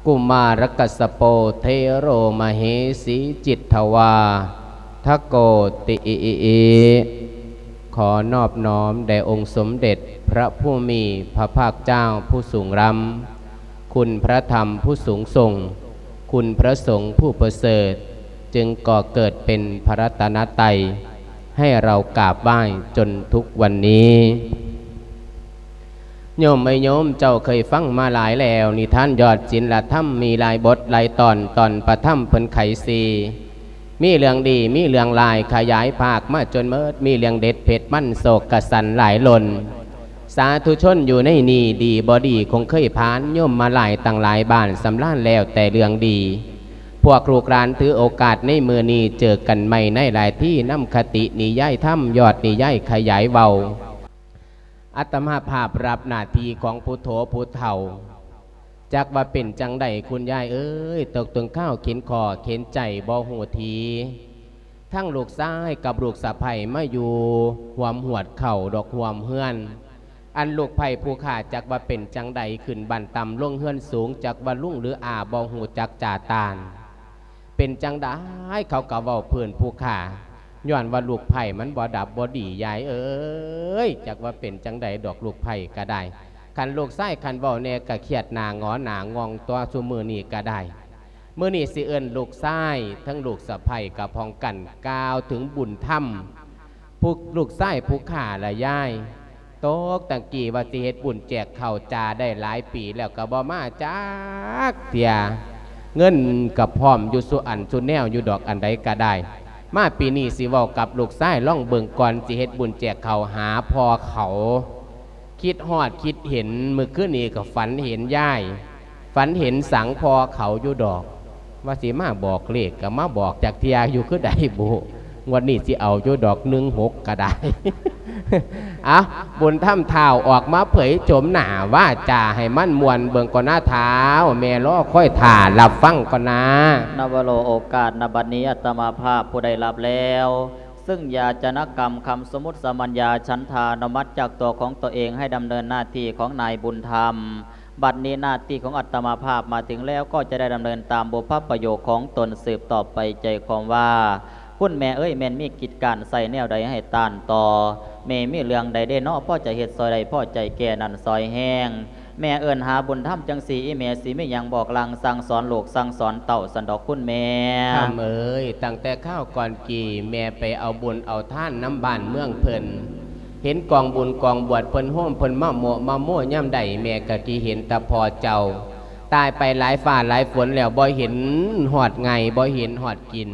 ກຸມາລະກັດສະໂປ ເຖໂຣ ມະເຫສີ ຈິດທະວາທະໂກ ຕິອິອິອິ ຂໍນອບນ້ອມແດ່ອົງສົມເດັດພະຜູ້ມີພະພາກເຈົ້າຜູ້ສູງລ້ຳ, ຄຸນພະທຳຜູ້ສູງສົ່ງ, ຄຸນພະສົງຜູ້ປະເສີດ, ຈຶ່ງກໍ່ເກີດເປັນພະລັດຕະນະໄຕ ໃຫ້ເຮົາກາບໄຫວ້ຈົນທຸກວັນນີ້. ໂຍມເອີຍໂຍມ, ເຈົ້າເຄີຍຟັງມາຫຼາຍແລ້ວ, ນິທານຍອດສິນລະທຳມີຫຼາຍບົດຫຼາຍຕອນ, ຕອນປະທຳເພິ່ນໄຂສີ່, ມີເລື່ອງດີ ມີເລື່ອງລາຍ ຂະຫຍາຍພາກມາຈົນເໝິດ, ມີເລື່ອງເດັດເຜັດມັນ ໂສກກະສັນຫຼາຍລົ້ນ. ສາທຸຊົນຢູ່ໃນນີ້ ດີບໍ່ດີຄົງເຄີຍຜ່ານ, ໂຍມມາຫຼາຍຕັ້ງຫຼາຍບ້ານ ສຳລານແລ້ວແຕ່ເລື່ອງດີ. ພວກລູກຫຼານຖືໂອກາດໃນມື້ນີ້ ເຈີກັນໃໝ່ໃນຫຼາຍທີ ນຳຄະຕິນິຍາຍທຳ ຍອດນິຍາຍຂະຫຍາຍເວົ້າ. ອາດຕະມາພາບຮັບໜ້າທີ່ຂອງຜູ້ໂທຜູ້ເຖົ້າ, ຈັກວ່າເປັນຈັ່ງໃດຄຸນຍາຍເອີຍ, ຕົກເຖິງຄາວເຂັນຂໍ້ເຂັນໃຈບໍ່ຮູ້ທີ. ທັງລູກຊາຍກັບລູກສະໃພ້ມາຢູ່ຮ່ວມຫວດເຂົ້າດອກຮ່ວມເຮືອນ, ອັນລູກໃພ້ຜູ້ຂ້າຈັກວ່າເປັນຈັ່ງໃດ, ຂຶ້ນບ້ານຕ່ຳລົງເຮືອນສູງ, ຈັກວ່າລຸງຫຼືອາບໍ່ຮູ້ຈັກຈາຕ່ານ. ເປັນຈັ່ງໃດເຂົາກໍເວົ້າພື້ນຜູ້ຂ້າ, ຍ້ອນວ່າລູກໃພ້ມັນບໍ່ດັບບໍ່ດີ ຍາຍເອີຍ, ຈັກວ່າເປັນຈັ່ງໃດດອກ ລູກໃພ້ກໍໄດ້. ຄັນລູກຊາຍຄັນເວົ້າແດ່ກໍຄຽດໜ້າຫງໍໜ້າງອງຕົວະ ຊຸມື້ນີ້ກໍໄດ້. ມື້ນີ້ຊິເອີ້ນລູກຊາຍ ທັງລູກສະໃພ້ກໍພ້ອມກັນ ກ່າວເຖິງບຸນທຳ ຜູ້ລູກຊາຍຜູ້ຂ້າລະຍາຍ. ຕົກຕັ້ງກີ້ວ່າຊິເຮັດບຸນແຈກເຂົ້າຈາໄດ້ຫຼາຍປີແລ້ວກໍບໍ່ມາຈັກເທື່ອ, ເງິນກໍພ້ອມຢູ່ສູ່ອັນສູ່ແນວຢູ່ດອກ ອັນໃດກໍໄດ້. ມາປີນີ້ຊິເວົ້າກັບລູກຊາຍລອງເບິ່ງ ກ່ອນຊິເຮັດບຸນແຈກເຂົ້າຫາພໍ່ເຂົາ. ຄິດຮອດຄິດເຫັນ, ມື້ຄືນນີ້ກໍຝັນເຫັນຍາຍ, ຝັນເຫັນສັງພໍ່ເຂົາຢູ່ດອກ. ວ່າຊິມາບອກເລກກໍມາບອກຈັກເທື່ອຢູ່ ຄືໃດບຸ. ງວດນີ້ຊິເອົາຢູ່ດອກ ໜຶ່ງຫົກ ກໍໄດ້. ເອົາ ບຸນທຳທ້າວອອກມາເຜີຍໂສມໜ້າວາຈາໃຫ້ມັນມ່ວນເບິ່ງກ່ອນນາທ້າວ, ແມ່ລໍຄອຍຖ້າຮັບຟັງກ່ອນນາ. ນະວະໂລ ໂອກາດນະບັດນີ້ ອາດຕະມາພາບຜູ້ໄດ້ຮັບແລ້ວ ຊຶ່ງຢາຈະນະກຳຄຳສົມມຸດສາມັນຍາ ສັນທານຸມັດຈາກຕົວຂອງຕົວເອງ ໃຫ້ດຳເນີນໜ້າທີ່ຂອງນາຍບຸນທຳ. ບັດນີ້ໜ້າທີ່ຂອງອາດຕະມາພາບມາເຖິງແລ້ວ ກໍຈະໄດ້ດຳເນີນຕາມບຸບພະປະໂຫຍກຂອງຕົນສືບຕໍ່ໄປ. ໃຈຄວາມວ່າ ຄຸນແມ່ເອີຍ ແມ່ນມີກິດການໃສ່ແນວໃດໃຫ້ຕ້ານຕໍ່? ແມ່ມີເລື່ອງໃດເດເນາະ ພໍຈະເຮັດຊ່ອຍໄດ້ ພໍໃຈແກ່ນັ້ນຊ່ອຍແຮງ? ແມ່ເອີ້ນຫາບຸນທຳຈັ່ງຊີ້ ອີແມ່ຊິມີຫຍັງບອກລາງສັ່ງສອນລູກສັ່ງສອນເຕົ້າຊັ້ນດອກຄຸນແມ່. ຄຳເອີຍ, ຕັ້ງແຕ່ຄາວກ່ອນກີ້ ແມ່ໄປເອົາບຸນເອົາທານນຳບ້ານເມືອງເພິ່ນ, ເຫັນກອງບຸນກອງບວດເພິ່ນໂຮມເພິ່ນມາໂມະມາໂມຍາມໃດ ແມ່ກໍຄິດເຫັນແຕ່ພໍ່ເຈົ້າ. ຕາຍໄປຫຼາຍຟ້າຫຼາຍຝົນແລ້ວ ບໍ່ເຫັນຮອດໄງ່ ບໍ່ເຫັນຮອດກິນ.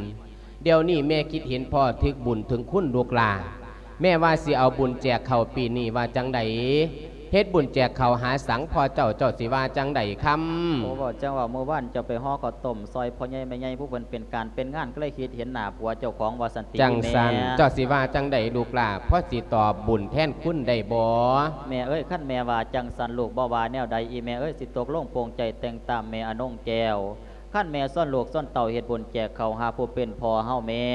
ດຽວນີ້ແມ່ຄິດເຫັນພໍ່ເຖິງບຸນເຖິງຄຸນລູກຫຼ້າ. ແມ່ວ່າຊິເອົາບຸນແຈກເຂົ້າປີນີ້ວ່າຈັ່ງໃດ? ເຮັດບຸນແຈກເຂົ້າຫາສັງພໍ່ເຈົ້າ ເຈົ້າຊິວ່າຈັ່ງໃດຄຳ? ໂອ້ ເວົ້າຈັ່ງວ່າມື້ວານເຈົ້າໄປຫໍ່ເຂົ້າຕົ້ມຊ່ອຍພໍ່ໃຫຍ່ແມ່ໃຫຍ່ ຜູ້ເພິ່ນເປັນການເປັນງານ ກໍເລີຍຄິດເຫັນໜ້າຜົວເຈົ້າຂອງວ່າຊັ້ນຕິແມ່. ຈັ່ງຊັ້ນ ເຈົ້າຊິວ່າຈັ່ງໃດລູກຫຼ້າ? ພໍຊິຕອບບຸນແທນຄຸນໄດ້ບໍ່? ແມ່ເອີຍ ຄັນແມ່ວ່າຈັ່ງຊັ້ນ ລູກບໍ່ວ່າແນວໃດ ອີແມ່ເອີຍ ຊິຕົກລົງປົງໃຈແຕ່ງຕາມແມ່ອານົງແກ້ວ. ຄັນແມ່ຊວນລູກຊວນເຕົ້າເຮັດບຸນແຈກເຂົ້າຫາຜູ້ເປັນພໍ່ເຮົາແມ່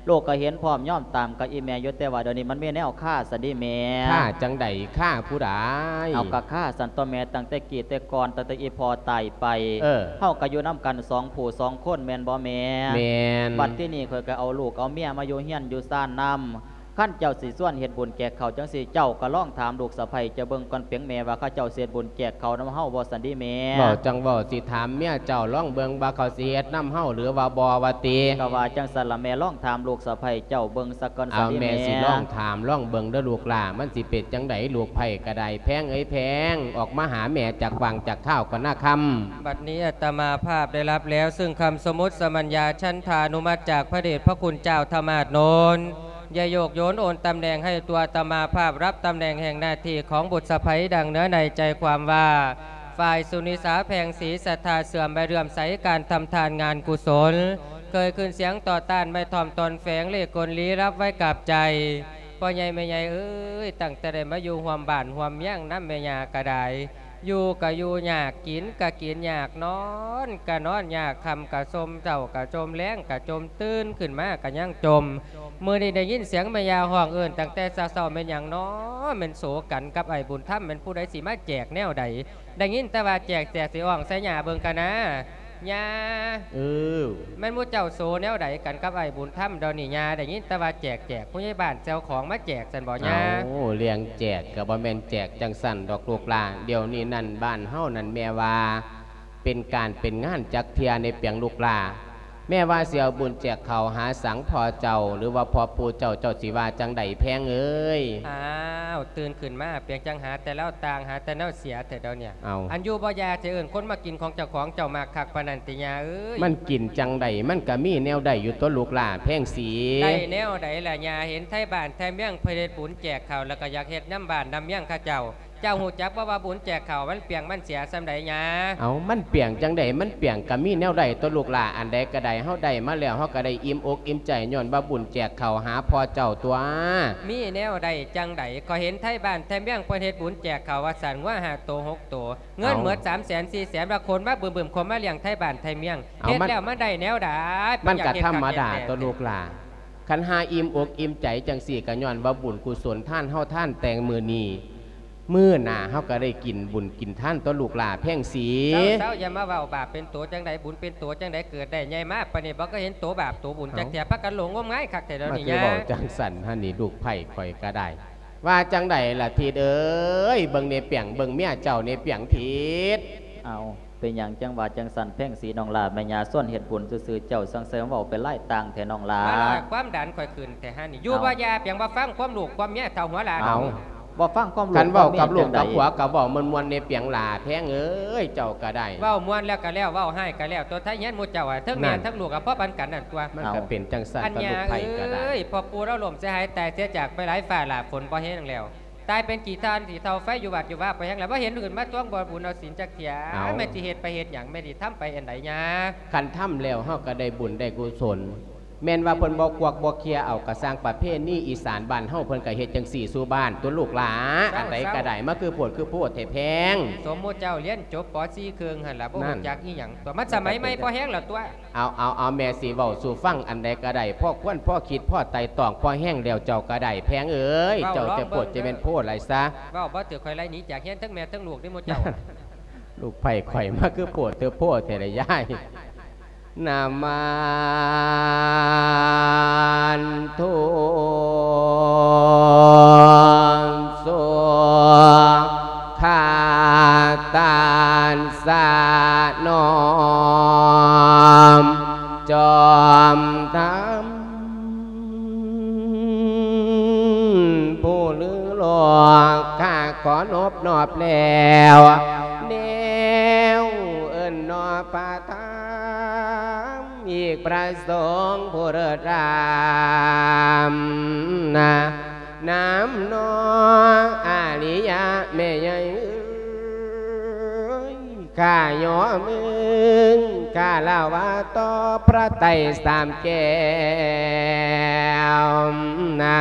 ລູກກໍເຫັນພ້ອມຍອມຕາມກັບອີແມ່ຢູ່, ແຕ່ວ່າດຽວນີ້ມັນມີແນວຄາຊັ້ນເດແມ່. ຄາຈັ່ງໃດ? ຄາຜູ້ໃດ? ເຮົາກໍຄາຊັ້ນຕົວະແມ່, ຕັ້ງແຕ່ກີ້ແຕ່ກ່ອນ ຕັ້ງແຕ່ອີພໍ່ຕາຍໄປ ເອີ ເຮົາກໍຢູ່ນຳກັນສອງຜູ້ສອງຄົນແມ່ນບໍ່ແມ່? ແມ່ນ. ບັດທີນີ້ຂ້ອຍກໍເອົາລູກເອົາເມຍມາຢູ່ເຮືອນຢູ່ຊານນຳ. ຄັນເຈົ້າຊິຊວນເຮັດບຸນແຈກເຂົ້າຈັ່ງຊີ້ ເຈົ້າກໍລອງຖາມລູກສະໃພ້ເຈົ້າເບິ່ງກ່ອນເປັງແມ່ ວ່າເຂົາເຈົ້າຊິເຮັດບຸນແຈກເຂົ້ານຳເຮົາບໍ່ຊັ້ນເດແມ່. ເວົ້າຈັ່ງເວົ້າ, ຊິຖາມເມຍເຈົ້າລອງເບິ່ງວ່າເຂົາຊິເຮັດນຳເຮົາຫຼືວ່າບໍ່ວ່າຕິ? ກໍວ່າຈັ່ງຊັ້ນລະແມ່, ລອງຖາມລູກສະໃພ້ເຈົ້າເບິ່ງສາກ່ອນຊັ້ນເດແມ່. ເອົາ ແມ່ຊິລອງຖາມລອງເບິ່ງເດີລູກຫຼ້າ, ມັນຊິເປັນຈັ່ງໃດ ລູກໃຜກໍໄດ້. ແພງເອີຍແພງ, ອອກມາຫາແມ່ຈັກຫວ່າງຈັກຄາວກ່ອນນາຄຳ. ບັດນີ້ອາດຕະມາພາບໄດ້ຮັບແລ້ວ ຊຶ່ງຄຳສົມມຸດສາມັນຍາ ສັນທານຸມັດຈາກພະເດດພະຄຸນເຈົ້າທະມາດໂນນ ໄດ້ໂຍກໂຍນໂອນຕຳແໜ່ງໃຫ້ຕົວອາດຕະມາພາບ ຮັບຕຳແໜ່ງແຫ່ງໜ້າທີ່ຂອງບຸດສະໃພ ດັ່ງເນື້ອໃນໃຈຄວາມວ່າ ຝ່າຍສຸນິສາແພງສີ ສັດທາເຊື່ອມໃບເຫຼື້ອມໃສ ການທຳທານງານກຸສົນ ເຄີຍຂຶ້ນສຽງຕໍ່ຕ້ານໄມ້ທ້ອມຕອນແຝງ ເລກກົນລີລັບໄວ້ກັບໃຈ. ພໍ່ໃຫຍ່ແມ່ໃຫຍ່ເອີຍ, ຕັ້ງແຕ່ໄດ້ມາຢູ່ຮ່ວມບ້ານຮ່ວມເມືອງນຳແມ່ຍ່າກໍໄດ້ ຢູ່ກໍຢູ່ຍາກ, ກິນກໍກິນຍາກ, ນອນກໍນອນຍາກ, ຄ່ຳກໍຊົມ, ເຊົ້າກໍຊົມ, ແລງກໍຈົ່ມ, ຕື່ນຂຶ້ນມາກໍຍັງຈົ່ມ. ມື້ນີ້ໄດ້ຍິນສຽງແມ່ຍ່າຮ້ອງເອີ້ນຕັ້ງແຕ່ເຊົ້າໆ ແມ່ນຫຍັງນໍ? ແມ່ນໂສກັນກັບອ້າຍບຸນທຳ ແມ່ນຜູ້ໃດຊິມາແຈກແນວໃດ? ໄດ້ຍິນແຕ່ວ່າແຈກ ແຈກ ຊິອ້ອງໃສ່ຍ່າເບິ່ງກະນາ. ຍ່າ ເອີ ແມ່ນໝູ່ເຈົ້າໂສແນວໃດກັນກັບອ້າຍບຸນທຳດຽວນີ້? ຍ່າ ໄດ້ຍິນແຕ່ວ່າແຈກ ແຈກ ຜູ້ໃຫຍ່ບ້ານເຈົ້າຂອງມາແຈກຊັ້ນບໍຍ່າ? ເອົ້າ ເລື່ອງແຈກກະບໍ່ແມ່ນແຈກຈັ່ງຊັ້ນດອກລູກຫຼານ. ດຽວນີ້ນັ້ນບ້ານເຮົານັ້ນແມ່ວ່າ ເປັນການເປັນງານຈັກເທື່ອໃນປຽງລູກຫຼານ. ແມ່ວ່າຊິເອົາບຸນແຈກເຂົ້າຫາສັງພໍ່ເຈົ້າ ຫຼືວ່າພໍ່ປູ່ເຈົ້າ ເຈົ້າຊິວ່າຈັ່ງໃດແພງເອີຍ? ອ້າວ ຕື່ນຂຶ້ນມາ ປຽງຈັ່ງຫາແຕ່ແນວຕ່າງ ຫາແຕ່ແນວເສຍແທ້ດຽວນີ້. ເອົ້າ ອັນຢູ່ບໍ່ຢ່າ ຈະເອີ້ນຄົນມາກິນຂອງເຈົ້າຂອງ ເຈົ້າມັກຄັກປານນັ້ນຕິຍ່າເອີຍ? ມັນກິນຈັ່ງໃດ ມັນກະມີແນວໃດຢູ່ຕົວະລູກຫຼານແພງສີ. ໄດ້ແນວໃດລະຍ່າ? ເຫັນໄທບ້ານໄທເມືອງເພິ່ນເຮັດບຸນແຈກເຂົ້າ ແລ້ວກະຢາກເຮັດນຳບ້ານນຳເມືອງເຂົາເຈົ້າ. ເຈົ້າຮູ້ຈັກບໍ່ວ່າບຸນແຈກເຂົ້າມັນປຽງມັນເສຍສ່ຳໃດຍ່າ? ເອົ້າ ມັນປຽງຈັ່ງໃດ? ມັນປຽງກະມີແນວໃດຕົວະລູກຫຼານ. ອັນໃດກະໄດ້ ເຮົາໄດ້ມາແລ້ວ ເຮົາກະໄດ້ອີ່ມອົກອີ່ມໃຈ ຍ້ອນວ່າບຸນແຈກເຂົ້າຫາພໍ່ເຈົ້າຕົວະ. ມີແນວໃດຈັ່ງໃດ? ຂ້ອຍເຫັນໄທບ້ານໄທເມືອງເພິ່ນເຮັດບຸນແຈກເຂົ້າວ່າຊັ້ນ ງົວຫ້າໂຕຫົກໂຕ ເງິນ ເອົ້າ ໝົດສາມແສນສີ່ແສນ ວ່າຄົນມາບຶມໆ ຄົນມາລ້ຽງໄທບ້ານໄທເມືອງ. ເອົາ ເຮັດ ມັນ ແລ້ວມັນໄດ້ແນວໃດ? ມັນກະທຳມະດາຕົວະລູກຫຼານ. ຄັນຫາອີ່ມອົກອີ່ມໃຈຈັ່ງຊີ້ ກະຍ້ອນວ່າບຸນກຸສົນທານເຮົາທານແຕ່ງມື້ນີ້ ມື້ໜ້າເຮົາກະໄດ້ກິນບຸນກິນທານຕົວະລູກຫຼານແພງສີ. ເຊົາໆ ຢ່າມາເວົ້າບາບເປັນໂຕຈັ່ງໃດ ບຸນເປັນໂຕຈັ່ງໃດ ເກີດໄດ້ໃຫຍ່ມາປານນີ້ບໍ່ເຄີຍເຫັນໂຕບາບໂຕບຸນຈັກເທື່ອ. ເອົ້າ ພາກັນຫຼົງງົມງາຍຄັກແທ້ດຽວນີ້. ມາຄືເວົ້າຈັ່ງຊັ້ນຫັ້ນນີ້ ລູກໃພ້ຂ້ອຍກະໄດ້. ວ່າຈັ່ງໃດລະທິດເອີຍ? ເບິ່ງແນ່ປຽງ ເບິ່ງເມຍເຈົ້າແນ່ປຽງທິດ. ເອົ້າ ເປັນຫຍັງຈັ່ງວ່າຈັ່ງຊັ້ນແພງສີນ້ອງຫຼ້າ? ແມ່ຍ່າຊວນເຮັດບຸນຊື່ໆ ເຈົ້າສັງໄສມາເວົ້າເປັນລາຍຕ່າງແທ້ນ້ອງຫຼ້າ. ມາລະຄວາມດັນຂ້ອຍຂຶ້ນແທ້ຫັ້ນນີ້. ຢູ່ ເອົ້າ ບໍ່ຢ່າ ປຽງບໍ່ຟັງຄວາມລູກຄວາມເມຍເຖົ້າຫົວຫຼ້າ. ເອົ້າ ບໍ່ຟັງຄວາມລູກຄວາມເມຍ. ຄັນເວົ້າກັບລູກກັບຜົວກະເວົ້າມ່ວນໆ ແນ່ປຽງຫຼ້າແພງເອີຍ ເຈົ້າກະໄດ້. ເວົ້າມ່ວນແລ້ວກະແລ້ວ ເວົ້າຮ້າຍກະແລ້ວ ຕົວະໄທເຮືອນໝູ່ເຈົ້າ ເຖິງແມ່ນ ນັ້ນ ທັງລູກກະພໍປານກັນນັ້ນຕົວະ. ມັນກະເປັນຈັ່ງຊັ້ນ ເອົ້າ ກັບລູກໃພ້ກະໄດ້. ເອີຍ ພໍ່ປູ່ລາວລົ້ມເສຍຫາຍຕາຍເສຍຈາກໄປຫຼາຍ ຟ້າຫຼາກຝົນບໍ່ແຮງແລ້ວ ຕາຍເປັນຂີ້ຖ່ານຂີ້ເຖົ້າໄຟຢູ່ວັດຢູ່ວາບໍ່ແຮງແລ້ວ ບໍ່ເຫັນຂຶ້ນມາທວງບຸນເອົາສິນຈັກເທື່ອ. ເອົ້າ ແມ່ນຊິເຮັດໄປເຮັດຫຍັງ ແມ່ນຊິທຳໄປອັນໃດຍ່າ? ຄັນທຳແລ້ວເຮົາກະໄດ້ບຸນໄດ້ກຸສົນ. ແມ່ນວ່າເພິ່ນບໍ່ກວັກບໍ່ເຄຍເອົາກະຊ່າງ ປະເພນີອີສານບ້ານເຮົາເພິ່ນກະເຮັດຈັ່ງຊີ້ສູ່ບ້ານຕົວະລູກຫຼ້າ. ເຈົ້າ ອັນໃດກະໄດ້ ມາຄືໂພດຄືໂພດແທ້ແພງ. ສົມມຸດເຈົ້າຮຽນຈົບ ປໍສີ່ ເຄິ່ງຫັ້ນລະ ບໍ່ຮູ້ຈັກອີ່ຫຍັງຕົວະ. ມັນສະໄໝໃໝ່ພໍແຮງແລ້ວຕົວະ. ເອົາ ເອົາ ເອົາ ແມ່ຊິເວົ້າສູ່ຟັງ ອັນໃດກະໄດ້ ພໍຄວນ ພໍຄິດ ພໍໄຕ່ຕອງ ພໍແຮງແລ້ວເຈົ້າກະໄດ້ແພງເອີຍ. ເຈົ້າຈະໂພດຈະແມ່ນໂພດຫຼາຍຊະ. ເວົ້າບໍ່ຖືກຂ້ອຍໄລ່ໜີຈາກເຮືອນ ທັງແມ່ທັງລູກເດ້ໝູ່ເຈົ້າ. ລູກໃພ້ຂ້ອຍມາຄືໂພດເຕີໂພດແທ້ລະຍາຍ. ນະມັນທຸ ສຸຂະຕັດສະ ນ້ອມຈອມທຳ ຜູ້ລືໂລກ ຂ້າຂໍນົບນອບແລ້ວ ແນວເອີ້ນນອບພະທຳ ອີກພະສົງຜູ້ເລີດລ້ຳນະ ນຳນອອາລິຍະແມ່ໃຫຍ່ເອີຍ ຂ້າຍໍມືຄາລະວະຕໍ່ພະໄຕສາມແກ້ວນະ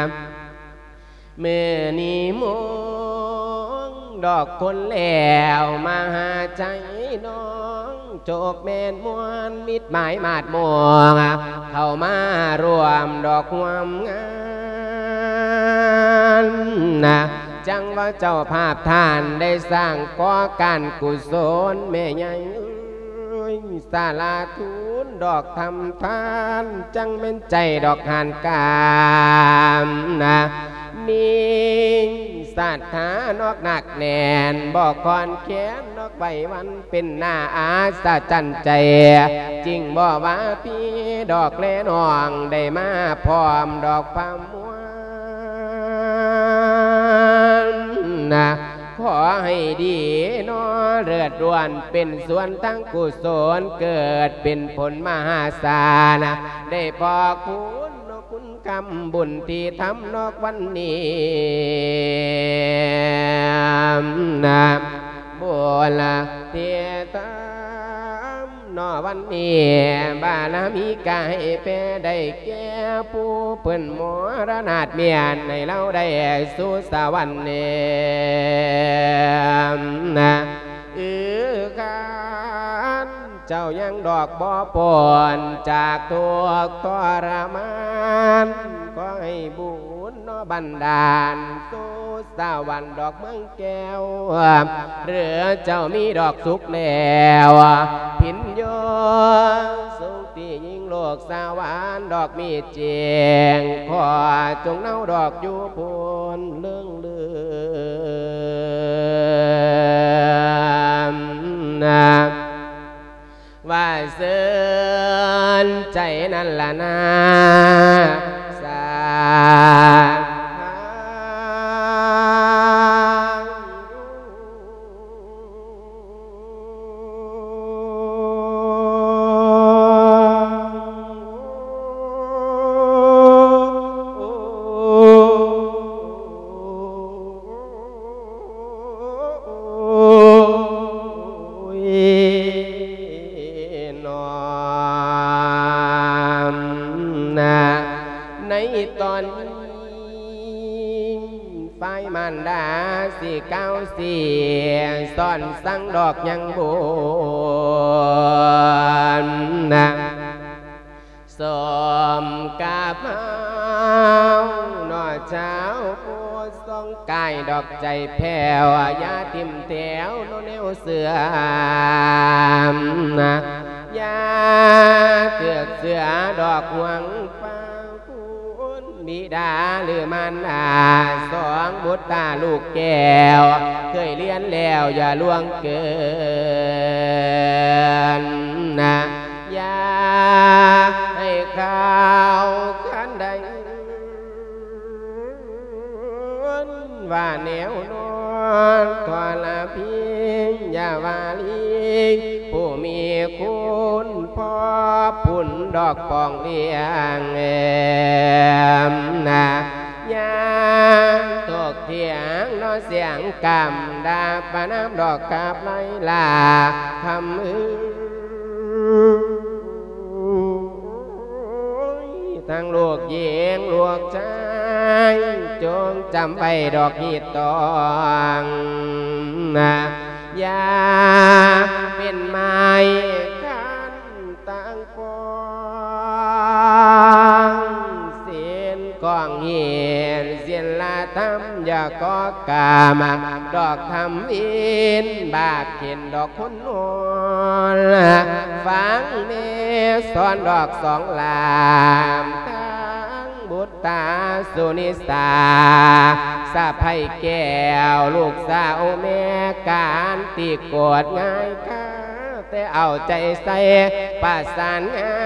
ມື້ນີ້ມົງດອກຄົນແລ້ວ ມະຫາໄຊນ້ອງ ໂຈກແມ່ນມ່ວນ ມິດໝາຍມາດມ່ວງ ເຂົ້າມາຮ່ວມດອກຮ່ວມງານນະ ຈັ່ງວ່າເຈົ້າພາບທ່ານໄດ້ສ້າງກໍ່ການກຸສົນ ແມ່ໃຫຍ່ເອີຍ ສາລາທູນດອກທຳທານ ຈັ່ງແມ່ນໃຈດອກຫານການນະ ມີສັດທານອກໜັກແໜ້ນ ບໍ່ຄອນແຄນນອກໄຫວວັນ ເປັນໜ້າອັດສະຈັນໃຈ ຈຶ່ງບໍ່ວ່າພີ່ດອກແລນ້ອງ ໄດ້ມາພ້ອມດອກພະມ່ວນນະ ຂໍໃຫ້ດີນໍ ເລີດລ້ວນເປັນສ່ວນທາງກຸສົນ ເກີດເປັນຜົນມະຫາສານ ໄດ້ພໍ້ຄູນເນາະ ຄຸນຄຳບຸນທີ່ທຳນອກວັນນີ້ນະ ບຸນທີ່ທຳ ເນາະ ວັນນີ້ບາລະມີກາໃຫ້ແຜ່ໄດ້ແກ່ຜູ້ເພິ່ນມໍລະນາດເມຍນ ໃຫ້ລາວໄດ້ສູ່ສະຫວັນເນນ ອື ຄັນເຈົ້າຍັງດອກບໍ່ພົ້ນຈາກທຸກທໍລະມານ ໃຫ້ບຸນເນາະບັນດານສູ່ສະຫວັນດອກເມືອງແກ້ວ ຫຼືເຈົ້າມີດອກສຸກແລ້ວ ພິນໂຍ ສຸກທີ່ຍິ່ງໂລກສະຫວັນດອກມີຈິງ ຂໍຈົ່ງເນົາດອກຢູ່ພຸ້ນເລີງເລີນນະ. ວ່າເຊີນໃຈນັ້ນລະນາ ສາທຸ. ໂອ້ຍ ນ້ອມນະ ໃນຕອນນີ້ ຝ່າຍມານດາຊິກ່າວຊິສອນສັ່ງດອກຍັງບຸນນະ. ສົມກັບເຮົາເນາະ ຊາວພຸດ ສ່ອງກາຍດອກໃຈແຜ່ວ ຢ່າຖິ້ມແຖວເນາະແນວເສື່ອມນະ ຢ່າຖືກເຊື່ອດອກຫວງຟັງຄຸນບິດາ ຫຼືມານດາ ສອງບຸດຕາລູກແກ້ວ ເຄີຍລຽນແລ້ວຢ່າລ່ວງເກີນນະ. ຢ່າໃຫ້ຂ່າວຄັນໃດ ວ່າແນວນອນທໍລະພິງ ຢ່າວ່າລີ ຜູ້ມີຄຸນພໍບຸນດອກປອງລ້ຽງແອມນະ. ຢ່າຖົກຖຽງເນາະສຽງກຳ ດ່າປະນາມດອກກັບໄລລາຄຳເອີ ທັງລູກຍິງລູກຊາຍ ຈົ່ງຈຳໄວ້ດອກຮີດຕອງນະ ຢ່າເປັນໄມ້ຄັນ ຕ່າງປອງສິນກອງຫີນ ສິນລະທຳຢ່າກໍ່ກາມ ດອກທຳວິນບາບເຂັນດອກຄົນໂນນ ຟັງແມ່ສອນດອກສອງຫຼາມ ທັງບຸດຕາສຸນິສາ ສະໃພ້ແກ້ວ ລູກສາວແມ່ການຕິໂກດງ່າຍກາ ແຕ່ເອົາໃຈໃສ່ປະສານງາ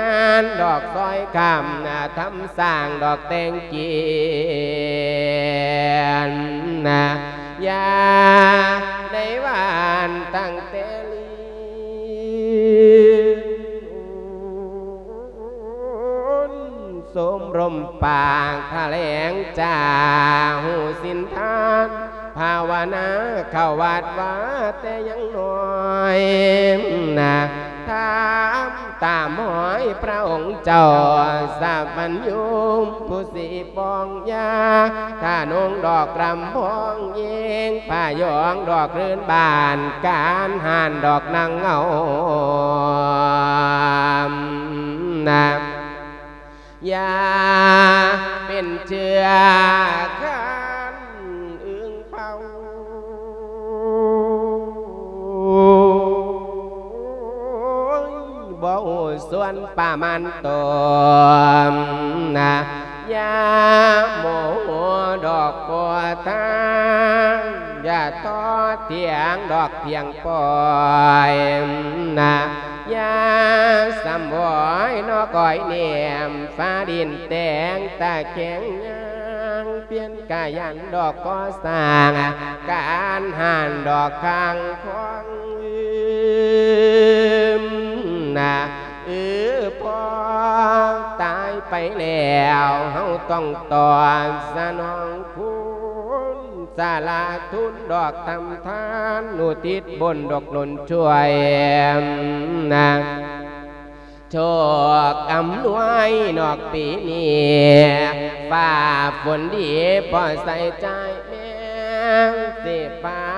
ນ ດອກຊອຍຄຳນະ ທຳສ້າງດອກແຕ່ງກິນນະ ຢ່າໃນວານຕັ້ງແຕ່ລີນ ສົມລົມປາກຖະແຫຼງຈາ ຮູ້ສິນທານ ພາວະນາເຂົ້າວັດວາແຕ່ຍັງນ້ອຍນະ ທຳຕາມຮອຍພະອົງເຈົ້າ ສັບພັນຍູມຜູ້ສີປອງຢາ ທະນົງດອກລຳພອງເຢງ ພະຍອງດອກລື່ນບານ ການຫານດອກນາງເງົານະ. ຢ່າເປັນເຊື້ອຄັນອຶ່ງເຜົາ ບໍ່ຮູ້ສ່ວນປະມານຕົນນະ ຢ່າໂມໂຫດອກບໍ່ທາງ ຢ່າທໍຖຽງດອກພຽງປ່ອຍນະ ຢ່າສຳຫວອຍນອກອອຍແນມ ຟ້າດິນແຕງຕາແຂງຍາງ ປ່ຽນກາຍັນດອກກໍ່ສ້າງ ການຫານດອກຂ້າງຂອງອື່ນນະ ເອີ ພໍຕາຍໄປແລ້ວ ເຮົາຕ້ອງຕອບສະໜອງຄຸນ ສາລະທຸນດອກທຳທານ ອຸທິດບຸນດອກໜູນຊ່ວຍນະ ໂຊກອຳນວຍນອກປີນີ້ ຟ້າຝົນດີພໍໃສ່ໃຈແມ່ນຊິຟ້າ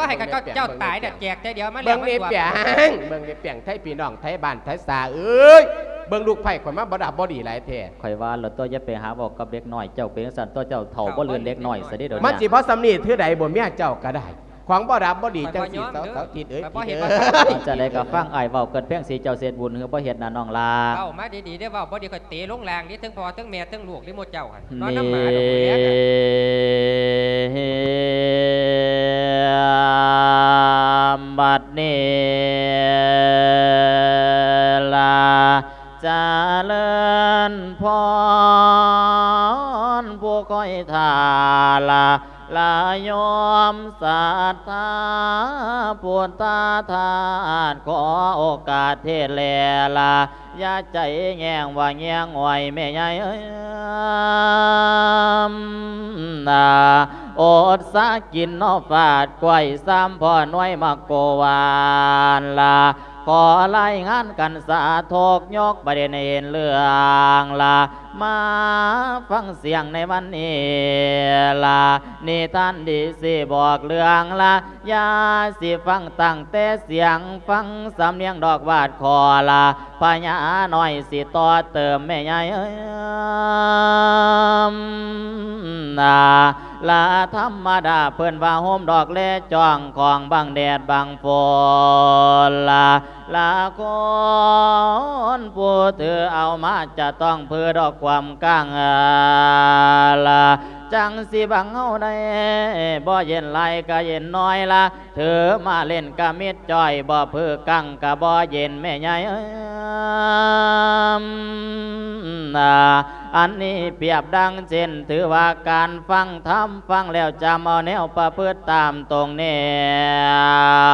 ຕົວໃຫ້ກັບເຈົ້າຕາຍນະ ແຈກແຕ່ດຽວມາແລ້ວ ເບິ່ງນີ້ ມັນຕົວະ ປຽງ ເບິ່ງນີ້ປຽງ ໄທພີ່ນ້ອງ ໄທບ້ານ ໄທສາເອີຍ ເບິ່ງລູກໃພ້ຂ້ອຍມາບໍ່ດັບບໍ່ດີຫຼາຍແທ້. ຂ້ອຍວ່າແລ້ວຕົວະ ຢ່າໄປຫາເວົ້າກັບເດັກນ້ອຍ ເຈົ້າເປັນຈັ່ງຊັ້ນຕົວະ ເຈົ້າເຖົ້າບໍ່ລື່ນເດັກນ້ອຍຊະເດ້ດຽວນີ້. ມັນຊິພໍສ່ຳນີ້ຖືໃດບໍ່ ເມຍເຈົ້າກໍໄດ້ ຂອງບໍ່ດັບບໍ່ດີ ເຈົ້າຊິເຊົາເຖົ້າທິດເອີຍ ເອີຍ. ຈັ່ງໃດກໍຟັງອ້າຍເວົ້າ ເກີດພຽງຊີ້ເຈົ້າເສດບຸນ ຫຼືບໍ່ເຮັດນະນ້ອງຫຼ້າ? ເວົ້າມາດີໆເດີ້ ເວົ້າບໍ່ດີຂ້ອຍເຕະລົງລ່າງເດ້ ເທິງພໍ່ເທິງແມ່ເທິງລູກເດ້ໝົດເຈົ້າຫັ້ນ ນອນນຳໝາດອກພຸ້ນແຫຼະ. ບັດນີ້ລະຈະເລີນພອນ. ດທາພຸດທະທາດ ຂໍໂອກາດເທດແລລະ ຢ່າໃຈແຍງວ່າແຍງອ້ອຍແມ່ໃຫຍ່ເອີຍ ນາ ອົດສາກິນເນາະ ຟາດກ້ວຍ ສາມພໍ່ນ້ອຍໝາກໂກຫວານລະ ຂໍລາຍງານກັນສາທຸກ ຍົກປະເດັນໃຫ້ເຫັນເລື່ອງລະ ມາຟັງສຽງໃນວັນນີ້ລະ ນິທານດີຊິບອກເລື່ອງລະ ຢ່າຊິຟັງຕັ້ງແຕ່ສຽງ ຟັງສຳນຽງດອກວາດຂໍລະ ພະຍານ້ອຍຊິຕໍ່ເຕີມແມ່ໃຫຍ່ເອີຍ ນາ ລະທຳມະດາເພິ່ນວ່າໂຮມດອກແລຈ້ອງຂອງບັງແດດບັງຝົນລະ ລະຄົນຜູ້ຖືເອົາມາຈະຕ້ອງເພີດອກຄວາມກາງລະ ຈັ່ງຊິບັງເຮົາໄດ້ ບໍ່ເຢັນຫຼາຍກະເຢັນໜ້ອຍລະ ຖືມາເຫຼັ້ນກະມິດຈ້ອຍ ບໍ່ເພີກັງກະບໍ່ເຢັນແມ່ໃຫຍ່ເອີຍ ນາ ອັນນີ້ປຽບດັ່ງເຊັ່ນ ຖືວ່າການຟັງທຳ ຟັງແລ້ວຈຳເອົາແນວປະພຶດຕາມຕົງແນ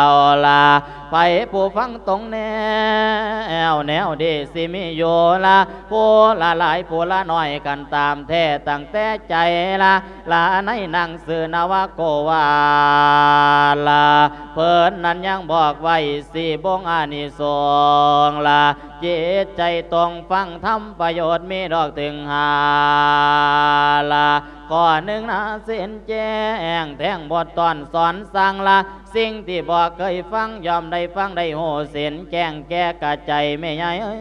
ວລະ ໃຜຜູ້ຟັງຕົງແນວ ແນວດີຊິມີຢູ່ລະ ຜູ້ລະຫຼາຍຜູ້ລະໜ້ອຍກັນຕາມແທ້ ຕັ້ງແຕ່ໃຈລະ ລະໃນໜັງສືນະວະໂກວາລະ ເພິ່ນນັ້ນຍັງບອກໄວ້ສີ່ບົງອານິສົງລະ ຈິດໃຈຕົງຟັງທຳປະໂຫຍດມີດອກເຖິງຫ້າລະ ຂໍ້ໜຶ່ງນະເຊັ່ນແຈ້ງແທງບົດຕອນສອນສັ່ງລະ ສິ່ງທີ່ບໍ່ເຄີຍຟັງ ຍ່ອມໄດ້ຟັງໄດ້ຮູ້ເຊັ່ນແຈ້ງແກ່ກະໃຈແມ່ໃຫຍ່ເອີຍ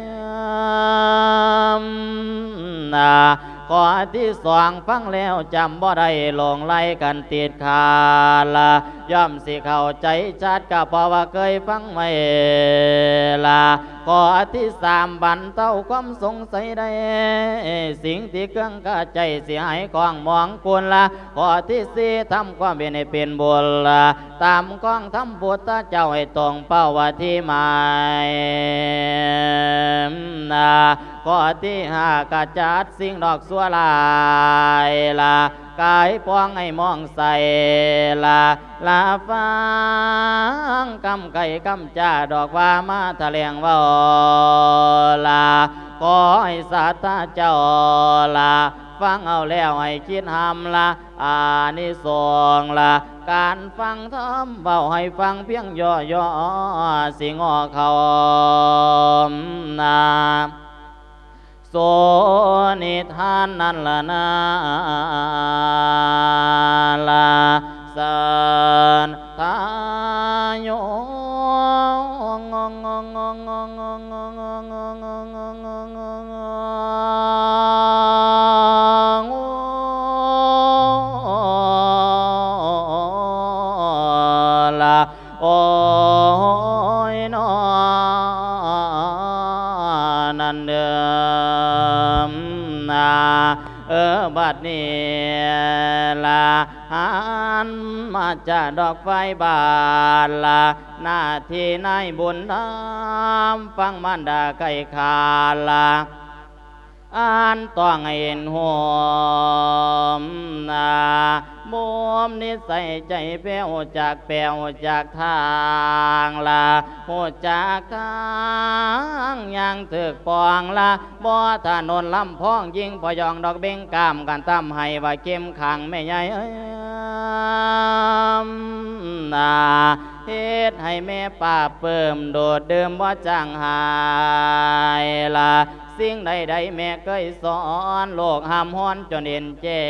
ນາ ຂໍ້ທີສອງ ຟັງແລ້ວຈຳບໍ່ໄດ້ ຫຼົງໄຫຼກັນຕິດຂາດລະ ຍ່ອມຊິເຂົ້າໃຈຊັດ ກະເພາະວ່າເຄີຍຟັງໄວ້ລະ ຂໍ້ທີສາມ ບັນເທົາຄວາມສົງໄສໄດ້ ສິ່ງທີ່ເຄືອງຄາໃຈຊິຫາຍຄອງມອງຄຸນລະ ຂໍ້ທີສີ່ ທຳຄວາມເປັນໃຫ້ເປັນບຸນລະ ຕາມຄອງທຳພຸດທະເຈົ້າໃຫ້ຕົງເປົ້າວ່າທີ່ໝາຍ ນາ ຂໍ້ທີຫ້າ ກະຈັດສິ່ງດອກຊົ່ວລາຍລະ ກາຍປອງໃຫ້ມອງໃສລະ ລະຟັງຄຳໄກ່ຄຳຈາດອກວ່າມາຖະແຫຼງເວົ້າລະ ຂໍໃຫ້ສັດທາເຈົ້າລະ ຟັງເອົາແລ້ວໃຫ້ຄິດຮ່ຳລະ ອານິສົງລະ ການຟັງທຳເວົ້າໃຫ້ຟັງພຽງຫຍໍ້ໆ ຊິງໍ່ເຂົ້າ ນາ ໂສນິທານນັ້ນລະນາ ລາສັນທາໂຍ ລະ ໂອຍ ນອ ນັ້ນເດີ ນາ ເອີ ບັດນີ້ລະ ຫັນມາຈາດອກໄຟບາດລະ ໜ້າທີ່ນາຍບຸນນຳ ຟັງມານດາໄກ່ຂາດລະ ອ່ານຕ້ອງໃຫ້ເຫັນໂຮມນາ ມຸມນິໄສໃຈແປ ຮູ້ຈັກແປ ຮູ້ຈັກທາງລະ ຮູ້ຈັກທາງຍ່າງຖືກປອງລະ ບໍ່ຖະໜົນລຳພອງ ຍິງພະຍອງດອກເບັງກາມ ກັນທຳໃຫ້ວ່າເຂັ້ມຂັງແມ່ໃຫຍ່ເອີຍ ນາ ເຮັດໃຫ້ແມ່ປາບປຶ້ມ ດູດດື່ມບໍ່ຈາງຫາຍລະ ສິ່ງໃດໆແມ່ເຄີຍສອນ ລູກຫ້າມຮອນຈົນເຫັນແຈ້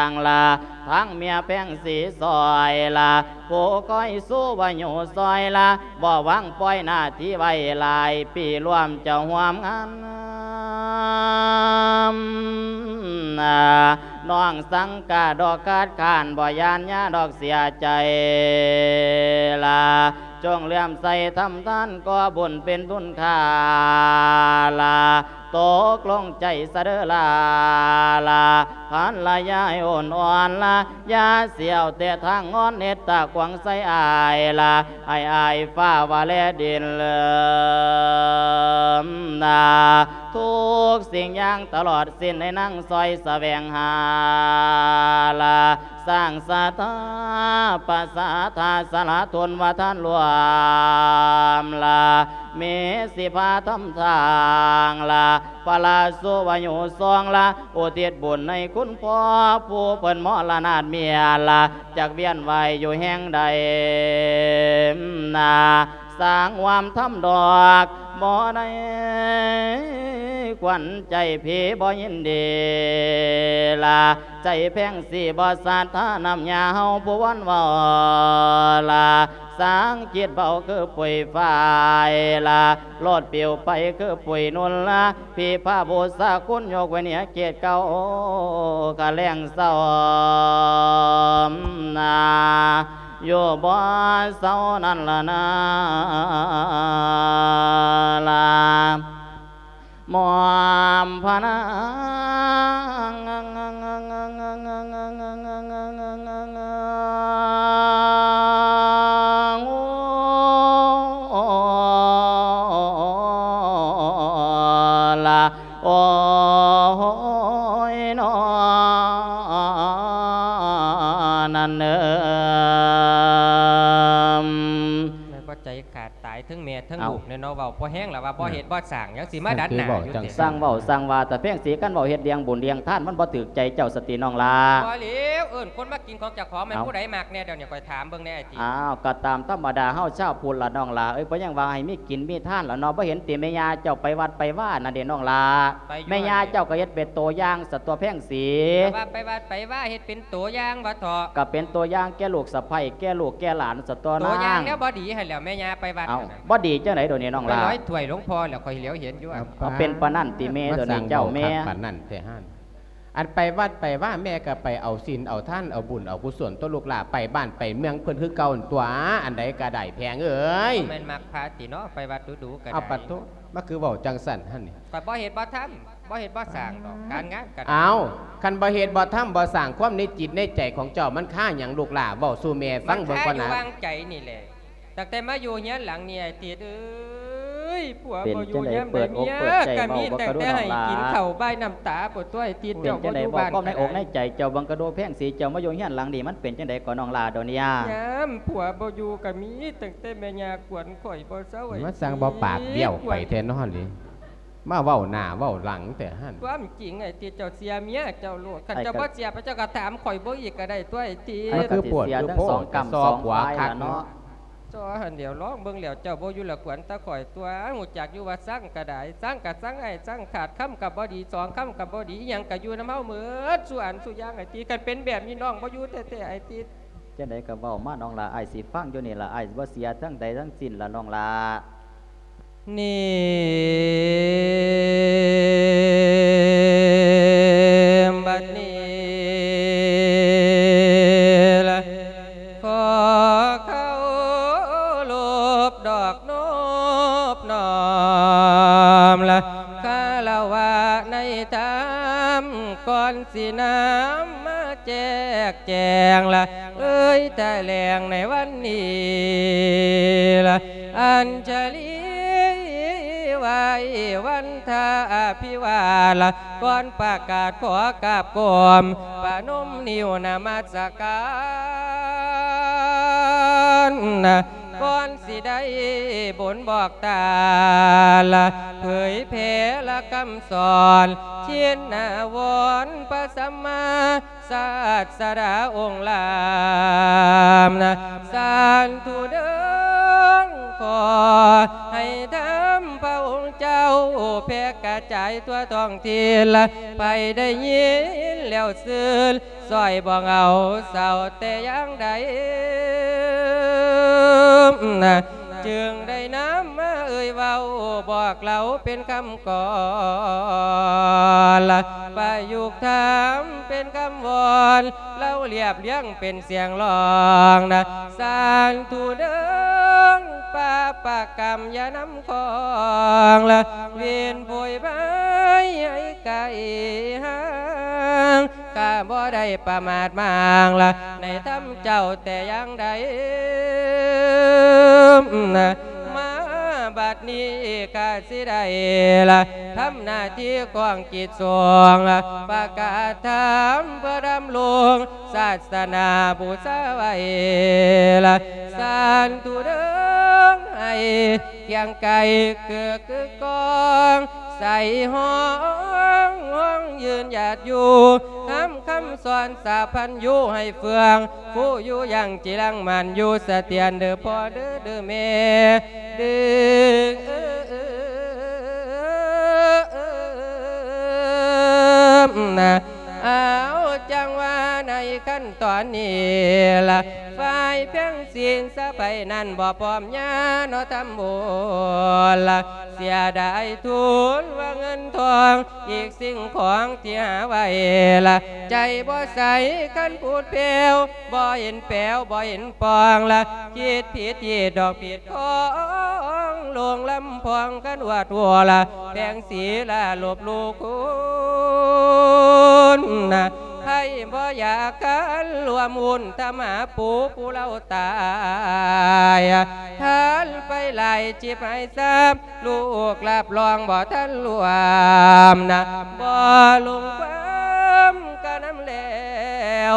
ງລະ ທັງເມຍແພງສີຊອຍລະ ຜູ້ຄອຍສູ້ວ່າຢູ່ຊອຍລະ ບໍ່ວາງປ່ອຍໜ້າທີ່ໄວ້ຫຼາຍປີ ລວມເຈົ້າຮ່ວມງານ ນາ ນ້ອງສັງກາດອກຄາດຄ້ານ ບໍ່ຢ້ານຍາດອກເສຍໃຈລະ ຈົ່ງເຫຼື້ອມໃສທຳທານ ກໍ່ບຸນເປັນທຸນຄ່າລະ ຕົກລົງໃຈຊະເດີລາລະ ພັນລະຍາໂອນອ່ອນລະ ຢ່າຊິເອົາແຕ່ທາງງອນ ເຮັດຕາຂວາງໃສ່ອ້າຍລະ ໃຫ້ອ້າຍຟ້າວ່າແລດິນເລີມນາ ທຸກສິ່ງຢ່າງຕະຫຼອດສິ້ນ ໃຫ້ນາງຊ່ອຍສະແຫວງຫາ ລະ ສ້າງສັດທາປະສາທາສະຫຼະທົນວ່າທ່ານລວມລະ ເມສິພາທຳທາງລະ ພະລາສຸວາຍຸສອງລະ ອຸທິດບຸນໃຫ້ຄຸນພໍ່ ຜູ້ເພິ່ນມໍລະນາດເມຍລະ ຈັກວຽນວ່າຍຢູ່ແຫ່ງໃດນາ ສ້າງຄວາມທຳດອກ ບໍ່ໄດ້ຂວັນໃຈພີ່ບໍ່ຍິນດີລະ ໃຈແພງສີບໍ່ສັດທານຳຍາເຮົາຜູ້ວັນເວົ້າລະ ສ້າງຈິດເບົາຄືປຸຍຝ້າຍລະ ໂລດປິວໄປຄືປຸຍນຸນລະ ພິພາບູຊາຄຸນຍົກໄວ້ເໜືອເກດເກົ່າ ກະແລງເຊົານາ ຢູ່ບໍ່ເຊົານັ້ນລະນາລາ ໝອມພະນາງ ລະ ໂອ້ຍ ນອ ນັ້ນເອີ ແມ່ນບໍ່ ໃຈຂາດຕາຍ ເທິງແມ່ເທິງ ເອົ້າ ລູກແນ່ເນາະ ເວົ້າພໍແຮງລະວ່າບໍ່ເຮັດບໍ່ສ້າງ ຍັງຊິມາດັດໜ້າຢູ່ແທ້ ຊ່າງເວົ້າຊ່າງວ່າ ຕາແພງສີ ຄັນເວົ້າເຮັດລ້ຽງບຸນລ້ຽງທານ ມັນບໍ່ຖືກໃຈເຈົ້າສະຕິນ້ອງຫຼ້າ ບໍ່ແລ້ວ ເອີ້ນຄົນມາກິນຂອງເຈົ້າຂອງ ແມ່ນ ເອົ້າ ຜູ້ໃດມັກແນ່ ດຽວນີ້ຂ້ອຍຖາມເບິ່ງແນ່ ອາ ຕິ ອ້າວ ກໍຕາມທຳມະດາເຮົາຊາວພຸດລະນ້ອງຫຼ້າເອີຍ ເພິ່ນຍັງວ່າໃຫ້ມີກິນມີທານລະເນາະ ບໍ່ເຫັນຕິແມ່ຍ່າເຈົ້າໄປວັດໄປວານັ້ນເດ້ນ້ອງຫຼ້າ ໄປຢູ່ ແມ່ຍ່າເຈົ້າກໍເຮັດເປັນໂຕຢ່າງສະຕົວະແພງສີ ແຕ່ວ່າໄປວັດໄປວາເຮັດເປັນໂຕຢ່າງວ່າເຖາະ ກໍເປັນໂຕຢ່າງແກ່ລູກສະໃພ້ແກ່ລູກແກ່ຫຼານສະຕົວະ ໂຕຢ່າງນາງ ແນວບໍ່ດີຫັ້ນແຫຼ້ວ ແມ່ຍ່າໄປວັດ ເອົ້າ ຫັ້ນນະ ບໍ່ດີຈັ່ງໃດດຽວນີ້ນ້ອງຫຼ້າ ໄປລອຍຖ້ວຍຫຼວງພໍ່ແລ້ວ ຂ້ອຍຫຼຽວເຫັນຢູ່ ເອົາ ເອົາ ເປັນປານນັ້ນຕິແມ່ ມາ ໂດນນີ້ເຈົ້າແມ່ ມາສ້າງເວົ້າຄັກປານນັ້ນແທ້ຫັ້ນ ອັນໄປວັດໄປວາແມ່ກໍໄປເອົາສິນເອົາທານ ເອົາບຸນເອົາກຸສົນຕົວະລູກຫຼ້າ ໄປບ້ານໄປເມືອງເພິ່ນຄືເກົ່າຫັ້ນຕົວະ ອັນໃດກໍໄດ້ແພງເອີຍ ບໍ່ແມ່ນມັກພະຕິເນາະ ໄປວັດດູໆກໍໄດ້ ເອົາປະໂທ ມັນຄືເວົ້າຈັ່ງຊັ້ນຫັ້ນນີ້ ຂ້ອຍບໍ່ເຮັດບໍ່ທຳ ບໍ່ເຮັດບໍ່ສ້າງດອກ ການງານກໍໄດ້ ເອົ້າ ຄັນບໍ່ເຮັດບໍ່ທຳບໍ່ສ້າງ ຄວາມໃນຈິດໃນໃຈຂອງເຈົ້າມັນຄາຫຍັງລູກຫຼ້າ ເວົ້າສູ່ແມ່ຟັງເບິ່ງກ່ອນນະ ມັນຄາຢູ່ຫວ່າງໃຈນີ້ແຫຼະ ຕັ້ງແຕ່ມາຢູ່ເຮືອນຫຼັງນີ້ ໄອ້ຕິດເອີຍ ຜົວບໍ່ຢູ່ຍາມໃດ ເມຍກໍມີ ຕັ້ງແຕ່ໃຫ້ກິນເຂົ້າບາຍນ້ຳຕາພຸ້ນຕົວະ ໄອ້ຕິດ ເຈົ້າບໍ່ຢູ່ບ້ານ ເປັນຈັ່ງໃດ ເວົ້າຄວາມໃນອົກໃນໃຈເຈົ້າເບິ່ງກະດູ ແພງສີ ເຈົ້າມາຢູ່ເຮືອນຫຼັງນີ້ ມັນເປັນຈັ່ງໃດກໍນ້ອງຫຼ້າດຽວນີ້ ຍາມຜົວບໍ່ຢູ່ກໍມີ ຕັ້ງແຕ່ແມ່ຍ່າກວນຂ້ອຍບໍ່ເຊົາ ມາສ້າງເວົ້າປາກບ້ຽວໄປແທ້ເນາະນີ້ ມາເວົ້າໜ້າເວົ້າຫຼັງແທ້ຫັ້ນ ຄວາມຈິງ ໄອ້ຕິດ ເຈົ້າເຊື່ອເມຍເຈົ້າໂລດ ຄັນເຈົ້າບໍ່ເຊື່ອ ເຈົ້າກໍຖາມຂ້ອຍເບິ່ງອີກກໍໄດ້ຕົວະ ໄອ້ຕິດ ມັນຄືປວດຄືໂພ ສອງກຳສອງຝ່າຍລະເນາະ ຊໍຫັ້ນແຫຼ້ວ ລອງເບິ່ງແລ້ວ ເຈົ້າບໍ່ຢູ່ລະກວນແຕ່ຂ້ອຍຕົວະ ຮູ້ຈັກຢູ່ວ່າຊັງກໍໄດ້ ຊັງກໍຊັງອ້າຍ ຊັງຂາດຄຳກໍບໍ່ດີ ສອງຄຳກໍບໍ່ດີ ອີ່ຫຍັງກໍຢູ່ນຳເຮົາໝົດ ສູ່ອັນສູ່ຢ່າງ ໄອ້ຕິດ ຄັນເປັນແບບນີ້ນ້ອງບໍ່ຢູ່ແທ້ໆ ໄອ້ຕິດ ຈັ່ງໃດກໍເວົ້າມານ້ອງຫຼ້າ ອ້າຍຊິຟັງຢູ່ນີ້ລະ ອ້າຍບໍ່ເສຍທັງໃດທັງສິ້ນລະນ້ອງຫຼ້າ ນີ້ ບັດນີ້ລະ ຂໍເຄົາລົບນອບນ້ອມລະ ຄາລະວະໃນທຳ ກ່ອນຊິນຳມາແຈກແຈງລະ ເອີຍຖະແຫຼງໃນວັນນີ້ລະ ອັນຊະລີໄຫວ້ວັນທາອະພິວາດລະ ກ່ອນປະກາດຂໍກາບກອມ ປະນົມນິ້ວນະມັດສະການ ກ່ອນຊິໄດ້ບົນບອກຕາລະ ເຜີຍແຜ່ລະຄຳສອນ ເຊນນະວອນພະສຳມາ ສາດສະດາອົງລາມນະ ສາທຸເດີ ຂໍໃຫ້ທຳພະອົງເຈົ້າ ແຜ່ກະຈາຍທົ່ວທ້ອງຖິ່ນລະ ໃຜໄດ້ຍິນແລ້ວຊື່ນ ຊ່ອຍບອກເອົາເຊົາແຕ່ຢ່າງໃດ ຈຶ່ງໄດ້ນຳມາເອີ່ຍເວົ້າ ບອກເລົ່າເປັນຄຳ ກ່ອນລະ ປະຍຸກທຳເປັນຄຳວອນ ເລົ່າລຽບລຽງເປັນສຽງຮ້ອງນະ ສາທຸເດີ ປາປະກຳຢ່ານຳຄອງລະ ເວນໂພຍບາຍໃຫ້ໄກຫ່າງ ຂ້າບໍ່ໄດ້ປະໝາດມ້າງລະ ໃນທຳເຈົ້າແຕ່ຢ່າງໃດ ມາ ດນີ້ຂ້າຊິໄດ້ລະ ທຳໜ້າທີ່ຂອງກິດສົງ ປະກາດທຳເພື່ອດຳລົງສາສະໜາບູຊາໄວ້ລະ ສາທຸເດີ ໃຫ້ຄຽງໄກ່ເກືອກຶກກ້ອງ ໃສ່ຮ້ອງ ຮ້ອງຢືນຢາດຢູ່ ນຳຄຳສອນສາພັນຢູ່ໃຫ້ເຟືອງ ຜູ້ຢູ່ຢ່າງຈິລັງໝັ້ນຢູ່ສະຖຽນເດີພໍ່ເດີ ເດີແມ່ເດີ ນະ ເອົາ ຈັ່ງວ່າໃນຂັ້ນຕອນນີ້ລະ ຝ່າຍແພງສີນສະໃພນັ້ນບໍ່ພ້ອມຍາເນາະທຳບຸນລະ ເສຍດາຍທຸນວ່າເງິນທອງ ອີກສິ່ງຂອງທີ່ຫາໄວ້ລະ ໃຈບໍ່ໃສຄັນພູດແຜ່ວ ບໍ່ເຫັນແປວ ບໍ່ເຫັນປ່ອງລະ ຄິດຜິດຮີດດອກຜິດຂອງ ຫຼົງລຳພອງກັນອວດຫົວລະ ແພງສີລະລົບຫຼູ່ຄຸນນະ ໃຜບໍ່ຢາກຄັນລວມຮຸ່ນທຳມາປູຜູ້ເລົ່າຕາຍ ທ່ານໄປຫຼາຍຈິບໃຫ້ຊາບ ລູກຮັບຮອງບໍ່ທັນລວມນະ ບໍ່ລົງຄວາມກະນຳແລ້ວ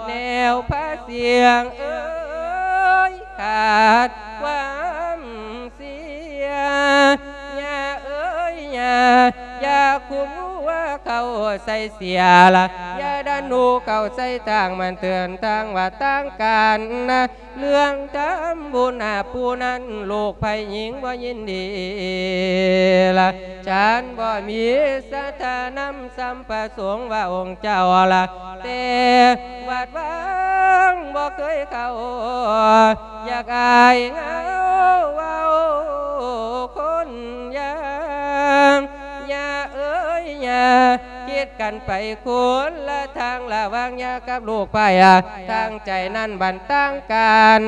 ແນວພາສຽງເອີຍ ຂາດຄວາມເສຍ ຍ່າເອີຍຍ່າ ຢ່າຄຸມຫົວເຂົ້າໃສ່ເສຍລະ ຢ່າດັນໜູເຂົ້າໃສ່ທາງ ມັນເຖື່ອນທາງວັດທາງການນະ ເລື່ອງທຳບຸນຫາຜູ້ນັ້ນ ລູກໃຜຍິງບໍ່ຍິນດີລະ ສັນບໍ່ມີສັດທານຳສຳພະສົງວ່າອົງເຈົ້າລະ ແຕ່ວັດວາງບໍ່ເຄີຍເຂົ້າ ຢາກອາຍເຫງົາເວົ້າຄົນຢ່າງ ຍ່າເອີຍຍ່າ ຄິດກັນໄປຄົນລະທາງລະຫວ່າງຍ່າກັບລູກໄພ ທາງໃຈນັ້ນບັນຕ່າງກັນ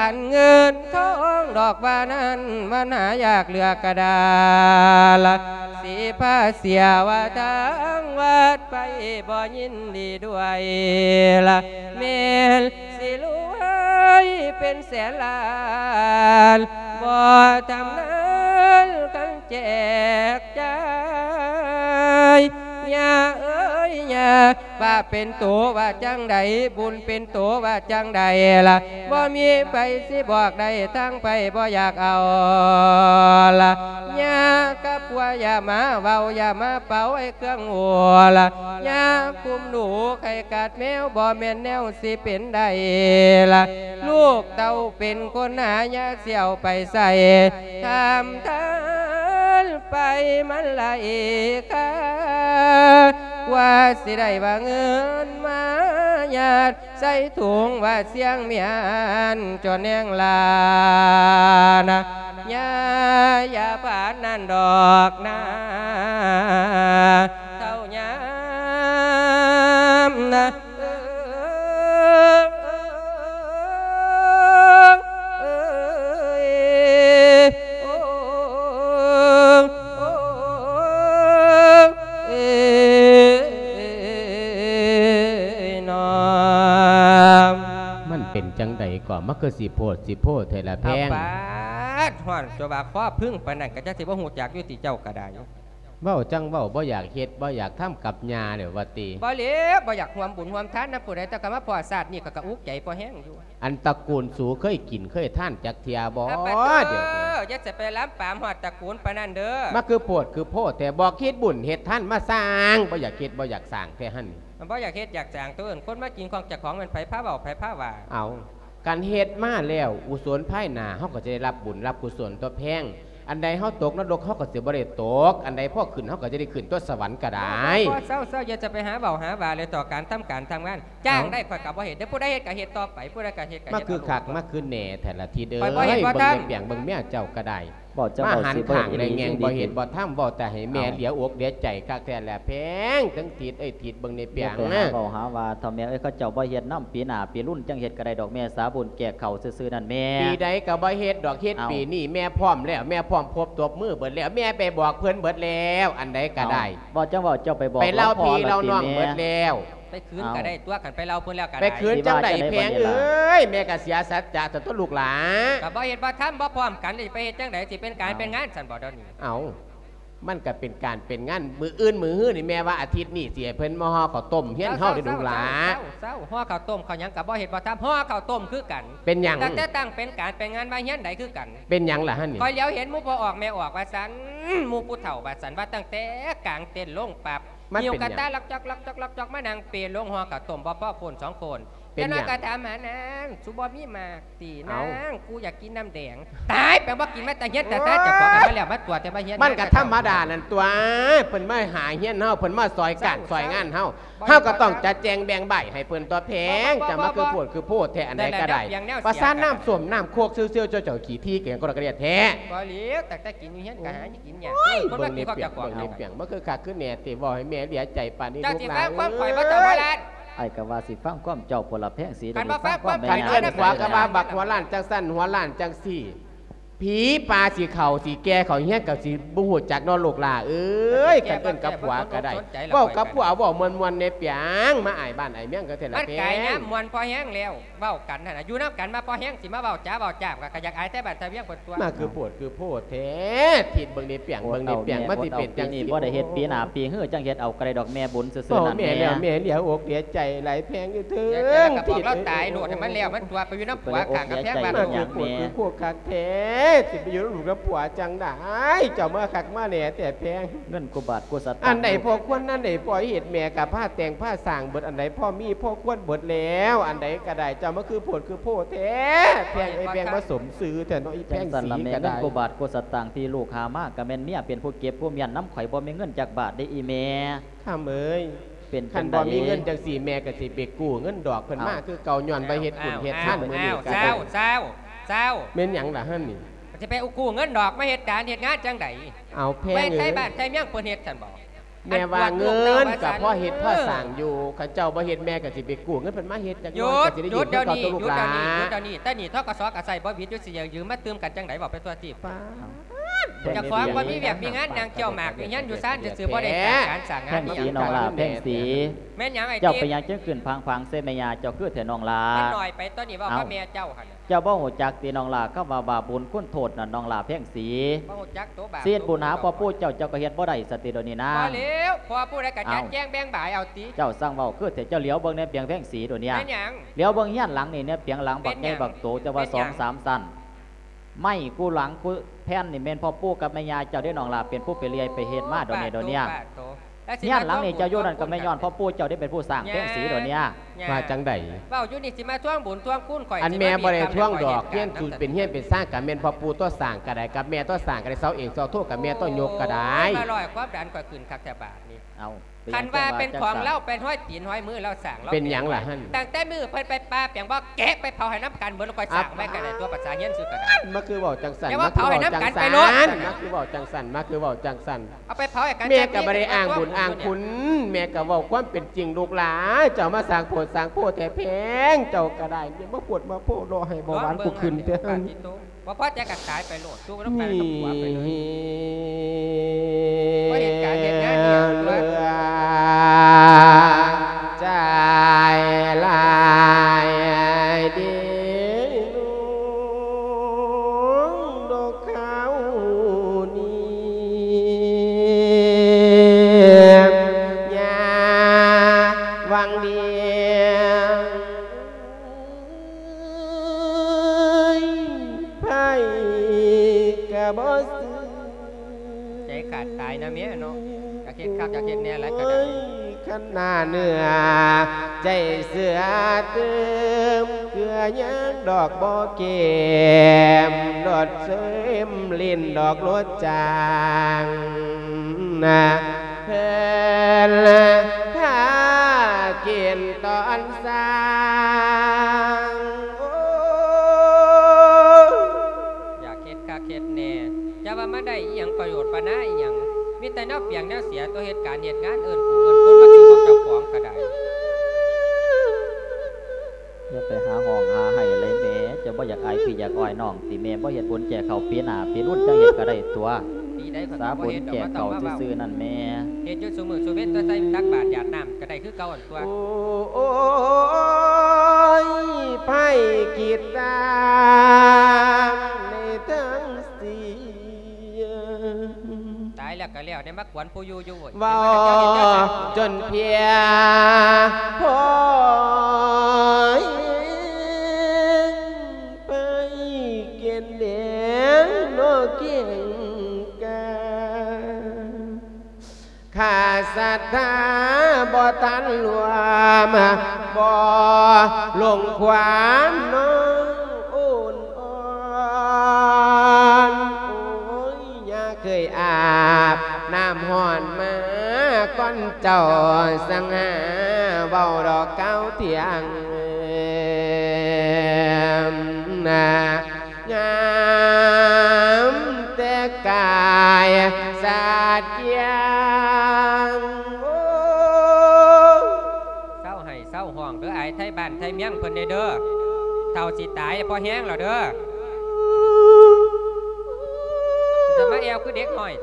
ອັນເງິນທອງດອກວ່ານັ້ນ ມັນຫາຍາກເຫຼືອກະດາລະ ຊິພາເສຍວ່າທາງວັດໄພບໍ່ຍິນດີດ້ວຍລະ ແມ່ນ ຊິລວຍເປັນແສນລ້ານ ບໍ່ທຳນານກັນແຈກຈ່າຍ ຍ່າເອີຍຍ່າ ບາບເປັນໂຕວ່າຈັ່ງໃດ ບຸນເປັນໂຕວ່າຈັ່ງໃດລະ ບໍ່ມີໃຜຊິບອກໄດ້ ທາງໃຜບໍ່ຢາກເອົາລະ ຍ່າກັບຜົວຢ່າມາເວົ້າ ຢ່າມາເປົ່າໃຫ້ເຄື່ອງຫົວລະ ຢ່າຄຸມໜູໄຂ່ກັດແມວ ບໍ່ແມ່ນແນວ ຊິເປັນໄດ້ລະ ລູກເຕົ້າເປັນຄົນຫາ ຢ່າຊິເອົາໄປໃສ່ ທຳທານໄປມັນຫຼາຍຄ່າ ກວ່າຊິໄດ້ວ່າເງິນມາຍາດໃສ່ຖົງ ວ່າສຽງມຽນຈົນແຫ້ງລານະ ຢ່າ ຢ່າປານນັ້ນດອກນາ ເທົ່າຍາມນະ ເອີ ເອີ ເອີ ເອີ ໂອ້ ໂອ້ ເອີ ເອີ ເນາະ ມັນເປັນຈັ່ງໃດກໍ ມັນຄືຊິໂພດຊິໂພແທ້ລະແພງ ເອົາປາດ ຮ້ອນ ຕົວວ່າຄໍພຶ້ງປານນັ້ນ ກໍຈັກຊິບໍ່ຮູ້ຈັກຢູ່ຕິເຈົ້າກໍໄດ້. ເວົ້າຈັ່ງເວົ້າ ບໍ່ຢາກເຮັດບໍ່ຢາກທຳກັບຍ່າແລ້ວວ່າຕິ? ບໍ່ແລ້ວ ບໍ່ຢາກຮ່ວມບຸນຮ່ວມທານນຳຜູ້ໃດ ແຕ່ກໍມາພໍ້ຊາດນີ້ ຂ້ອຍກໍອຸກໃຈພໍແຮງຢູ່. ອັນຕະກູນສູເຄີຍກິນເຄີຍທານຈັກເທື່ອບໍ່? ອາ ປະໂທ ດຽວນີ້ ຢ່າຈະໄປລຳປາມຮອດຕະກູນປານນັ້ນເດີ. ມາຄືໂພດຄືໂພແທ້ ບອກເຮັດບຸນເຮັດທານມາສ້າງ ບໍ່ຢາກເຮັດບໍ່ຢາກສ້າງແທ້ຫັ້ນ. ມັນບໍ່ຢາກເຮັດຢາກສ້າງ ໂຕເອີ້ນຄົນມາກິນຂອງເຈົ້າຂອງ ແມ່ນໃຜພາເວົ້າໃຜພາວ່າ. ເອົາ ຄັນເຮັດມາແລ້ວ ກຸສົນພາຍໜ້າເຮົາກໍຈະໄດ້ຮັບບຸນຮັບກຸສົນຕົວແພງ. ອັນໃດເຮົາຕົກນະລົກ ເຮົາກໍຊິບໍ່ໄດ້ຕົກ, ອັນໃດພໍຂຶ້ນ ເຮົາກໍຈະໄດ້ຂຶ້ນຕົວສະຫວັນກໍໄດ້. ເວົ້າ ເວົ້າ ເຊົາໆ ຢ່າຈະໄປຫາເວົ້າຫາວ່າເລີຍ ຕໍ່ການທຳການທຳງານ. ຈ້າງໄດ້ ເອົາ ຂ້ອຍກໍບໍ່ເຮັດເດີ, ຜູ້ໃດເຮັດກໍເຮັດຕໍ່ໄປ, ຜູ້ໃດກໍເຮັດກໍເຮັດ ມາຄືຄັກ ມາຄືແນ່ແທ້ລະທີເດີ. ຂ້ອຍບໍ່ເຮັດບໍ່ທຳ. ເບິ່ງແມ່ເຈົ້າກໍໄດ້. ເວົ້າເຈົ້າ ມາ ເວົ້າ ຫັນຂ້າງແລະແງ່ງ ບໍ່ເຮັດບໍ່ທຳ ເວົ້າແຕ່ໃຫ້ແມ່ ເອົ້າ ເຫຼືອອົກເຫຼືອໃຈຄັກແທ້ແຫຼະແພງ. ເຖິງທິດເອີຍ ທິດເບິ່ງໃນປຽງ ຢ່າໄປຫາເວົ້າຫາວ່າ ເຖົ້າແມ່ເອີຍ ເຂົາເຈົ້າບໍ່ເຮັດນຳ ປີໜ້າປີລຸນຈັ່ງເຮັດກໍໄດ້ດອກ ແມ່ສາບຸນແຈກເຂົ້າຊື່ໆນັ້ນແມ່. ປີໃດກໍບໍ່ເຮັດດອກ ເຮັດ ເອົ້າ ປີນີ້ ແມ່ພ້ອມແລ້ວ ແມ່ພ້ອມຄົບຕົບມືເບິດແລ້ວ ແມ່ໄປບອກເພິ່ນເບິດແລ້ວ ອັນໃດກໍໄດ້. ເອົ້າ ເວົ້າຈັ່ງເວົ້າ ເຈົ້າໄປບອກ ໄປເລົ່າພີ່ເລົ່ານ້ອງເບິດແລ້ວ. ໄປຄືນກໍໄດ້ຕົວະ ຄັນໄປເລົ່າເພິ່ນແລ້ວກໍໄດ້ ໄປຄືນຈັ່ງໃດແພງເອີຍ ແມ່ກໍເສຍສັດຈະຕົວະລູກຫຼ້າ ກໍບໍ່ເຮັດບໍ່ທຳບໍ່ພ້ອມກັນ ຊິໄປເຮັດຈັ່ງໃດ ຊິເປັນການເປັນງານຊັ້ນບໍ່ດຽວນີ້ ເອົ້າ ມັນກໍເປັນການເປັນງານ ມື້ອື່ນມື້ຮືນີ້ ແມ່ວ່າອາທິດນີ້ຊິໃຫ້ເພິ່ນມາຫໍ່ເຂົ້າຕົ້ມຮຽນເຮົາເດ້ລູກຫຼ້າ ເຊົາໆ ຫໍ່ເຂົ້າຕົ້ມເຂົ້າຫຍັງກໍບໍ່ເຮັດບໍ່ທຳ ຫໍ່ເຂົ້າຕົ້ມຄືກັນ ເປັນຫຍັງ ຕັ້ງແຕ່ຕັ້ງເປັນການເປັນງານມາຮຽນໄດ້ຄືກັນ ເປັນຫຍັງລະຫັ້ນນີ້ ຂ້ອຍຫຼຽວເຫັນໝູ່ພໍ່ອອກແມ່ອອກວ່າຊັ້ນ ໝູ່ຜູ້ເຖົ້າວ່າຊັ້ນ ວ່າຕັ້ງແຕ່ກາງເຕັນລົງປັບ ຫິ້ວກະຕ່າລັອກຈອກໆໆໆ ມານັ່ງເປລົງຫໍ່ເຂົ້າຕົ້ມ ບໍ່ພໍຄົນສອງຄົນ ເປັນຫຍັງ ຈັກໜ້ອຍກໍຖາມຫານາງ ສູບໍ່ມີໝາກຕິ ເອົ້າ ນາງ ກູຢາກກິນນ້ຳແດງ ຕາຍ ແປວ່າກິນມາແຕ່ເຮືອນແຕ່ຊານ ເຈົ້າຂອງກັນມາແລ້ວ ມາຕົວະແຕ່ມາເຮືອນ ມັນກໍທຳມະດານັ້ນຕົວະ ເພິ່ນມາຫາຮຽນເຮົາ ເພິ່ນມາຊ່ອຍການຊ່ອຍງານເຮົາ ເຮົາກໍຕ້ອງຈັດແຈງແບ່ງໃບໃຫ້ເພິ່ນຕົວະແພງ ເຈົ້າມາຄືໂພດຄືໂພດແທ້ ອັນໃດກໍໄດ້ ປະສານນ້ຳສົ້ມນ້ຳໂຄກເຊວໆ ເຈົ້າເຈົ້າຂີ້ຖີ່ກະຫຍັງກໍລະກະດຽດແທ້ ບໍ່ຫຼຽວ ຕັ້ງແຕ່ກິນຢູ່ເຮືອນກໍຫາກິນຍາກ ໂອ້ຍ ເບິ່ງນີ້ປຽງ ເບິ່ງນີ້ປຽງ ມັນຄືຄັກຄືແນ່ແທ້ ເວົ້າໃຫ້ແມ່ເສຍໃຈປານນີ້ ເຈົ້າຊິຟັງຄວາມຂ້ອຍບໍ່ ເຈົ້າຫົວລ້ານ ອ້າຍກໍວ່າຊິຟັງຄວາມເຈົ້າພຸ້ນລະແພງສີ ຄັນບໍ່ຟັງຄວາມ ຄັນເອີ້ນຜົວກໍວ່າບັກຫົວລ້ານຈັ່ງຊັ້ນ ຫົວລ້ານຈັ່ງຊີ້ ຜີປ່າຊິເຂົ້າ ຊິແກ່ເຂົ້າເຮືອນກໍຊິບໍ່ຮູ້ຈັກເນາະລູກຫຼ້າເອີຍ ຄັນເອີ້ນກັບຜົວກໍໄດ້ ເວົ້າກັບຜົວເວົ້າມ່ວນໆແດ່ປຽງ ມາອາຍບ້ານອາຍເມືອງກໍແທ້ລະແພງ ມັນກາຍຍາມມ່ວນພໍແຮງແລ້ວ ເວົ້າກັນຫັ້ນນະ ຢູ່ນຳກັນມາພໍແຮງ ຊິມາເວົ້າຈາເວົ້າຈາບ ກໍຢາກອາຍແຕ່ບ້ານແຕ່ວຽງເພິ່ນຕົວະ ມາຄືໂພດຄືໂພດແທ້ ທິດເບິ່ງນີ້ປຽງ ເບິ່ງນີ້ປຽງ ມັນຊິເປັນຈັ່ງຊີ້ ບໍ່ໄດ້ເຮັດປີໜ້າປີຮື ຈັ່ງເຮັດເອົາກໍໄດ້ດອກແມ່ບຸນຊື່ໆນັ້ນແມ່ ແມ່ແລ້ວແມ່ເສຍອົກເສຍໃຈຫຼາຍແພງເອີຍ ເຖິງທິດ ລາວຕາຍໂລດ ໃຫ້ມັນແລ້ວມັນຕົວະ ໄປຢູ່ນຳຜົວຂ້າງກຳແພງບ້ານ ມາຄືໂພດຄືໂພດຄັກແທ້ ຊິໄປຢູ່ນຳລູກນຳຜົວຈັ່ງໃດ ເຈົ້າມາຄັກມາແນ່ແທ້ແພງ ເງິນກູບາດກູສະຕາງ ອັນໃດພໍຄວນ ອັນໃດພໍເຮັດ ແມ່ກໍພາແຕ່ງພາສ້າງເບິດ ອັນໃດພໍມີພໍຄວນເບິດແລ້ວ ອັນໃດກໍໄດ້ ເຈົ້າມາຄືໂພດຄືໂພແທ້ ແພງເອີຍ ແພງບໍ່ສົມຊື່ແທ້ເນາະ ອີແພງສີກໍໄດ້ ເງິນກູບາດກູສະຕາງທີ່ລູກຫາມາ ກໍແມ່ນເມຍເປັນຜູ້ເກັບຜູ້ມ້ຽນນຳ ຂ້ອຍບໍ່ມີເງິນຈັກບາດເດ້ອີແມ່ ຄຳເອີຍ ຄັນບໍ່ມີເງິນຈັ່ງຊີ້ ແມ່ກໍຊິໄປກູ້ເງິນດອກເພິ່ນມາຄືເກົ່າ ຍ້ອນວ່າເຮັດບຸນເຮັດທານມື້ນີ້ກໍໄດ້ ເຊົາ ເຊົາ ເຊົາ ແມ່ນຫຍັງລະຫັ້ນນີ້ ຊິໄປກູ້ເງິນດອກມາເຮັດການເຮັດງານຈັ່ງໃດ ເອົາແພງເອີຍ ໄທບ້ານໄທເມືອງເພິ່ນເຮັດຊັ້ນບໍ່ ແມ່ວ່າເງິນກໍພໍເຮັດພໍສ້າງຢູ່ ຄັນເຈົ້າບໍ່ເຮັດແມ່ກໍຊິໄປກູ້ເງິນເພິ່ນມາເຮັດຈັກໜ້ອຍ ກໍຊິໄດ້ຢືມຄືເກົ່າຕົວະລູກຫຼ້າ ແຕ່ນີ້ ທກສ ກໍໃຊ້ບໍ່ຜິດຢູ່ ຊິຢືມມາຕື່ມກັນຈັ່ງໃດ ເວົ້າໄປທົ່ວທີບ ປາດ ເຈົ້າຂອງບໍ່ມີວຽກມີງານ ນັ່ງກ່ຽວໝາກຢູ່ເຮືອນຢູ່ຊານຊື່ໆ ບໍ່ໄດ້ສ້າງການສ້າງງານ ແພງສີ ນ້ອງຫຼ້າແພງສີ ແມ່ນຫຍັງອ້າຍ ເຈົ້າເປັນຫຍັງຈຶ່ງຂຶ້ນພາງໆໃສ່ແມ່ຍ່າເຈົ້າຄືແທ້ນ້ອງຫຼ້າ ມັນໜ້ອຍໄປຕົວະນີ້ ເວົ້າກັບແມ່ເຈົ້າຫັ້ນ ເຈົ້າບໍ່ຮູ້ຈັກຕິນ້ອງຫຼ້າ ຄຳວ່າບາບບຸນຄຸນໂທດນັ້ນນ້ອງຫຼ້າແພງສີ ສີດບຸນຫາພໍ່ປູ່ເຈົ້າ ເຈົ້າກໍເຮັດບໍ່ໄດ້ສະຕິດຽວນີ້ນາ ບໍ່ແລ້ວ ພໍ່ຜູ້ໃດກໍຈັດແຈງແບ່ງບາຍເອົາຕິ ເຈົ້າຊ່າງເວົ້າຄືແທ້ ເຈົ້າຫຼຽວເບິ່ງແນ່ປຽງແພງສີດຽວນີ້ ແມ່ນຫຍັງ ຫຼຽວເບິ່ງເຮືອນຫຼັງນີ້ແນ່ປຽງ ຫຼັງບັກໃຫຍ່ບັກໂຕ ແຕ່ວ່າສອງສາມຊັ້ນ ໄມ້ຄູ່ຫຼັງຄູ່ແຜ່ນນີ້ແມ່ນພໍ່ປູ່ກັບແມ່ຍ່າເຈົ້າເດ້ນ້ອງຫຼ້າ ເປັນຜູ້ໄປເລື່ອຍໄປເຮັດມາດຽວນີ້ດຽວນີ້ ເຮືອນຫຼັງນີ້ເຈົ້າຢູ່ນັ້ນກໍແມ່ນຍ້ອນພໍ່ປູ່ເຈົ້າໄດ້ເປັນຜູ້ສ້າງແພງສີດຽວນີ້ ວ່າຈັ່ງໃດ ເວົ້າຢູ່ນີ້ຊິມາທວງບຸນທວງຄຸນຂ້ອຍ ອັນແມ່ບໍ່ໄດ້ທວງດອກ ເຮືອນສູນເປັນເຮືອນເປັນຊານກໍແມ່ນພໍ່ປູ່ຕົວະສ້າງກໍໄດ້ ກັບແມ່ຕົວະສ້າງກໍໄດ້ ເສົາເອກເສົາໂທກໍແມ່ຕົວະຍົກກໍໄດ້ ມາລອຍຄວາມດັນຂ້ອຍຂຶ້ນຄັກແທ້ບາດນີ້ ເອົ້າ ຄັນວ່າເປັນຂອງລາວ ເປັນຮອຍຕີນຮອຍມືລາວສ້າງ ເປັນຫຍັງລະຫັ້ນ ຕັ້ງແຕ່ມື້ເພິ່ນໄປປ່າແປງບໍ່ແກະໄປເຜົາໃຫ້ນຳກັນເບິດ ລະຄ່ອຍສ້າງໄວ້ກໍໄດ້ຕົວະ ພາສາຮຽນຊື່ກໍໄດ້ ມາຄືເວົ້າຈັ່ງຊັ້ນ ແຕ່ວ່າເຜົາໃຫ້ນຳກັນໄປໂລດ ມາຄືເວົ້າຈັ່ງຊັ້ນ ມາຄືເວົ້າຈັ່ງຊັ້ນ ເອົາໄປເຜົາໃຫ້ກັນ ແມ່ກໍບໍ່ໄດ້ອ້າງບຸນອ້າງຄຸນ ແມ່ກໍເວົ້າຄວາມເປັນຈິງ ລູກຫຼ້າ ເຈົ້າມາສ້າງໂພດສ້າງໂພແທ້ແພງ ເຈົ້າກໍໄດ້ ແມ່ມາໂພດມາໂພເນາະ ໃຫ້ເບົາຫວານກູຂຶ້ນແທ້ ປາດຕິໂຕ ບໍ່ພໍໃຈກໍຕາຍໄປໂລດ ຢູ່ນຳກັນກັບຜົວໄປເລີຍ ບໍ່ເຮັດການເຮັດງານອີ່ຫຍັງຕົວະ ໃຈຫຼາຍເດ ດອກເຂົານີ້ ຢ່າຫວັງດີ ເອີຍ ໃຜກໍບໍ່ຊື່ ໃຈຂາດຕາຍນະເມຍເນາະ ຢາກເຮັດຄັກຢາກເຮັດແນ່ຫຼາຍກໍໄດ້ ຄັນໜ້າເນື້ອໃຈເຊື່ອຕື່ມ ເກືອຍັງດອກບໍ່ເກມ ດອດເຊມຫຼິ້ນດອກລົດຈາງນະ ເພິ່ນພາກິນຕອນຊ່າງ ໂອ້ ຢາກເຮັດຄັກເຮັດແນ່ ຢ່າວ່າມາໄດ້ອີ່ຫຍັງປະໂຫຍດປະນາອີ່ຫຍັງ ມີແຕ່ແນວປຽງແນວເສຍ ຕົວະເຮັດການເຮັດງານ ເອີ້ນຜູ້ເອີ້ນຄົນມາກິນຂອງເຈົ້າຂອງກໍໄດ້ ຢ່າໄປຫາຮ້ອງຫາໄຫ້ເລີຍແມ່ ເຈົ້າບໍ່ຢາກອາຍພີ່ຢາກອາຍນ້ອງຕິ ແມ່ບໍ່ເຮັດບຸນແຈກເຂົ້າປີໜ້າປີລຸນ ຈັ່ງເຮັດກໍໄດ້ຕົວະ. ດີໃດ ຂ້ອຍກໍບໍ່ເຮັດດອກ ສາບຸນແຈກເຂົ້າຊື່ໆນັ້ນແມ່ ເຮັດຢູ່ຊຸມື້ຊຸເວັນ ແຕ່ໃສ່ຕັກບາດຢາດນ້ຳກໍໄດ້ຄືເກົ່າຫັ້ນຕົວະ. ໂອ້ຍ ໃຜຄິດຕ່າງໃນທັງສີ່ ຕາຍແລ້ວກໍແລ້ວ ໄດ້ມາກວນຜູ້ຢູ່ຢູ່ເວີຍ ເວົ້າຈົນເພຍພໍແຮງ ໄປເກນແດງເນາະເກັ່ງກາ ຂ້າສັດທາບໍ່ທັນລວມ ບໍ່ລົງຄວາມນ້ອງໂອນອ່ອນ ໂອ້ຍ ຢ່າເຄີຍອາບນ້ຳຮ້ອນມາກ່ອນເຈົ້າ ສັງຫາເວົ້າດອກກ່າວທ່ຽງນາ ງາມແຕ່ກາຍສາດກຽງ ໂອ້ ເຊົາໄຫ້ເຊົາຮ້ອງເດີ ອາຍໄທບ້ານໄທເມືອງເພິ່ນແດ່ເດີ ເຖົ້າຊິຕາຍພໍແຮງແລ້ວເດີ ຈະມາແອວຄືເດັກນ້ອຍ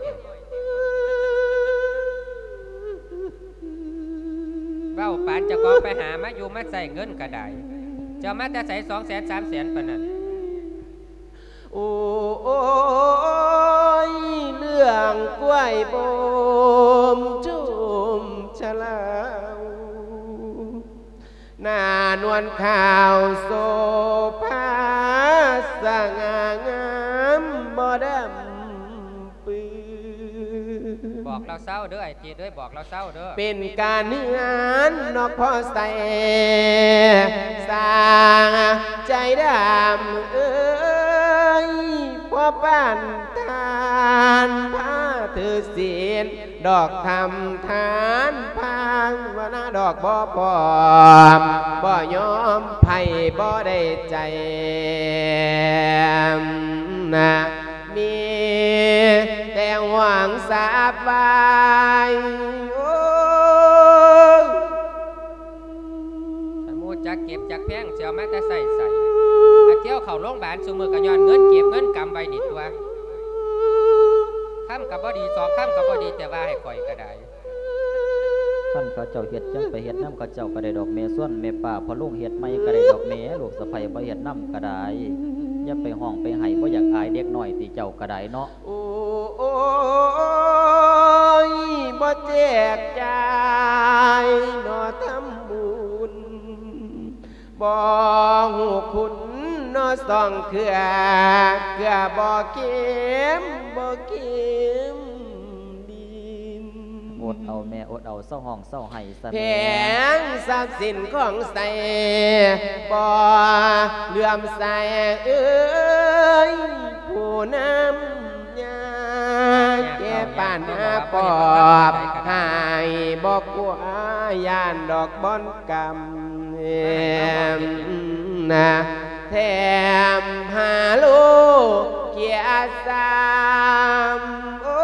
ເວົ້າປານເຈົ້າຂອງໄປຫາມາຢູ່ມາໃຊ້ເງິນກໍໄດ້ ເຈົ້າມາແຕ່ໃສ ສອງແສນ ສາມແສນປານນັ້ນ? ໂອ້ຍ ເລື່ອງກ້ວຍບົ່ມຊຸມຊະລາວ ໜ້ານວນຂາວໂສພາ ສະຫງ່າງາມບໍ່ດຳ ປຶ້ ບອກລາວເຊົາເດີ ໄອ້ເຈດເອີຍ ບອກລາວເຊົາເດີ ເປັນການເຮືອນນອກພໍໃສ່ ສ້າງໃຈດຳເອີຍ ພໍປານທານພາຖືສິນ ດອກທຳທານພາວະນາ ດອກບໍ່ພ້ອມ ບໍ່ຍອມໃຜບໍ່ໄດ້ໃຈ ນະ ມີແຕ່ຫວັງສາບໄວ້ ໂອ້ ຄັນຮູ້ຈັກເກັບຈັກແພງ ຊິເອົາມາແຕ່ໃສໃສ ອາ ທ່ຽວເຂົ້າໂລງບານຊຸມື້ກໍຍ້ອນເງິນເກັບເງິນກຳໄວ້ນີ້ຕົວະ ຄຳກໍບໍ່ດີ ສອງຄຳກໍບໍ່ດີ ແຕ່ວ່າໃຫ້ຂ້ອຍກໍໄດ້. ຄັນເຂົາເຈົ້າເຮັດ ຈັ່ງໄປເຮັດນຳເຂົາເຈົ້າກໍໄດ້ດອກແມ່ ຊວນແມ່ປ້າພໍ່ລຸງເຮັດໃໝ່ກໍໄດ້ດອກແມ່ ລູກສະໃພ້ບໍ່ເຮັດນຳກໍໄດ້ ຢ່າໄປຮ້ອງໄປໄຫ້ ບໍ່ຢາກອາຍເດັກນ້ອຍຕິເຈົ້າກໍໄດ້ເນາະ. ໂອ້ຍ ບໍ່ແຈກຈ່າຍເນາະທຳບຸນ ບໍ່ຮູ້ຄຸນເນາະສອງເຄືອ ເກືອບໍ່ເຄັມ ບໍ່ເຄັມດິນ ອົດເອົາແມ່ ອົດເອົາ ເຊົາຮ້ອງເຊົາໄຫ້ຊະແມ່ ແຜງຊັບສິນຂອງໃສ ບໍ່ເຫຼື້ອມໃສເອີຍ ຜູ້ນຳ ຍາແກ່ປານຫາປອບ ຫາຍບໍ່ກົວຢ້ານດອກບ່ອນກຳ ນະ ແຖມຫາໂລກກຽດຊາມ ໂອ້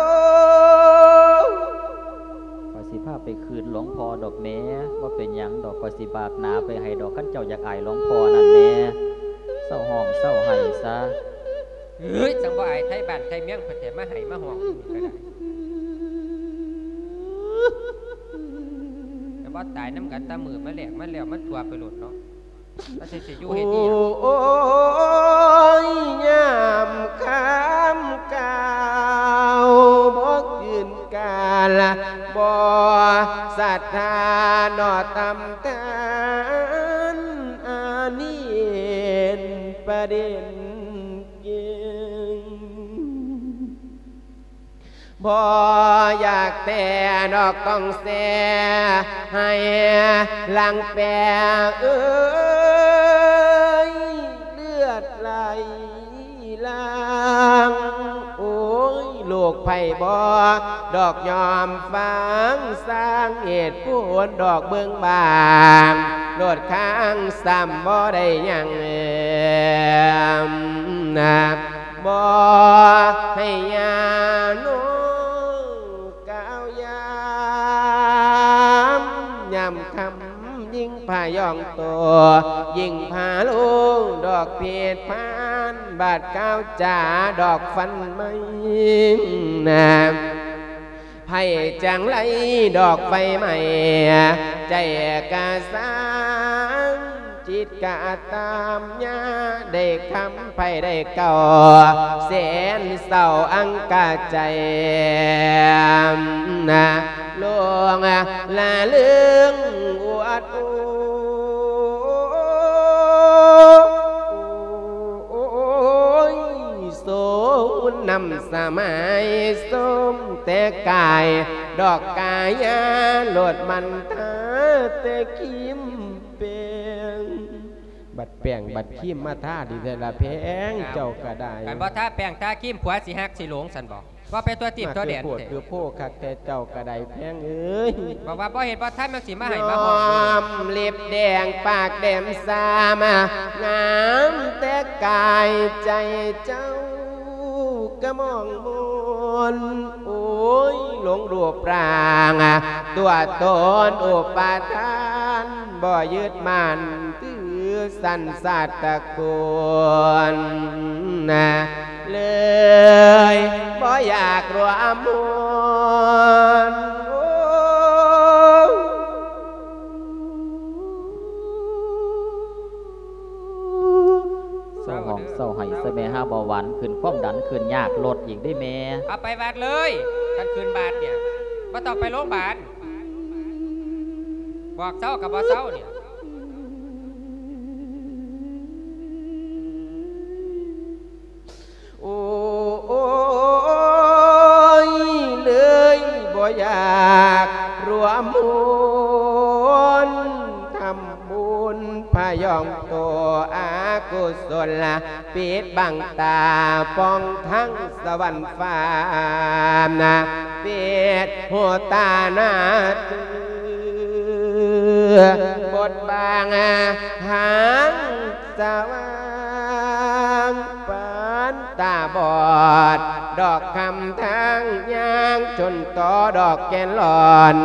ຂ້ອຍຊິພາໄປຄືນຫຼວງພໍ່ດອກແມ່ ບໍ່ເປັນຫຍັງດອກ ຂ້ອຍຊິບາກໜ້າໄປໃຫ້ດອກ ຄັນເຈົ້າຢາກອາຍຫຼວງພໍ່ນັ້ນແມ່ ເຊົາຮ້ອງເຊົາໄຫ້ຊະ. ເອີຍ ຈັ່ງບໍ່ອາຍໄທບ້ານໄທເມືອງເພິ່ນແທ້ ມາໄຫ້ມາຮ້ອງຢູ່ນີ້ກໍໄດ້ ແຕ່ບໍ່ຕາຍນຳກັນ ຕາມືມາແລກມາແລ້ວ ມັນທົ່ວໄປໂລດເນາະ ວ່າຊິ ຊິຢູ່ເຮັດອີ່ຫຍັງ. ໂອ້ຍ ຍາມຄຳກ່າວບໍ່ຄືນການ ບໍ່ສັດທາເນາະທຳທ່ານ ອັນນີ້ເປັນປະເດັນ ບໍ່ຢາກແຕ່ດອກຕ້ອງແຊ່ໃຫ້ຫຼັງແປເອີຍ ເລືອດໄຫຼຫຼັງ ໂອ້ຍ ລູກໃຜບໍ່ດອກຍອມຟັງ ສ້າງເຫດຜົນດອກເບິ່ງບາງ ໂລດຄ້າງຊ້ຳບໍ່ໄດ້ຫຍັງ ນະ ບໍ່ໃຫ້ຍາໂນ ກ່າວຢາມ ຍາມຄ່ຳຍິງພະຍອງໂຕ ຍິ່ງພາໂລດອກເພັດພານ ບາດກ້າວຈາດອກຟັນໄມ້ນະ ໃຜຈັ່ງໄລດອກໄຟໄໝ້ ໃຈກະສາງ ຈິດກະຕາມຍາ ໄດ້ຄຳ ໃຜໄດ້ເກົ້າແສນເສົ້າອັງກະໃຈນະ ຫຼົງລະເລີງອວດໂອຍ ສົມນຳສະໄໝສົມແຕ່ກາຍ ດອກກາຍາໂລດມັນທາແຕ່ຄີມແປ້ງ ບັດແປ້ງບັດຄີມມາທາດີແທ້ລະແພງ ເຈົ້າກະໄດ້ ຄັນບໍ່ທາແປ້ງທາຄີມ ຜົວຊິຮັກຊິຫຼົງຊັ້ນບໍ? ເວົ້າໄປທົ່ວທີບທົ່ວແດນ ມາຄືໂພດຄືໂພຄັກແທ້ ເຈົ້າກະໄດ້ແພງເອີຍ ບອກວ່າບໍ່ເຮັດບໍ່ທຳ ຍັງຊິມາໃຫ້ມາຮ້ອງຢູ່ ຍອມເລັບແດງປາກແດມຊາມ ງາມແຕ່ກາຍໃຈເຈົ້າກະມອງມົນ ໂອຍ ຫຼົງຮູບຮ່າງ ຕົວຕົນອຸປາທານ ບໍ່ຍຶດໝັ້ນຖື ສັນຊາດຕະກຸນນະ ເລີຍບໍ່ຢາກຮ່ວມຮຸ່ນ ໂອ້ ເຊົາຮ້ອງເຊົາໄຫ້ຊະແມ່ ຫາເບົາຫວານຂຶ້ນ ຄວາມດັນຂຶ້ນ ຍາກລົດອີກເດ້ແມ່ ເອົາໄປວັດເລີຍ ຄັນຂຶ້ນບາດເນຍ ບໍ່ຕ້ອງໄປໂລງບານ ບອກເຊົາກະບໍ່ເຊົາເນຍ. ໂອຍ ເລີຍບໍ່ຢາກຮ່ວມບຸນ ທຳບຸນພະຍອງໂຕອາກຸສົນລະ ປິດບັງຕາປ່ອງທັງສະຫວັນຟ້ານະ ປິດຫູຕາໜ້າເຕືອ ບົດບາງຫາງສະຫວ່າງ ປານຕາບອດ ດອກຄຳທາງຍ່າງ ຈົນຕໍ່ດອກແກ່ນຫຼອນ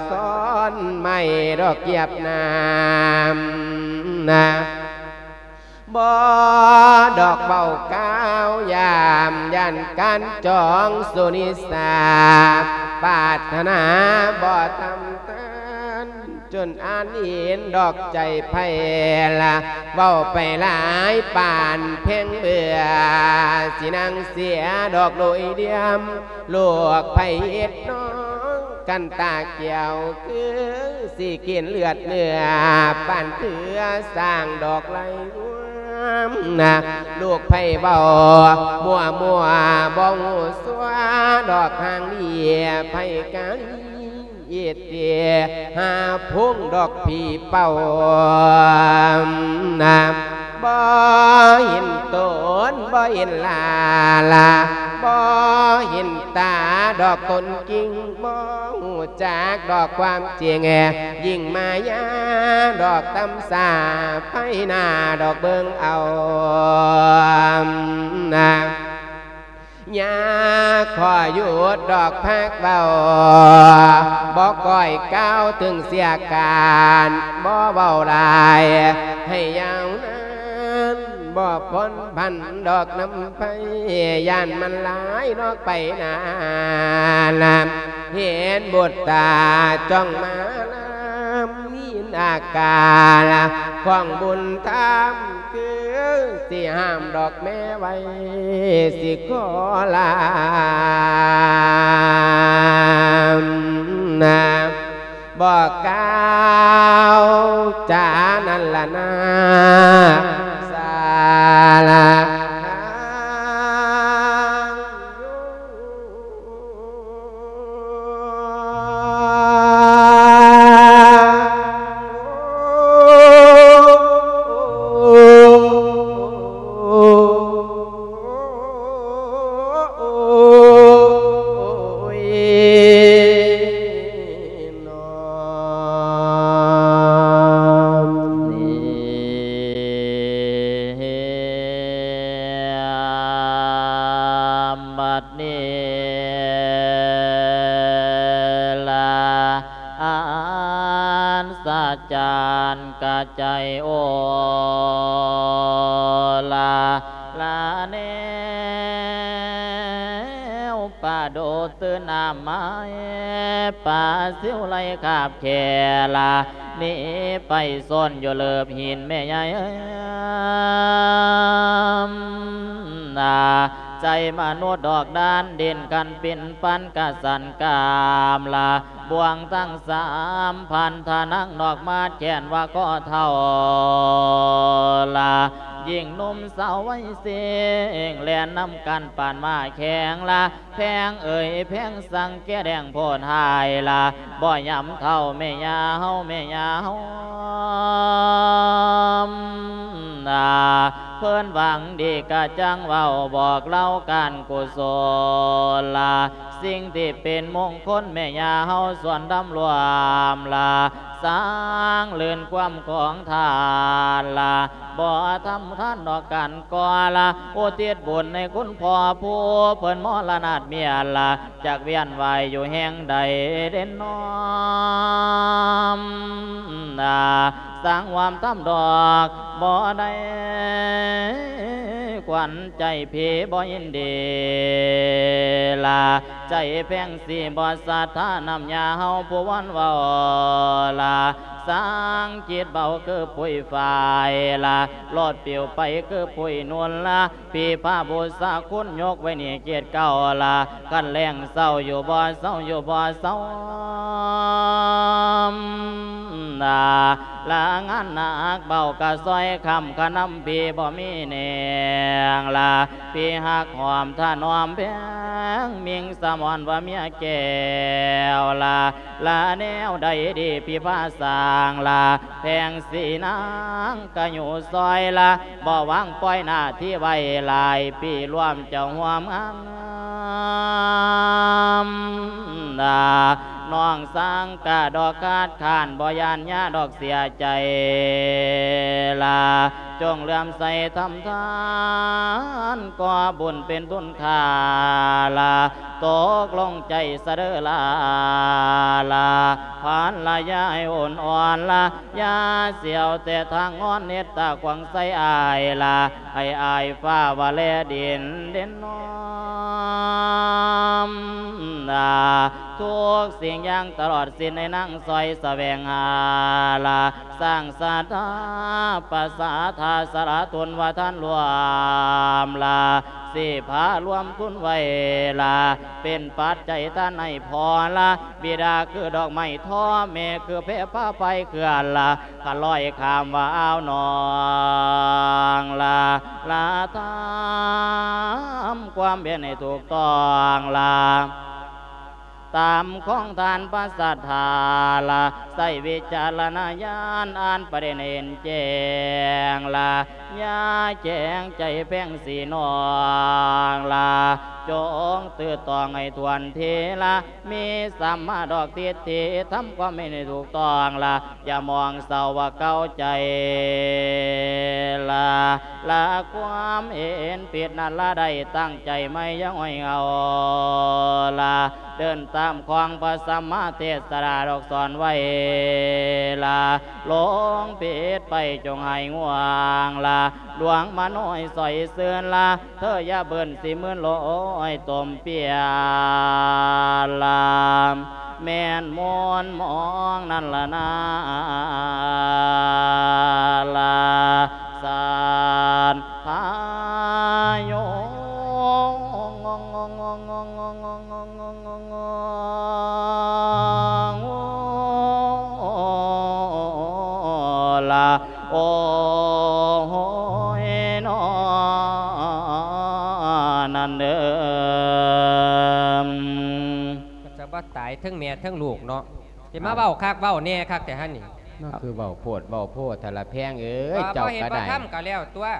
ຊ້ອນໄມ້ດອກຢຽບນ້ຳນະ ບໍ່ດອກເວົ້າກ່າວຢາມ ຢ້ານການຈອງສຸນິສາ ປາດຖະໜາບໍ່ທຳທານ ຈົນອ່ານເຫັນດອກໃຈໃຜລະ ເວົ້າໄປຫຼາຍປານແພງເບືອ ຊິນັ່ງເສຍດອກໂດຍດຽມ ລູກໃຜເຮັດນ້ອງກັນຕາແກ້ວ ຄືຊິກິນເລືອດເນື້ອ ປານເຄືອຊ້າງດອກໄລ່ງວມນະ ລູກໃຜເວົ້າມົວໆ ບໍ່ຮູ້ຊົ່ວ ດອກຫາງດີໃຜກະລີ ອີເຕຫາພົງດອກຜີເປົ່ານະ ບໍ່ເຫັນຕົນບໍ່ເຫັນລາລາ ບໍ່ເຫັນຕາດອກຕົນຈິງ ບໍ່ຮູ້ຈັກດອກຄວາມຈິງ ຍິ່ງມາຍາດອກຕຳສາໄຟໜ້າດອກເບິ່ງເອົານະ. ຢ່າຂໍຢຸດດອກພາກເວົ້າ ບໍ່ກ້ອຍກ່າວເຖິງເສຍການ ບໍ່ເວົ້າຫຼາຍໃຫ້ຍາວນານ ບໍ່ພົ້ນພັນດອກນຳໄພ ຢ້ານມັນຫຼາຍນອກໄປນານ ເຫັນບຸດຕາຈ້ອງມານຳ ມີອາການຂອງບຸນທຳ ຄືຊິຫ້າມດອກແມ່ໄວ້ ຊິຂໍລານະ ບໍ່ກ່າວຈານັ້ນລະນາ ສາລາ ຈານກະໃຈໂອລາລາແນວປະໂດດຕື່ນອາມາຍ ປາຊິວໄລຄາບແຄລາ ໜີໄປຊອນຢູ່ເລີບຫີນແມ່ໃຫຍ່ ນາ ໃຈມະນຸດດອກດານ ດິນຄັນປິ່ນປັນກະສັນກາມລາ ບ່ວງທັງສາມພັນທະນັງນອກມາແຂນວ່າກໍເຖົ້າລາ ຍິ່ງໜຸ່ມສາວໄວເສັງ ແລ່ນນຳກັນປານມ້າແຂ່ງລາ ແພງເອີຍແພງສັງແກ່ແດງໂພດຫາຍລາ ບໍ່ຍຳເຖົ້າແມ່ຍ່າເຮົາ ແມ່ຍ່າເຮົາ ນາ ເພິ່ນຫວັງດີກະຈັ່ງເວົ້າບອກເລົ່າການກຸສົນລາ ສິ່ງທີ່ເປັນມົງຄົນແມ່ຍ່າເຮົາສວນດຳລວມລາ ສ້າງລື່ນຄວາມຂອງທານລາ ບໍ່ທຳທານດອກການກໍລາ ອຸທິດບຸນໃຫ້ຄຸນພໍ່ຜູ້ເພິ່ນມໍລະນາດເມຍລາ ຈັກວຽນວ່າຍຢູ່ແຫ່ງໃດເດນອມນາ ສ້າງຄວາມທຳດອກບໍ່ໄດ້ ຂວັນໃຈພີ່ບໍ່ຍິນດີລາ ໃຈແພງສີບໍ່ສັດທານຳຍາເຮົາຜູ້ວອນເວົ້າລາ ສ້າງຈິດເບົາຄືປຸຍຝາຍລາ ໂລດປິວໄປຄືປຸຍນຸນລາ ພີ່ພາບູຊາຄຸນຍົກໄວ້ນີ້ເກດເກົ່າລາ ຄັນແລງເຊົາຢູ່ບໍ່ເຊົາ ຢູ່ບໍ່ເຊົາ ນາ ລາງານໜັກເບົາກະຊ່ອຍຄ້ຳຂະນຳພີ່ບໍ່ມີແນງລາ ພີ່ຮັກຫອມຖະໜອມແພງ ມິ່ງສະໝອນວ່າເມຍແກ້ວລາ ລາແນວໃດດີພີ່ພາສ້າງລາ ແພງສີນາງກະຢູ່ຊອຍລາ ບໍ່ວາງປ່ອຍໜ້າທີ່ໄວ້ຫຼາຍປີລວມເຈົ້າຮ່ວມງາມລາ ນ້ອງສ້າງກະດອກຄາດຄ້ານ ບໍ່ຢ້ານຍາດອກເສຍໃຈລາ ຈົ່ງເຫຼື້ອມໃສທຳທານ ກໍບຸນເປັນທຶນຄ່າລາ ຕົກລົງໃຈສະເດີລາ ລາ ພັນລະຍາໃຫ້ໂອນອ່ອນລາ ຢ່າສຽວແຕ່ທາງງອນ ເຮັດຕາຂວາງໃສ່ອ້າຍລາ ໃຫ້ອ້າຍຟ້າວ່າແລດິນເດັ່ນນອມລາ ທຸກສິ່ງຢ່າງຕະຫຼອດສິ້ນໃຫ້ນາງຊ່ອຍສະແຫວງຫາລາ ສ້າງສາທາປະສາທາສະຫຼະທຸນວ່າທ່ານລວມລາ ຊິພາລວມທຸນໄວ້ລາ ເປັນປັດໄຈທ່ານໃຫ້ພໍ່ລາ ບິດາຄືດອກໄມ້ທໍ ແມ່ຄືແພພາໄຟເຂື່ອນລາ ຂ້າລອຍຂ້າມວ່າອ່າວໜອງລາ ລາທຳຄວາມແມ່ນໃຫ້ຖືກຕ້ອງລາ ຕາມຂອງທ່ານພະສັດທາລາ ໃຊ້ວິຈາລະນະຍານອ່ານປະເດັນເຫັນແຈ້ງລາ ຢ່າແຂງໃຈແພງສີນ້ອງລາ ຈົ່ງຕື້ຕອງໃຫ້ຖ້ວນທີລາ ມີສຳມາດອກທິດຖິ ທຳຄວາມເຫັນໃຫ້ຖືກຕ້ອງລະ ຢ່າມອງເສົ້າວ່າເກົ່າໃຈລະ ລະຄວາມເຫັນຜິດນັ້ນລະ ໄດ້ຕັ້ງໃຈໃໝ່ຢ່າຫ້ອຍເຫງົາລະ ເດີນຕາມຂອງພະສຳມາເທດສະດາດອກສອນໄວ້ລະ ຫຼົງຜິດໄປຈົ່ງຫາຍງ່ວງລະ ດວງມະໂນໃຫ້ສອຍຊື່ນລະ ເທີຢ່າເບິ່ນຊິມື່ນໂລຍຕົມເປຍລາ ແມ່ນມົນມອງນັ້ນລະນາລາ ສານພາໂຍ ລາ ໂອ້ຍນໍ ນັ້ນເດີ ມັນຈະບໍ່ຕາຍເທິງແມ່ເທິງລູກເນາະ ຊິມາເວົ້າຄັກເວົ້າແນ່ຄັກແທ້ຫັ້ນນີ້ ນັ້ນຄືເວົ້າໂພດເວົ້າໂພແທ້ລະແພງເອີຍ ເຈົ້າກໍໄດ້ ບໍ່ເຮັດບໍ່ທຳກໍແລ້ວຕົວະ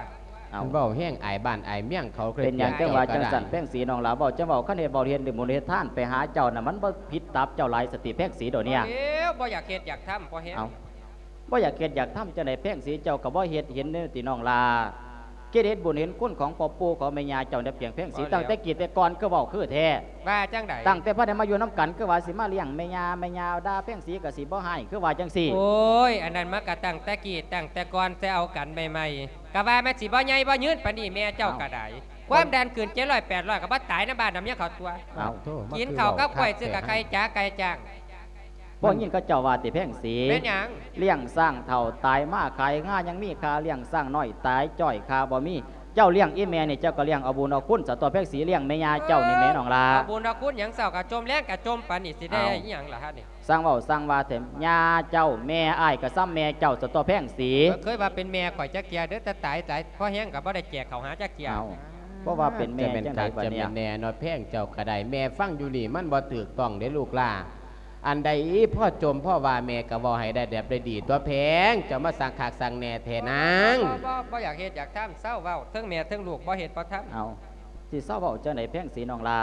ເວົ້າແຮງອາຍບ້ານອາຍເມືອງເຂົາ ເປັນຫຍັງຈັ່ງວ່າຈັ່ງຊັ້ນ ແພງສີນ້ອງຫຼ້າ ເວົ້າຈັ່ງເວົ້າ ຄັນເຮັດບຸນເຮັດທານໄປຫາເຈົ້ານະ ມັນບໍ່ຜິດຕັບເຈົ້າຫຼາຍສະຕິ ແພງສີດອກເນຍ ບໍ່ຢາກເຮັດຢາກທຳພໍແຮງ ບໍ່ຢາກເຮັດຢາກທຳຈັ່ງໃດ ແພງສີເຈົ້າກໍບໍ່ເຮັດເຫັນເດ້ຕິນ້ອງຫຼ້າ ຄິດເຫັນບຸນເຫັນຄຸນຂອງພໍ່ປູ່ຂອງແມ່ຍ່າເຈົ້າໃນປຽງແພງສີ ຕັ້ງແຕ່ກີ້ແຕ່ກ່ອນຄືເວົ້າຄືແທ້. ວ່າຈັ່ງໃດ? ຕັ້ງແຕ່ພັນໄດ້ມາຢູ່ນຳກັນ ຄືວ່າຊິມາລ້ຽງແມ່ຍ່າ ແມ່ຍ່າດ່າແພງສີກໍຊິບໍ່ຮ້າຍ ຄືວ່າຈັ່ງຊີ້. ໂອ້ຍ ອັນນັ້ນມັນກໍຕັ້ງແຕ່ກີ້ຕັ້ງແຕ່ກ່ອນ ແຕ່ເອົາກັນໃໝ່ໆ ກໍວ່າມັນຊິບໍ່ໃຫຍ່ບໍ່ຍືນປານນີ້ ແມ່ເຈົ້າກໍໄດ້. ເອົ້າ ຄວາມດັນຂຶ້ນເຈັດຮ້ອຍແປດຮ້ອຍ ກໍບໍ່ຕາຍນຳບ້ານນຳເມືອງເຂົາຕົວະ. ເອົ້າ ໂທ້ ກິນເຂົ້າກັບກ້ວຍ ຊື້ກັບໄຂ່ຈ້າໄກ່ຈ້າງ. ບໍ່ຍິນເຂົາເຈົ້າວ່າຕິແພງສີ? ແມ່ນຫຍັງ? ລ້ຽງຊ້າງເຖົ້າຕາຍມາຂາຍງາ ຍັງມີຄ່າລ້ຽງຊ້າງນ້ອຍຕາຍຈ້ອຍຄ່າບໍ່ມີ. ເຈົ້າລ້ຽງອີ່ແມ່ນີ້ ເຈົ້າກໍລ້ຽງເອົາບຸນເອົາຄຸນສະຕົວະແພງສີ ລ້ຽງແມ່ຍ່າເຈົ້ານີ້ແມ່ນ້ອງຫຼ້າ. ເອົາບຸນເອົາຄຸນຫຍັງ ເຊົ້າກໍຈົ່ມ ແລງກໍຈົ່ມ ປານນີ້ຊິໄດ້ ເອົ້າ ອີ່ຫຍັງລະຫັ້ນນີ້? ຊ່າງເວົ້າຊ່າງວ່າແທ້ ຍ່າເຈົ້າ ແມ່ອ້າຍກໍສ່ຳແມ່ເຈົ້າສະຕົວະແພງສີ. ບໍ່ເຄີຍວ່າເປັນແມ່ຂ້ອຍຈັກເທື່ອເດີ ແຕ່ຕາຍ ຕາຍພໍແຮງກໍບໍ່ໄດ້ແຈກເຂົ້າຫາຈັກເທື່ອ. ເອົ້າ ບໍ່ວ່າເປັນແມ່ຈັ່ງໃດບັດນີ້? ແມ່ນຄັກ ຈະແມ່ນແນ່ເນາະ ແພງເຈົ້າກໍໄດ້. ແມ່ຟັງຢູ່ນີ້ມັນບໍ່ຖືກຕ້ອງເດ້ລູກຫຼ້າ. ອັນໃດພໍຈົ່ມພໍວ່າແມ່ກໍເວົ້າໃຫ້ໄດ້ແບບໄດ້ດີຕົວະແພງ ເຈົ້າມາສ້າງຄັກສ້າງແນ່ແທ້ນາງ. ບໍ່ ບໍ່ ບໍ່ຢາກເຮັດຢາກທຳ ເຊົາເວົ້າ ເທິງແມ່ເທິງລູກບໍ່ເຮັດບໍ່ທຳ. ເອົ້າ ຊິເຊົາເວົ້າຈັ່ງໃດແພງສີນ້ອງຫຼ້າ?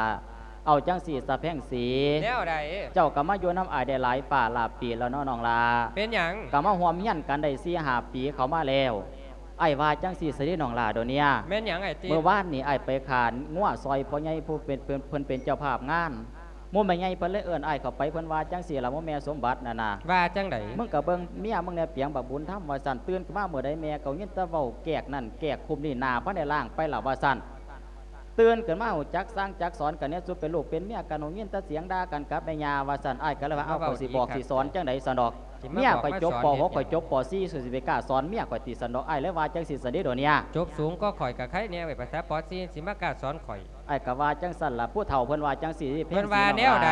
ເອົາຈັ່ງຊີ້ຊະແພງສີ. ແນວໃດ? ເຈົ້າກໍມາຢູ່ນຳອ້າຍໄດ້ຫຼາຍປາຫຼາຍປີແລ້ວເນາະນ້ອງຫຼ້າ. ເປັນຫຍັງ? ກໍມາຮ່ວມຮຽນກັນໄດ້ສີ່ຫ້າປີເຂົ້າມາແລ້ວ. ອ້າຍວ່າຈັ່ງຊີ້ຊະເດນ້ອງຫຼ້າໂດເນຍ. ແມ່ນຫຍັງອ້າຍຕິ? ມື້ວານນີ້ອ້າຍໄປຂ້າງົວຊ່ອຍພໍ່ໃຫຍ່ຜູ້ເປັນ ເພິ່ນ ເພິ່ນເປັນເຈົ້າພາບງານ. ໝູ່ແມ່ໃຫຍ່ເພິ່ນເລີຍເອີ້ນອ້າຍເຂົ້າໄປ ເພິ່ນວ່າຈັ່ງຊີ້ລະ ໝູ່ແມ່ສົມບັດນັ້ນນະ. ວ່າຈັ່ງໃດ? ມຶງກໍເບິ່ງເມຍມຶງແດ່ປຽງບັກບຸນທຳ ວ່າຊັ້ນ. ຕື່ນຂຶ້ນມາມື້ໃດແມ່ກໍຍິນແຕ່ເວົ້າແກກນັ້ນແກກຄຸມນີ້ ໜ້າພັນໄດ້ລ້າງໄປລະ ວ່າຊັ້ນ. ຕື່ນຂຶ້ນມາຮູ້ຈັກສັ່ງຈັກສອນກັນແດ່ ສູ່ເປັນລູກເປັນເມຍກັນ ຫູຍິນແຕ່ສຽງດ່າກັນກັບແມ່ຍ່າ ວ່າຊັ້ນ. ອ້າຍກໍເລີຍວ່າ ເອົ້າ ຂ້ອຍຊິບອກຊິສອນຈັ່ງໃດຊັ້ນດອກ? ເມຍຂ້ອຍຈົບ ປ.ຫົກ ຂ້ອຍຈົບ ປ.ສີ່ ສູ້ຊິໄປກ້າສອນເມຍຂ້ອຍຕິຊັ້ນດອກ. ອ້າຍເລີຍວ່າຈັ່ງຊີ້ຊັ້ນເດໂດເນຍ. ຈົບສູງກວ່າຂ້ອຍກໍໄຄແດ່ເວີຍ ພາສາ ປ.ສີ່ ຊິມາກ້າສອນຂ້ອຍ. ອ້າຍກໍວ່າຈັ່ງຊັ້ນລະ ຜູ້ເຖົ້າເພິ່ນວ່າຈັ່ງຊີ້. ເພິ່ນວ່າແນວໃດ?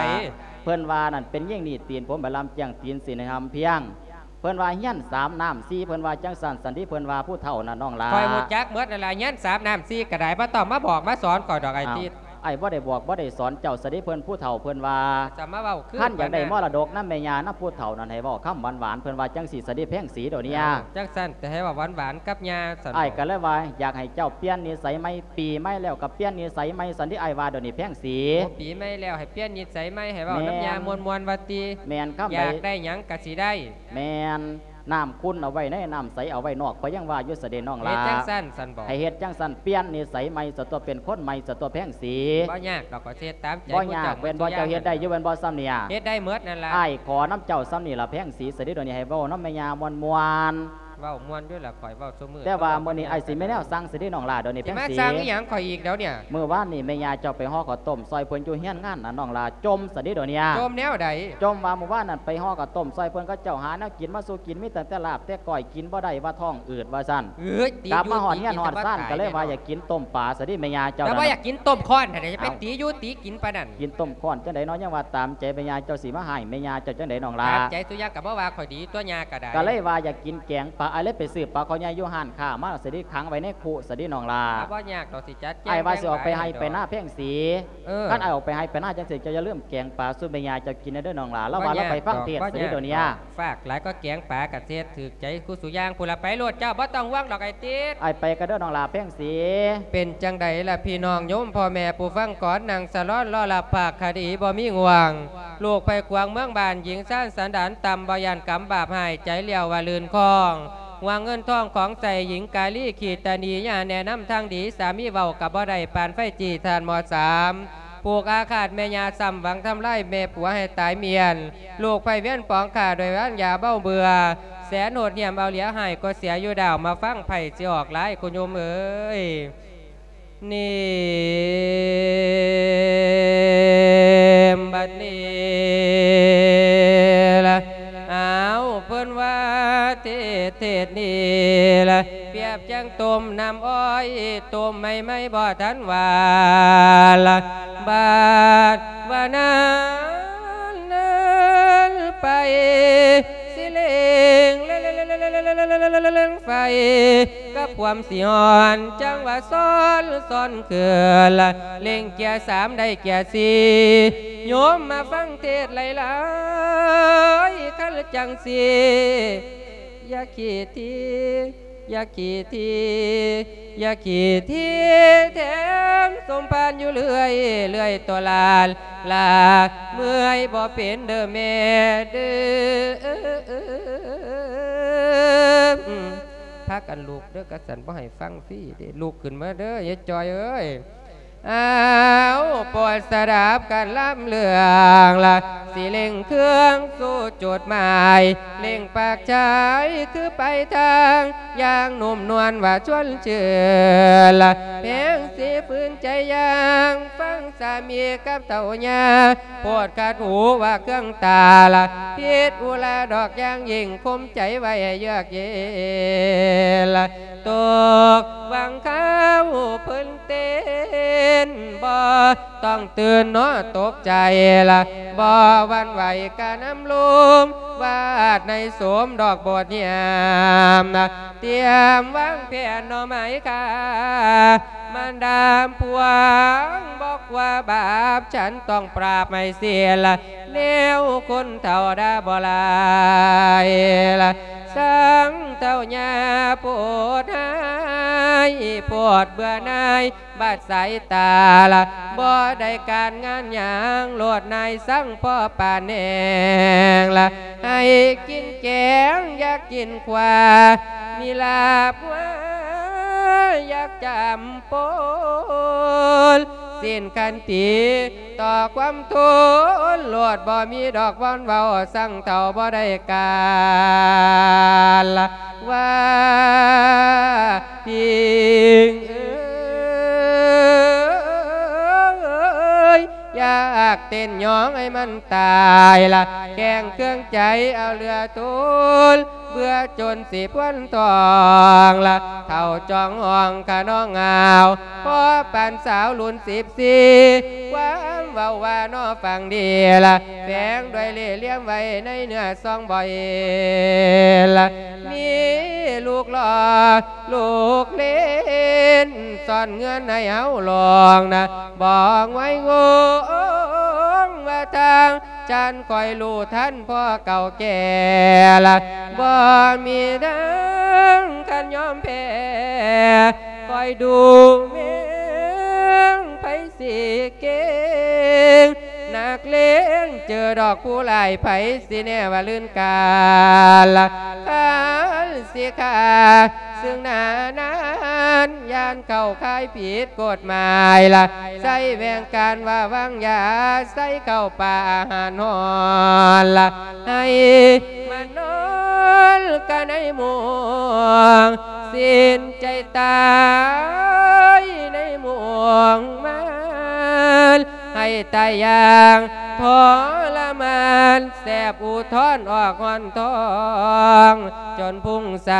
ເພິ່ນວ່ານັ້ນເປັນຍິງໜີບຕີນ ຜົມໃບລຳຈຽງ ຕີນສີໃນຫຳພຽງ. ເພິ່ນວ່າຮຽນສາມນ້ຳສີ່ ເພິ່ນວ່າຈັ່ງຊັ້ນຊັ້ນຕິ ເພິ່ນວ່າຜູ້ເຖົ້ານັ້ນນ້ອງຫຼ້າ. ຂ້ອຍຮູ້ຈັກໝົດນັ້ນລະ ຮຽນສາມນ້ຳສີ່ກໍໄດ້ ບໍ່ຕ້ອງມາບອກມາສອນຂ້ອຍດອກອ້າຍຕິດ. ອ້າຍບໍ່ໄດ້ບອກບໍ່ໄດ້ສອນເຈົ້າຊະເດ ເພິ່ນຜູ້ເຖົ້າເພິ່ນວ່າ ຈະມາເວົ້າຄື ຄັນຢາກໄດ້ມໍລະດົກນຳແມ່ຍ່ານຳຜູ້ເຖົ້ານັ້ນ ໃຫ້ເວົ້າຄຳຫວານໆ ເພິ່ນວ່າຈັ່ງຊີ້ຊະເດແພງສີໂດເນຍ. ຈັ່ງຊັ້ນ ແຕ່ໃຫ້ເວົ້າຫວານໆກັບຍ່າຊັ້ນ. ອ້າຍກໍເລີຍວ່າຢາກໃຫ້ເຈົ້າປ່ຽນນິໄສໃໝ່ ປີໃໝ່ແລ້ວກໍປ່ຽນນິໄສໃໝ່ຊັ້ນຕິ ອ້າຍວ່າໂດເນແພງສີ. ໂອ້ ປີໃໝ່ແລ້ວໃຫ້ປ່ຽນນິໄສໃໝ່ ໃຫ້ເວົ້ານຳຍ່າມ່ວນໆວ່າຕິ. ແມ່ນ ຄຳໃດຢາກໄດ້ຫຍັງກໍຊິໄດ້. ແມ່ນ ນ້ຳຂຸ່ນເອົາໄວ້ໃນ ນ້ຳໃສເອົາໄວ້ນອກ ຂ້ອຍຍັງວ່າຢູ່ຊະເດນ້ອງຫຼ້າ. ເຮັດຈັ່ງຊັ້ນຊັ້ນບໍ? ໃຫ້ເຮັດຈັ່ງຊັ້ນ ປ່ຽນນິໄສໃໝ່ຊະຕົວະ ເປັນຄົນໃໝ່ຊະຕົວະແພງສີ. ບໍ່ຍາກດອກ ຂ້ອຍຊິເຮັດຕາມໃຈ. ບໍ່ຍາກແມ່ນບໍ່? ເຈົ້າເຮັດໄດ້ຢູ່ແມ່ນບໍ່ຊ່ຳນີ້? ເຮັດໄດ້ໝົດນັ້ນລະ. ອ້າຍຂໍນຳເຈົ້າຊ່ຳນີ້ລະແພງສີ ຊະເດໂດເນຍ ໃຫ້ເວົ້ານຳແມ່ຍ່າມ່ວນໆ. ເວົ້າມ່ວນຢູ່ລະ ຂ້ອຍເວົ້າ ແຕ່ວ່າມື້ນີ້ອ້າຍຊິມີແນວສັ່ງຊະເດນ້ອງຫຼ້າໂດເນຍແພງສີ. ຊິມາສັ່ງອີ່ຫຍັງຂ້ອຍອີກດຽວເນຍ? ມື້ວານນີ້ແມ່ຍ່າເຈົ້າໄປຫໍ້ເຂົ້າຕົ້ມຊ່ອຍເພິ່ນຢູ່ຮຽນງານນະນ້ອງຫຼ້າ. ຈົ່ມຊະເດໂດເນຍ. ຈົ່ມແນວໃດ? ຈົ່ມວ່າມື້ວານນັ້ນໄປຫໍ້ເຂົ້າຕົ້ມຊ່ອຍເພິ່ນ ເຂົາເຈົ້າຫາແນວກິນມາສູ່ກິນ ມີຕັ້ງແຕ່ລາບແຕ່ກ້ອຍ ກິນບໍ່ໄຕີວ່າທ້ອງອືດວ່າຊັ້ນ. ເອີຍ ກັບມາຮອດເຮືອນຮອດຊານ ກໍເລີຍວ່າຢາກກິນຕົ້ມປາຊະເດແມ່ຍ່າເຈົ້າ. ແຕ່ວ່າຢາກກິນຕົ້ມຄ້ອນຫັ້ນນະ ຈະໄປຕີຢູ່ຕີກິນປານນັ້ນ. ກິນຕົ້ມຄ້ອນຈັ່ງໃດເນາະ ຍັງວ່າຕາມໃຈແມ່ຍ່າເຈົ້າ ຊິມາຮ້າຍແມ່ຍ່າເຈົ້າຈັ່ງໃດນ້ອງຫຼ້າ? ຕາມໃຈສຸຢ່າງກໍບໍ່ວ່າຂ້ອຍດີຕົວະ ຍ່າກໍໄດ້. ກໍເລີຍວ່າຢາກກິນແກງປາ ອ້າຍເລີຍໄປຊື້ປາຄໍໃຫຍ່ຢູ່ຮ້ານຄ້າມາ ຊິໄດ້ຂັງໄວ້ໃນຄຸ ຊິໄດ້ນ້ອງຫຼ້າ. ບໍ່ຍາກດອກ ຊິຈັດແຈງ. ອ້າຍວ່າຊິອອກໄປໄຮ່ໄປນາແພງສີ. ເອີ ຄັນອ້າຍອອກໄປໄຮ່ໄປນາຈັ່ງຊີ້ ເຈົ້າຢ່າລືມແກງປາສູ່ແມ່ຍ່າເຈົ້າກິນເດີນ້ອງຫຼ້າ. ລາວວ່າລາວໄປຟັງເທດ ຊິໄດ້ໂດເນຍ. ຝາກຫຼາຍກໍແກງປາກໍເທດຖືກໃຈຄູ່ສູ່ຢ່າງ. ພຸ້ນລະ ໄປໂລດເຈົ້າ ບໍ່ຕ້ອງຫ່ວງດອກອ້າຍຕິດ. ອ້າຍໄປກໍເດີນ້ອງຫຼ້າແພງສີ. ເປັນຈັ່ງໃດລະພີ່ນ້ອງໂຍມພໍ່ແມ່ຜູ້ຟັງ ກ່ອນນັ່ງສະຫຼອນລໍລະພາກຄະດີບໍ່ມີງ່ວງ. ລູກໄພຂວາງເມືອງບ້ານ ຍິງຊານສັນດານຕ່ຳ ບໍ່ຢ້ານກຳບາບຮ້າຍ ໃຈລ້ຽວວ່າລື່ນຄອງ. ຫວງເງິນທອງຂອງໃຊ້ ຍິງກາລີຂີ້ຕະໜີ ຢ່າແນະນຳທາງດີ ສາມີເວົ້າກໍບໍ່ໄດ້ ປານໄຟຈີ້ທານໝໍ້ສາມ. ຜູກອາຄາດແມ່ຍ່າຊ້ຳ ຫວັງທຳລາຍແມ່ຜົວໃຫ້ຕາຍມ້ຽນ. ລູກໃຜວຽນປອງຂ້າ ດ້ວຍວາງຢາເບົາເບື່ອ ແສນໂຫດຫ້ຽມເອົາເຫຼືອ ຮ້າຍກໍເສຍຢູ່ດາວ. ມາຟັງໄພຊິອອກຫຼາຍ ຄຸນໂຍມເອີຍ. ນີ້ ບັດນີ້ລະ ອ້າວ ເພິ່ນວ່າເທດ ເທດນີ້ລະ ປຽບຈັ່ງຕົ້ມນ້ຳອ້ອຍ ຕົ້ມໃໝ່ໆບໍ່ທັນຫວານລະ ບາດວ່ານັ້ນ ນັ້ນໄປ ຊິເລັ່ງ ເລັ່ງໄຟ ກັບຄວາມຊິຮ້ອນ ຈັ່ງວ່າຊ້ອນ ຊ້ອນຄືນລະ ເລັ່ງເກຍສາມໄດ້ເກຍສີ່ ໂຍມມາຟັງເທດຫຼາຍໆ ຄັນຈັ່ງຊີ້ ຢ່າຂີ້ຖີ່ ຢ່າຂີ້ຖີ່ ຢ່າຂີ້ຖີ່ແຖມສົມພານຢູ່ເລື້ອຍ ເລື້ອຍໂຕຫຼານ ຫຼາເມື່ອຍບໍ່ເປັນເດີແມ່ເດີ. ພາກັນລຸກເດີ ກະສັນບໍ່ໃຫ້ຟັງຟຣີເດ້ ລຸກຂຶ້ນມາເດີ ຍາຍຈ່ອຍເອີຍ. ອ້າວ ໂປດສະດັບການລຳເລື່ອງລະ ຊິເລັ່ງເຄື່ອງສູ່ຈຸດໝາຍ ເລັ່ງປາກຊາຍຄືໄປທາງ ຢ່າງນຸ້ມນວນວ່າຊວນຊື່ນລະ ແພງຊິຝືນໃຈຢ່າງ ຟັງສາມີກັບເຖົ້າຍ່າ ໂພດຂັດຫູວ່າເຄື່ອງຕາລະ ຜິດອຸລາດອກຢ່າງຍິ່ງ ຂົ່ມໃຈໄວ້ໃຫ້ເຍືອກເຢັນລະ ຕົກຫວັງຄາວເພິ່ນເຕັ້ນ ບໍ່ຕ້ອງຕື່ນເນາະຕົກໃຈລະ ບໍ່ຫວັ່ນໄຫວກະນຳລົມ ວາດໃນໂສມດອກໂບດຍາມນະ ຕຽມວາງແຜນໜໍ່ໄມ້ຄ່າ ມາດາມພວງ ບໍ່ກວ່າບາບ ສັນຕ້ອງປາບໃຫ້ສິ້ນລະ ແນວຄົນເຖົ້າດາບໍ່ຫຼາຍລະ ສັງເຖົ້າຍ່າໂພດຮ້າຍ ໂພດເບື່ອໜ່າຍ ບາດສາຍຕາລະ ບໍ່ໄດ້ການງານຫຍັງ ໂລດນາຍສັງພໍປານແນງລະ ໃຫ້ກິນແກງ ຢາກກິນຂວາ ມີລາບຫວາ ຢາກຈຳປົນ ສິ້ນຂັນຕີຕໍ່ຄວາມທົນ ໂລດບໍ່ມີດອກບ່ອນເວົ້າ ສັງເຖົ້າບໍ່ໄດ້ການລະ ວ່າພິງເອີຍ ຢາກເຕັ້ນຍ້ອງໃຫ້ມັນຕາຍລະ ແກງເຄື່ອງໃຈເອົາເຫຼືອທົນ ເບື່ອຈົນຊິພວນທອງລະ ເຖົ້າຈ້ອງຫ້ອງຂະນ້ອງຫາວ ພໍປານສາວລຸ້ນສິບສີ່ ຄວາມເວົ້າວ່ານໍຟັງດີລະ ແຝງດ້ວຍເລ່ຫຼ່ຽມໄວ້ໃນເນື້ອຊອງບໍ່ເຫັນລະ ມີລູກຫຼໍ່ລູກເລນ ສ້ອນເງືອນໃຫ້ເຮົາລອງນະ ບໍ່ງວຍງົງວ່າທາງ ຈານຂ້ອຍຮູ້ທັນພໍ່ເຖົ້າແກ່ລະ ບໍ່ມີນາງຄັນຍອມແພ້ ຂ້ອຍດູແມງໃຜຊິເກັ່ງ ນັກເລງເຈີດອກຜູ້ຫຼາຍ ໃຜຊິແນ່ວ່າລື່ນການລະ ຄັນຊິຂ້າເຊິ່ງໜ້ານານ ຢ້ານເຂົ້າຂ່າຍຜິດ ກົດໝາຍລະ ໃຊ້ແຫວ່ງການວ່າວາງຢາ ໃສ່ເຂົ້າປ່າອາຫານຮ້ອນລະ ໃຫ້ມານອນກະໃນໝ່ວງ ສິ້ນໃຈຕາຍໃນໝ່ວງມານ ໃຫ້ຕາຍຢ່າງທໍລະມານ ແສບອຸທອນອອກຮ່ອນທ້ອງ ຈົນພຸ່ງໃສ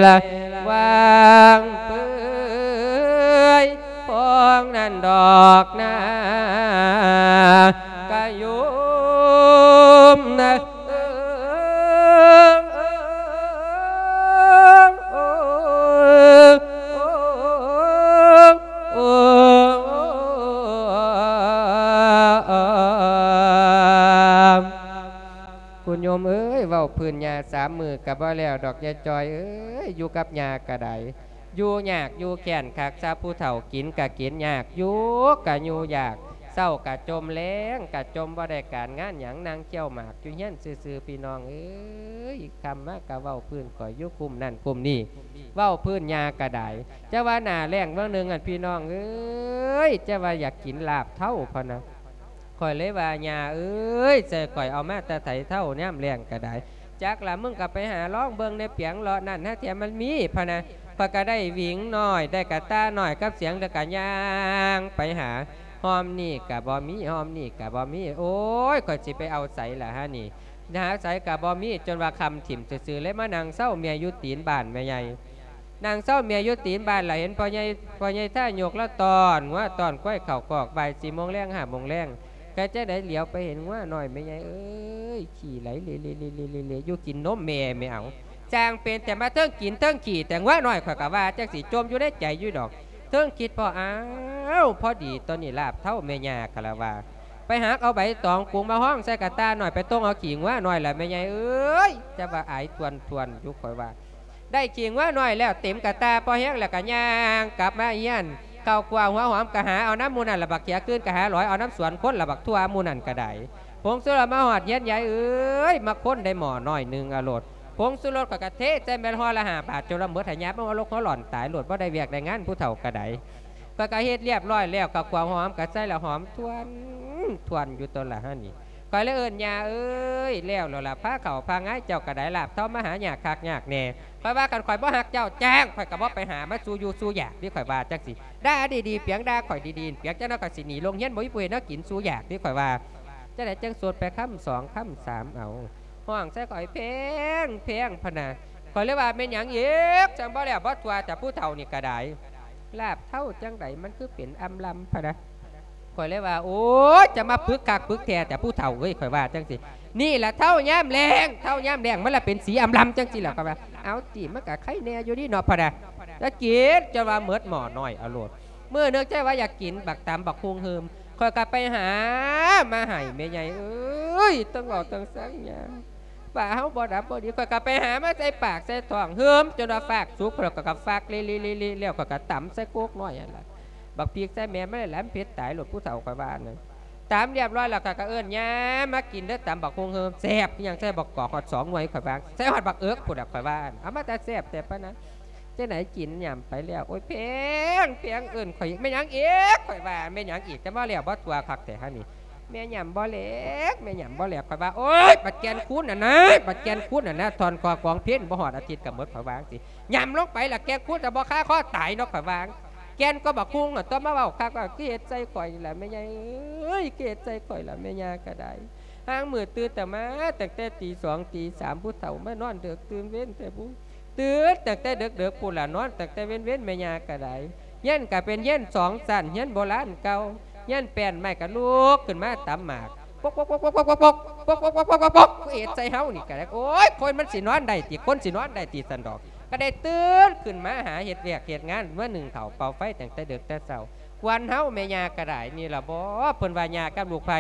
ລະ ຫວ່າງເປືອຍ ພອງນັ້ນດອກນາກະຍຸມນະ ຄຸນໂຍມເອີຍ ເວົ້າພື້ນຫຍ້າສາມມື້ກະບໍ່ແລ້ວດອກ ຍາຍຈ່ອຍເອີຍ ຢູ່ກັບຍ່າກະໄດ້ ຢູ່ຍາກຢູ່ແຄ້ນຄັກຊະ ຜູ້ເຖົ້າກິນກະກິນຍາກ ຢູ່ກະຢູ່ຍາກ ເຊົ້າກະຈົມ ແລງກະຈົມ ບໍ່ໄດ້ການງານຫຍັງ ນັ່ງຄ້ຽວໝາກຢູ່ເຮືອນຊື່ໆ ພີ່ນ້ອງເອີຍ ຄ່ຳມາກະເວົ້າພື້ນຂ້ອຍຢູ່ຄຸ້ມນັ້ນຄຸ້ມນີ້ ເວົ້າພື້ນຍ່າກະໄດ້ ຈະວ່າໜ້າແລ້ງເບື້ອງໜຶ່ງຫັ້ນ ພີ່ນ້ອງເອີຍ ຈະວ່າຢາກກິນລາບເທົ້າ ພະນະ. ຂ້ອຍເລີຍວ່າ ຍ່າເອີຍ ໃສ່ຂ້ອຍເອົາມາແຕ່ໃສເທົ້າ ຍາມແລ້ງກະໄດ້ ຈັກລະ ມຶງກະໄປຫາລອງເບິ່ງແດ່ ປຽງເລາະນັ້ນ ຫາແທ້ມັນມີ ພະນະ. ຂ້ອຍກະໄດ້ຫວິງນ້ອຍ ໄດ້ກະຕ່ານ້ອຍກັບສຽງ ແລ້ວກະຍ່າງໄປຫາ ຫ້ອມນີ້ກະບໍ່ມີ ຫ້ອມນີ້ກະບໍ່ມີ ໂອ້ຍ ຂ້ອຍຊິໄປເອົາໃສລະຫານີ້ ຫາໃສກະບໍ່ມີ ຈົນວ່າຄ່ຳຖິ້ມຊື່ໆ ເລີຍມານັ່ງເຊົາເມຍຢູ່ຕີນບ້ານແມ່ໃຫຍ່. ນາງເຊົາເມຍຢູ່ຕີນບ້ານ ລະເຫັນພໍ່ໃຫຍ່ ພໍ່ໃຫຍ່ທ່າຍົກລະຕ້ອນງົວຕ້ອນຄວາຍເຂົ້າຄອກ ບ່າຍສີ່ໂມງແລງ ຫ້າໂມງແລງ ກະຈັ່ງໃດຫຼຽວໄປເຫັນງົວນ້ອຍ ແມ່ໃຫຍ່ເອີຍ ຂີ້ໄຫຼເລໆ ຢູ່ກິນນົມແມ່ແມ່ເອົາ ຊ່າງເປັນແຕ່ມາເທິງກິນເທິງຂີ້ແຕ່ ງົວນ້ອຍ ຂ້ອຍກະວ່າຈັ່ງຊີ້ ຈົ່ມຢູ່ໃນໃຈຢູ່ດອກ ເທິງຄິດພໍ້ ອ້າວ ພໍດີໂຕນີ້ລາບເທົ້າແມ່ຍ່າຄະລະວາ ໄປຫາເອົາໃບຕອງກຸງມາຮອງໃສ່ກະຕ່ານ້ອຍ ໄປຕົງເອົາຂີ້ງົວນ້ອຍລະແມ່ໃຫຍ່ເອີຍ ຈະວ່າອາຍຖ້ວນໆ ຢູ່ຂ້ອຍວ່າ. ໄດ້ຂີ້ງົວນ້ອຍແລ້ວເຕັມກະຕ່າພໍແຮງ ແລ້ວກະຍ່າງກັບມາເຮືອນ ເຂົ້າຂົ້ວຫົວຫອມກະຫາເອົານຳໝູ່ນັ້ນລະ ບັກເຂືອຄືນກະຫາຫຼອຍເອົານຳສວນຄົນລະ ບັກຖົ່ວໝູ່ນັ້ນກະໄດ້ ຜົງຊູລົດມາຮອດເຮືອນຍາຍເອີຍ ມາຄົນໄດ້ໝໍ້ນ້ອຍໜຶ່ງເອົາໂລດ ຜົງຊູລົດຂ້ອຍກໍເທໃສ່ແມ່ນຫໍ່ລະຫ້າບາດ ຈົນວ່າໝົດ ໃຫ້ຍາມເອົາລົກຫົວຫຼອນຕາຍໂລດ ບໍ່ໄດ້ວຽກໄດ້ງານຜູ້ເຖົ້າກໍໄດ້. ຂ້ອຍກໍເຮັດລຽບຮ້ອຍແລ້ວ ກໍຂົ້ວຫອມກໍໃສ່ລະຫອມທວນ ທວນຢູ່ຕົວລະຫັ້ນນີ້. ຂ້ອຍເລີຍເອີ້ນ ຍ່າເອີຍ ແລ້ວແລ້ວລະ ພາເຂົ້າພາງາຍ ເຈົ້າກໍໄດ້ລາບເທົາມາຫາຍາກຄັກຍາກແນ່. ຂ້ອຍວ່າ ຄັນຂ້ອຍບໍ່ຮັກເຈົ້າຈ້າງ ຂ້ອຍກໍບໍ່ໄປຫາມາສູ່ຢູ່ສູ່ຢາກເດ້ ຂ້ອຍວ່າຈັ່ງຊີ້. ດ່າດີໆ ປຽງ ດ່າຂ້ອຍດີໆ ປຽງ ຈັ່ງນັ້ນຂ້ອຍຊິໜີໂລງຮຽນ ບໍ່ມີຜູ້ເຮັດແນວກິນສູ່ຢາກເດ້ ຂ້ອຍວ່າ. ຈັ່ງໃດຈັ່ງໂສດໄປຄຳສອງຄຳສາມ ເອົາ ຮ້ອງໃສ່ຂ້ອຍແພງໆ ພະນະ. ຂ້ອຍເລີຍວ່າ ແມ່ນຫຍັງອີກ ຈັ່ງບໍ່ແລ້ວບໍ່ທົ່ວ ແຕ່ຜູ້ເຖົ້ານີ້ກໍໄດ້ ລາບເທົາຈັ່ງໃດ ມັນຄືເປັນອຳລຳ ພະນະ. ຂ້ອຍເລີຍວ່າ ໂອ້ຍ ຈະມາປຶກຄັກປຶກແທ້ ແຕ່ຜູ້ເຖົ້າເອີຍ ຂ້ອຍວ່າຈັ່ງຊີ້. ນີ້ລະເທົ້າຍາມແລ້ງ ເທົ້າຍາມແລ້ງ ມັນລະເປັນສີອຳລຳຈັ່ງຊີ້ລະ ຂ້ອຍວ່າ. ເອົາຕິ ມັນກະໄຄແນ່ຢູ່ນີ້ເນາະ ພະນະ. ລະກິນຈົນວ່າໝົດໝໍ້ນ້ອຍເອົາໂລດ. ມື້ໜຶ່ງໃຈວ່າຢາກກິນບັກຕຳບັກຫຸ່ງເຮີມ ຂ້ອຍກໍໄປຫາມາໃຫ້ແມ່ໃຫຍ່ເອີຍ. ເຖິງເວົ້າເຖິງສັງຫຍັງ ວ່າເຮົາບໍ່ດັບບໍ່ດີ ຂ້ອຍກໍໄປຫາມາໃສ່ປາກໃສ່ທ້ອງເຮີມ ຈົນວ່າຟາກສຸກ ຂ້ອຍກໍ ກໍຟາກເລໆໆໆ ແລ້ວຂ້ອຍກໍຕຳໃສ່ໂກກນ້ອຍຫັ້ນລະ. ບັກພິກໃສ່ແມ່ນມັນຫຼາຍ ມັນເຜັດຕາຍໂລດ ຜູ້ເຖົ້າຂ້ອຍວ່ານັ້ນ. ຕຳລຽບຮ້ອຍແລ້ວ ຂ້ອຍກໍເອີ້ນ ຍ່າ ມາກິນເດີ ຕຳບັກຫຸ່ງເຮີມ ແຊບຄືຫຍັງ ໃສ່ບັກກອກຮອດສອງໜ່ວຍ ຂ້ອຍວ່າ ໃສ່ຮອດບັກເອິກພຸ້ນລະ ຂ້ອຍວ່າ. ເອົາມາແຕ່ແຊບແທ້ ປານນັ້ນ. ຈັ່ງໃດກິນຫຍ້ຳໄປແລ້ວ ໂອ້ຍ ແພງ ແພງ ເອີ້ນຂ້ອຍ ແມ່ນຫຍັງອີກ ຂ້ອຍວ່າ. ແມ່ນຫຍັງອີກ ຈະມາແລ້ວບໍ່ທົ່ວຄັກແທ້ຫັ້ນນີ້. ແມ່ຫຍ້ຳບໍ່ແຫຼກ ແມ່ຫຍ້ຳບໍ່ແຫຼກ ຂ້ອຍວ່າ. ໂອ້ຍ ບັກແກ່ນຄູນຫັ້ນນະ ບັກແກ່ນຄູນຫັ້ນນະ ທ່ອນຄໍຂອງເພັນ ບໍ່ຮອດອາທິດກໍໝົດ ຂ້ອຍວ່າຈັ່ງຊີ້. ຫຍ້ຳລົງໄປລະ ແກ່ນຄູນຈະບໍ່ຄາຄໍຕາຍເນາະ ຂ້ອຕົວະວ່າ. ແກ່ນກໍບັກຫຸ່ງຫັ້ນຕົວະ ມາເວົ້າຄັກວ່າ ຄືເຮັດໃສ່ຂ້ອຍລະແມ່ໃຫຍ່ເອີຍ ຄືເຮັດໃສ່ຂ້ອຍລະແມ່ຍ່າກໍໄດ້. ຫາງມື້ຕື່ນແຕ່ມາ ຕັ້ງແຕ່ຕີສອງຕີສາມ ຜູ້ເຖົ້າມານອນເດິກຕື່ນເວັນແທ້ບຸ. ຕື່ນຕັ້ງແຕ່ເດິກໆ ພຸ້ນລະ ນອນຕັ້ງແຕ່ເວັນໆ ແມ່ຍ່າກໍໄດ້. ຮຽນກໍເປັນຮຽນສອງຊັ້ນ ຮຽນໂບລານເກົ່າ ຮຽນແປ້ນໄມ້ ກໍລຸກຂຶ້ນມາຕຳໝາກ ປົກໆໆໆໆ ເຮັດໃສ່ເຮົານີ້ກໍໄດ້. ໂອ້ຍ ຄົນມັນຊິນອນໄດ້ຕິ ຄົນຊິນອນໄດ້ຕິ ຊັ້ນດອກ. ກໍໄດ້ຕື່ນຂຶ້ນມາຫາເຮັດວຽກເຮັດງານ ມາໜຶ້ງເຂົ້າເປົ່າໄຟຕັ້ງແຕ່ເດິກແຕ່ເຊົ້າ. ຄວນເຮົາແມ່ຍ່າກໍໄດ້ ນີ້ລະບໍ ເພິ່ນວ່າຍ່າກັບລູກໃພ້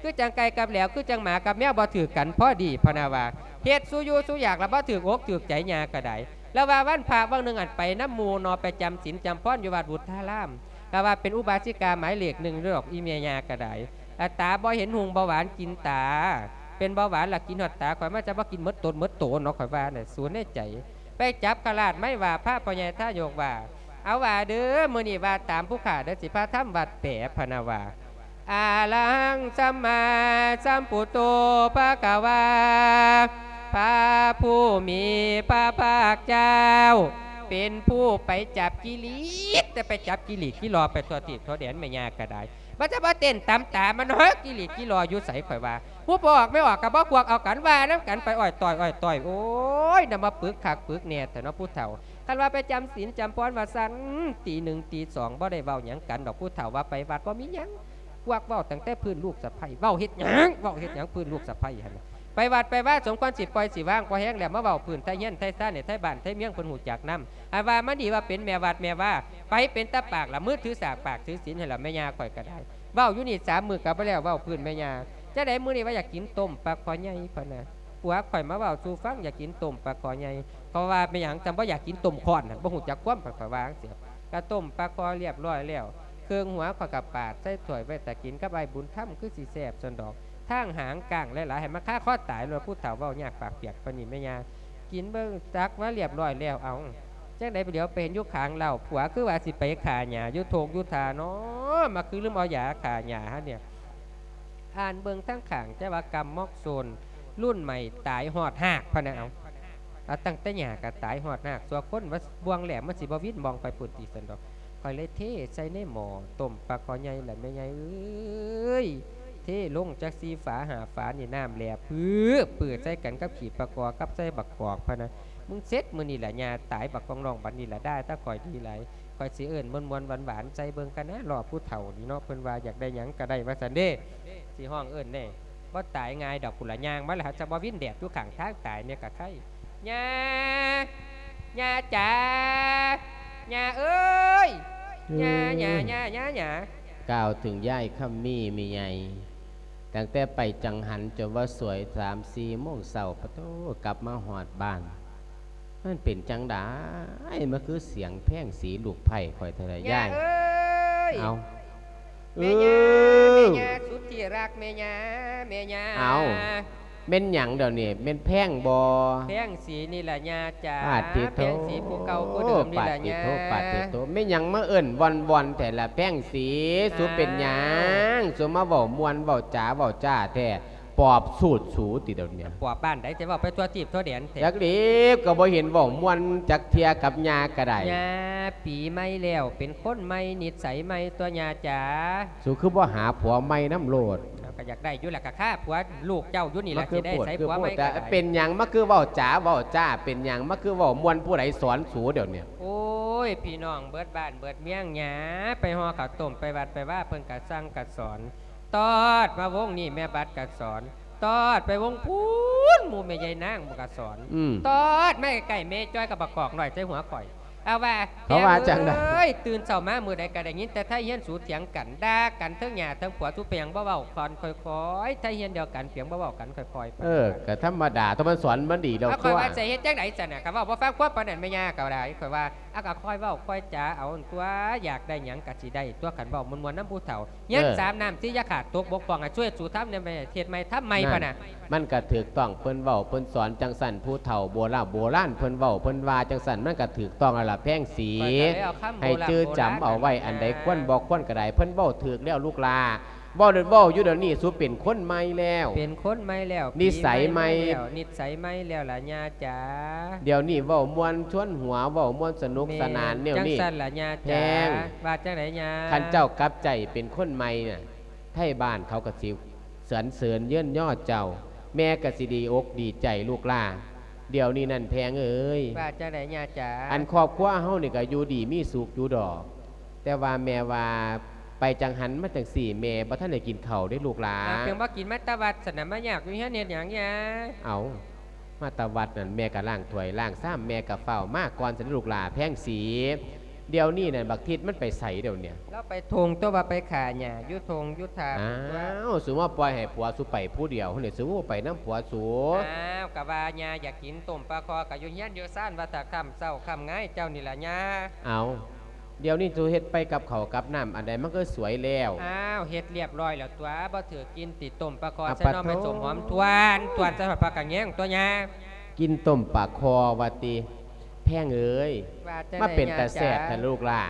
ຄືຈັ່ງໄກ່ກັບແຫຼວ ຄືຈັ່ງໝາກັບແມວ ບໍ່ຖືກກັນພໍດີ ພະນະວ່າ. ເຮັດສູ່ຢູ່ສູ່ຢາກລະບໍ່ຖືກອົກຖືກໃຈຍ່າກໍໄດ້. ລະວ່າວັນພະວັນໜຶ່ງ ອັນໄປນຳໝູ່ເນາະ ໄປຈຳສິນຈຳພອນຢູ່ວັດວຸດທາລາມ ກໍວ່າເປັນອຸບາສິກາໝາຍເລກໜຶ່ງດອກ ອີແມ່ຍ່າກໍໄດ້. ອາ ຕາບໍ່ເຫັນຮຸ່ງເບົາຫວານກິນຕາ ເປັນເບົາຫວານລະກິນຮອດຕາ. ຂ້ອຍວ່າຈະບໍ່ກິນໝົດຕົນໝົດໂຕເນາະ ຂ້ອຍວ່ານະ ສູນໃນໃຈ. ໄປຈັບຂະລາດໄມ້ວ່າ ພະພໍ່ໃຫຍ່ທາຍົກວ່າ ເອົາວ່າເດີ ມື້ນີ້ວ່າຕາມຜູ້ຂ້າເດີ ຊິພາທຳວັດແປ ພະນະວ່າ. ອະລະຫັງ ສຳມາສຳພຸດໂທ ພະຄະວາ ພະຜູ້ມີພະພາກເຈົ້າ ເປັນຜູ້ໄປຈັບກິເລດ ແຕ່ໄປຈັບກິລີດກິລໍໄປທົ່ວທີບທົ່ວແດນ ແມ່ຍ່າກໍໄດ້. ມັນຈະມາເຕັ້ນຕຳຕາມັນເຮີ້ ກິລີດກິລໍຢູ່ໃສ ຂ້ອຍວ່າ. ຜູ້ບໍ່ອອກແມ່ອອກກໍບໍ່ພວກເອົາກັນ ວ່ານຳກັນໄປອ້ອຍຕ້ອຍອ້ອຍຕ້ອຍ. ໂອ້ຍ ນຳມາປຶກຄັກປຶກແນ່ແທ້ເນາະຜູ້ເຖົ້າ. ຄັນວ່າໄປຈຳສິນຈຳພອນວ່າຊັ້ນ ຕີໜຶ່ງຕີສອງ ບໍ່ໄດ້ເວົ້າຫຍັງກັນດອກ ຜູ້ເຖົ້າວ່າໄປວັດບໍ່ມີຫຍັງ. ພວກເວົ້າຕັ້ງແຕ່ພື້ນລູກສະໃພ້ ເວົ້າເຮັດຫຍັງ ເວົ້າເຮັດຫຍັງ ພື້ນລູກສະໃພ້ຫັ້ນນະ. ໄປວັດໄປວາສົມຄວນຊິປ່ອຍຊິວາງ ພໍແຮງແລ້ວມາເວົ້າພື້ນໄທເຮືອນໄທຊານໃຫ້ໄທບ້ານໄທເມືອງເພິ່ນຮູ້ຈັກນຳ. ອັນວ່າມາດີວ່າເປັນແມ່ວັດແມ່ວາ ໄປເປັນຕາປາກລະ ມືຖືສາກປາກຖືສິນຫັ້ນລະ ແມ່ຍ່າຂ້ອຍກໍໄດ້. ເວົ້າຢູ່ນີ້ສາມມື້ກໍບໍ່ແລ້ວ ເວົ້າພື້ນແມ່ຍ່າ. ຈັ່ງໃດມື້ນີ້ວ່າຢາກກິນຕົ້ມປາຄໍໃຫຍ່ ພະນະ. ຜົວຂ້ອຍມາເວົ້າສູ່ຟັງ ຢາກກິນຕົ້ມປາຄໍໃຫຍ່. ເຂົາວ່າເປັນຫຍັງຈັ່ງບໍ່ຢາກກິນຕົ້ມຄ້ອນຫັ້ນ ບໍ່ຮູ້ຈັກຄວາມ ຂ້ອຍວ່າຈັ່ງຊີ້. ກະຕົ້ມປາຄໍລຽບຮ້ອຍແລ້ວ ເຄື່ອງຫົວຂ້ອຍກະປາດໃສ່ຖ້ວຍໄວ້ຖ້າກິນກັບອ້າຍບຸນທຳ ຄືຊິແຊບຊັ້ນດອກ. ທາງຫາງກ້າງຫຼາຍໆ ໃຫ້ມັນຄາຄໍຕາຍໂລດ ຜູ້ເຖົ້າເວົ້າຍາກປາກປຽກປານນີ້ແມ່ຍ່າ. ກິນເບິ່ງ ຕັກມາລຽບຮ້ອຍແລ້ວ ເອົ້າ ຈັ່ງໃດ ຫຼຽວໄປເຫັນຢູ່ຂ້າງເລ້າ ຜົວຄືວ່າຊິໄປຂ້າຫຍ້າຢູ່ທົ່ງຢູ່ທ່າເນາະ ມາຄືລືມເອົາຢາຂ້າຫຍ້າຫັ້ນເນຍ. ອ່ານເບິ່ງທາງຂ້າງ ແຕ່ວ່າກຳມອກໂຊນລຸ້ນໃໝ່ຕາຍຮອດຮາກ ພະນະ. ເອົາ ເອົາ ຕັ້ງແຕ່ຫຍ້າກໍຕາຍຮອດຮາກ ຊົ່ວຄົນວ່າບ່ວງແຫຼມມັນຊິບໍ່ວິນມອງໄປພຸ້ນຕິ ຊັ້ນດອກ. ຂ້ອຍເລີຍເທໃສ່ໃນໝໍ້ຕົ້ມປາຄໍໃຫຍ່ລະແມ່ໃຫຍ່ເອີຍ ເທລົງຈັກສີ່ຝາຫ້າຝານີ້ ນ້ຳແຫຼບປຶບປຶບໃສ່ກັນກັບຂີ້ປາຄໍກັບໃສ່ບັກກອກ ພະນະ. ມຶງເສັດມື້ນີ້ລະ ຍ່າຕາຍບັກກອງນ້ອງ ບັດນີ້ລະ ດ່າແຕ່ຂ້ອຍດີຫຼາຍ. ຂ້ອຍຊິເອີ້ນມ່ວນໆຫວານໆໃສ່ເບິ່ງກັນນະ ລໍຜູ້ເຖົ້ານີ້ເນາະ ເພິ່ນວ່າຢາກໄດ້ຫຍັງກໍໄດ້ວ່າຊັ້ນເດ້. ຊິຮ້ອງເອີ້ນເດ້ ບໍ່ຕາຍງ່າຍດອກ ພຸ້ນລະຍ່າງມາລະ ຫາກຈະບໍ່ວິນແດດຢູ່ຂ້າງທາງ ຕາຍແນ່ກະໄຄ. ຍ່າ ຍ່າຈ໋າ ຍ່າເອີຍ ຍ່າ ຍ່າ ຍ່າ ຍ່າ ຍ່າ. ກ່າວເຖິງຍາຍຄຳມີແມ່ໃຫຍ່ ຕັ້ງແຕ່ໄປຈັງຫັນຈົນວ່າສວຍສາມສີ່ໂມງເຊົ້າ ປະໂທ້ ກັບມາຮອດບ້ານ ມັນເປັນຈັ່ງໃດ ມັນຄືສຽງແພງສີລູກໃພ້ຂ້ອຍເທົ່າໃດ ຍາຍເອີຍ. ເອົ້າ ແມ່ຍ່າ ເອີ ແມ່ຍ່າສຸດທີ່ຮັກ ແມ່ຍ່າ ແມ່ຍ່າ. ເອົ້າ ແມ່ນຫຍັງດຽວນີ້ ແມ່ນແພງບໍ່? ແພງສີນີ້ລະຍ່າຈ໋າ ປາດຕິໂທ ແພງສີຜູ້ເກົ່າຜູ້ເດີມນີ້ລະຍ່າ ປາດຕິໂທ ປາດຕິໂທ ແມ່ນຫຍັງມາເອີ້ນວ່ອນໆແທ້ລະແພງສີ? ອ້າວ ສູເປັນຫຍັງ ສູມາເວົ້າມ່ວນເວົ້າຈາເວົ້າຈ້າແທ້ ປອບສູດສູຕິດຽວນີ້ ປອບບ້ານໃດ ຈະເວົ້າໄປທົ່ວທີບທົ່ວແດນແທ້ ຈັກຫຼຽວກໍບໍ່ເຫັນເວົ້າມ່ວນຈັກເທື່ອກັບຍ່າກໍໄດ້ ຍ່າ ປີໃໝ່ແລ້ວ ເປັນຄົນໃໝ່ ນິດໄສໃໝ່ຕົວະຍ່າຈ໋າ ສູຄືບໍ່ຫາຜົວໃໝ່ນຳໂລດ? ເຮົາກໍຢາກໄດ້ຢູ່ລະ ກໍຄາຜົວລູກເຈົ້າຢູ່ນີ້ລະ ຊິໄດ້ໃສຜົວໃໝ່ກໍໄດ້ ເປັນຫຍັງມາຄືເວົ້າຈາເວົ້າຈ້າ ເປັນຫຍັງມາຄືເວົ້າມ່ວນ ຜູ້ໃດສອນສູດຽວນີ້? ໂອ້ຍ ພີ່ນ້ອງເບິດບ້ານເບິດເມືອງ ຍ່າ ໄປຫໍ່ເຂົ້າຕົ້ມ ໄປວັດໄປວາ ເພິ່ນກະສັ່ງກະສອນ ຕອດມາວົງນີ້ແມ່ບັດກະສອນ ຕອດໄປວົງພຸ້ນ ໝູ່ແມ່ໃຫຍ່ນາງມັນກະສອນ ອືມ ຕອດມາໃກ້ໆແມ່ຈ້ອຍກັບບັກກອກນ້ອຍໃສ່ຫົວຂ້ອຍ ເອົາວ່າ ເຂົາວ່າຈັ່ງໃດ? ແພງເອີຍ ຕື່ນເຊົ້າມາມື້ໃດກໍໄດ້ຍິນແຕ່ໄທຮຽນສູຖຽງກັນ ດ່າກັນເທິງຫຍ້າເທິງຜົວ ສູເປັນຫຍັງບໍ່ເວົ້າກັນຄ່ອຍໆ ໄທຮຽນດຽວກັນ ເປັນຫຍັງບໍ່ເວົ້າກັນຄ່ອຍໆ ເອີ ກໍທຳມະດາ ຖ້າມັນສອນມັນດີແລ້ວ ເອົາ ຕົວະ ຂ້ອຍວ່າຈະເຮັດຈັ່ງໃດຊັ້ນນະ ກໍເວົ້າບໍ່ຟັງຄວາມປານນັ້ນແມ່ຍ່າກໍໄດ້ ຂ້ອຍວ່າ ອາ ກໍຄ່ອຍເວົ້າຄ່ອຍຈາເອົາຕົວະ ຢາກໄດ້ຫຍັງກໍຊິໄດ້ຕົວະ ຄັນເວົ້າມ່ວນໆນຳຜູ້ເຖົ້າ ຮຽນ ເອີ ສາມນ້ຳ ສີ່ຢ່າຂາດ ຕົກບົກຜ່ອງ ໃຫ້ຊ່ວຍສູ່ທຳແດ່ ເຮັດໃໝ່ທຳໃໝ່ ນັ້ນ ປະນະ ມັນກະຖືກຕ້ອງ ເພິ່ນເວົ້າເພິ່ນສອນຈັ່ງຊັ້ນ ຜູ້ເຖົ້າໂບລານໂບລານເພິ່ນເວົ້າເພິ່ນວ່າຈັ່ງຊັ້ນ ມັນກະຖືກຕ້ອງແລ້ວລະແພງສີ ຂ້ອຍກໍເລີຍເອົາຄຳໂບລານ ໃຫ້ຈື່ຈຳເອົາໄວ້ ໂບລານ ອັນໃດ ນະ ຄວນບໍ່ຄວນກໍໄດ້ ເພິ່ນເວົ້າຖືກແລ້ວລູກຫຼ້າ ເວົ້າ ເວົ້າຢູ່ດຽວນີ້ ສູເປັນຄົນໃໝ່ແລ້ວ ເປັນຄົນໃໝ່ແລ້ວ ນິໄສໃໝ່ ປີໃໝ່ແລ້ວ ນິໄສໃໝ່ແລ້ວລະຍ່າຈ໋າ ດຽວນີ້ເວົ້າມ່ວນຊວນຫົວ ເວົ້າມ່ວນສະໜຸກສະໜານແນວນີ້ ແມ່ນ ຈັ່ງຊັ້ນລະຍ່າຈ໋າ ແພງ ວ່າຈັ່ງໃດຍ່າ ຄັນເຈົ້າກັບໃຈເປັນຄົນໃໝ່ນະ ໄທບ້ານເຂົາກໍຊິສັນເສີນເຍີນຍໍເຈົ້າ ແມ່ກໍຊິດີອົກດີໃຈລູກຫຼ້າ ດຽວນີ້ນັ້ນແພງເອີຍ ວ່າຈັ່ງໃດຍ່າຈ໋າ ອັນຄອບຄົວເຮົານີ້ກໍຢູ່ດີມີສຸກຢູ່ດອກ ແຕ່ວ່າແມ່ວ່າໄປຈັ່ງຫັ້ນມາຈັ່ງຊີ້ ແມ່ບໍ່ທັນໄດ້ກິນເຂົ້າເດ້ລູກຫຼ້າ ອ້າວ ເປັນບໍ່ກິນມາແຕ່ວັດຊັ້ນນະ ມາຍາກຢູ່ເຮືອນເຮັດຫຍັງຍ່າ ເອົ້າ ມາແຕ່ວັດນັ້ນ ແມ່ກໍລ້າງຖ້ວຍລ້າງຊາມ ແມ່ກໍຟ້າວມາກ່ອນຊັ້ນເດ້ລູກຫຼ້າ ແພງສີ ດຽວນີ້ນັ້ນບັກທິດມັນໄປໃສດຽວນີ້ ລາວໄປທົ່ງຕົວະ ວ່າໄປຂ້າຫຍ້າຢູ່ທົ່ງຢູ່ທາ ອ້າວ ສູມາປ່ອຍໃຫ້ຜົວສູໄປຜູ້ດຽວຫັ້ນນີ້ ສູບໍ່ໄປນຳຜົວສູ ອ້າວ ກະວ່າຍ່າຢາກກິນຕົ້ມປາຄໍ່ ກະຢູ່ເຮືອນຢູ່ຊານວ່າຖ້າຄ່ຳເຊົ້າຄ່ຳງາຍເຈົ້ານີ້ລະຍ່າ ເອົ້າ ດຽວນີ້ສູເຮັດໄປກັບເຂົ້າກັບນ້ຳອັນໃດມັນກໍສວຍແລ້ວ ອ້າວ ເຮັດລຽບຮ້ອຍແລ້ວຕົວະ ບໍ່ຖືກກິນຕິ ຕົ້ມປາຄໍ່ ອາ ໃສ່ໜໍ່ໄມ້ ປະໂທ ສົ້ມຫອມ ທວນ ທວນ ໃສ່ຫອດຜັກກະແຍງຕົວະຍ່າ ກິນຕົ້ມປາຄໍ່ວ່າຕິ ແພງເອີຍ ວ່າຈັ່ງໃດ ມາເປັນຕາແຊບແທ້ລູກຫຼ້າ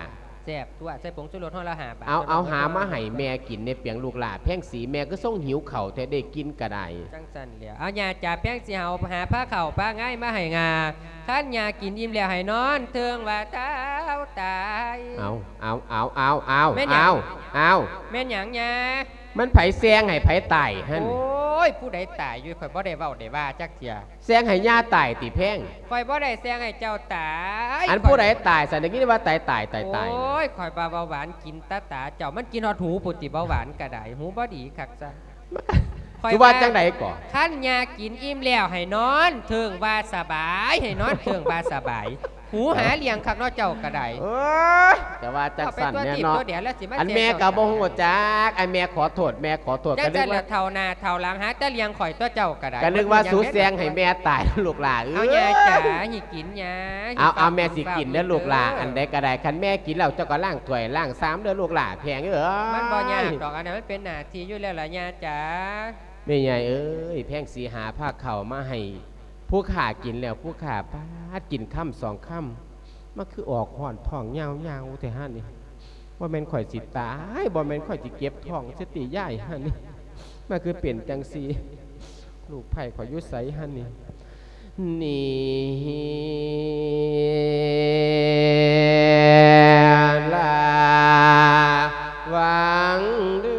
ແຊບຕົວະ ໃສ່ຜົງຊູລົດຫໍ່ລະຫ້າບາດ ເອົາ ເອົາ ຫາມາໃຫ້ແມ່ກິນແດ່ປຽງລູກຫຼ້າ ແພງສີ ແມ່ຄືຊົງຫິວເຂົ້າແທ້ ໄດ້ກິນກໍໄດ້ ຈັ່ງຊັ້ນແຫຼະ ເອົາຍ່າຈ໋າ ແພງຊິເອົາ ຫາພາເຂົ້າພາງາຍມາໃຫ້ງາ ຄັນຍ່າກິນອີ່ມແລ້ວໃຫ້ນອນເທິງວ່າທ້າວຕາຍ ເອົາ ເອົາ ເອົາ ເອົາ ເອົາ ແມ່ນຫຍັງ? ເອົາ ເອົາ ແມ່ນຫຍັງຍ່າ? ມັນໃຜແຊງໃຫ້ໃຜຕາຍຫັ້ນ? ໂອ້ຍ ຜູ້ໃດຕາຍຢູ່? ຂ້ອຍບໍ່ໄດ້ເວົ້າໄດ້ວ່າຈັກເທື່ອ. ແຊງໃຫ້ຍ່າຕາຍຕິແພງ? ຂ້ອຍບໍ່ໄດ້ແຊງໃຫ້ເຈົ້າຕາຍ. ອັນຜູ້ໃດຕາຍຊັ້ນ? ໄດ້ຍິນວ່າຕາຍ ຕາຍ ຕາຍ ຕາຍ. ໂອ້ຍ ຂ້ອຍວ່າເບົາຫວານກິນຕາຕາເຈົ້າ, ມັນກິນຮອດຫູພຸ້ນຕິ ເບົາຫວານກະໄດ້. ຫູບໍ່ດີຄັກຊະ. ຄືວ່າຈັ່ງໃດກໍ? ຄັນຍ່າກິນອີ່ມແລ້ວໃຫ້ນອນເທິງວ່າສະບາຍ, ໃຫ້ນອນເທິງວ່າສະບາຍ. ຫູຫາລ້ຽງຄັກເນາະເຈົ້າກໍໄດ້. ເອີຍ ຈະວ່າຈັ່ງຊັ້ນແນ່ເນາະ. ອັນແມ່ກໍບໍ່ຮູ້ຈັກ. ອັນແມ່ຂໍໂທດ ແມ່ຂໍໂທດ. ຈັ່ງຊັ້ນລະ ເຖົ້າໜ້າເຖົ້າຫຼັງຫາແຕ່ລ້ຽງຂ້ອຍຕົວະເຈົ້າກໍໄດ້. ກໍນຶກວ່າສູແຊງໃຫ້ແມ່ຕາຍລູກຫຼ້າເອີຍ. ເອົາຍ່າຈ໋າ ໃຫ້ກິນຍ່າ. ເອົາ ເອົາ ແມ່ຊິກິນເດີລູກຫຼ້າ. ເອີ ອັນໃດກໍໄດ້ ຄັນແມ່ກິນແລ້ວເຈົ້າກໍລ້າງຖ້ວຍລ້າງຊາມເດີລູກຫຼ້າແພງເອີຍ. ມັນບໍ່ຍາກດອກ ອັນນັ້ນມັນເປັນໜ້າທີ່ຢູ່ແລ້ວລະຍ່າຈ໋າ. ແມ່ໃຫຍ່ເອີຍ ແພງສີຫາພາເຂົ້າມາໃຫ້ຜູ້ຂ້າກິນແລ້ວ ຜູ້ຂ້າປາດກິນຄຳສອງຄຳ ມາຄືອອກຮ້ອນທ້ອງຍາວໆແທ້ຫັ້ນນີ້. ບໍ່ແມ່ນຂ້ອຍຊິຕາຍ ບໍ່ແມ່ນຂ້ອຍຊິເຈັບທ້ອງຊິຕິຍາຍຫັ້ນນີ້. ມາຄືເປັນຈັ່ງຊີ້ ລູກໃພ້ຂ້ອຍຢູ່ໃສຫັ້ນນີ້? ນີ້ລະຫວ່າງເດີ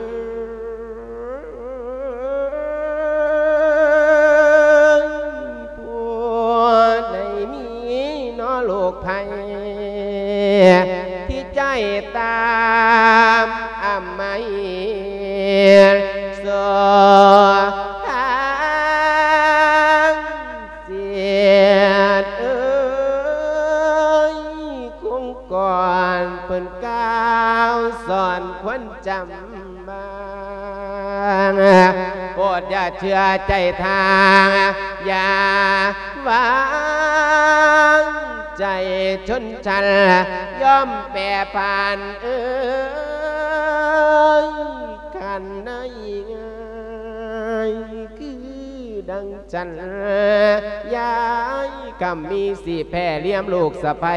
ຜູ້ໃດມີເນາະລູກໃພ້ ທີ່ໃຈຕາມອາໄມສອງທາງ ເສດເອີຍ ຄົງກ່ອນເພິ່ນກ່າວສອນຄວນຈຳມາ ໂປດຢ່າເຊື່ອໃຈທາງ ຢ່າວາງໃຈຊົນຊັ້ນ ຍອມແປຜັນເອີຍ ຄັນໄດ້ງ່າຍຄື ຈັນຍາຍຄຳມີ ຊິແຜ່ລຽມລູກສະໃພ້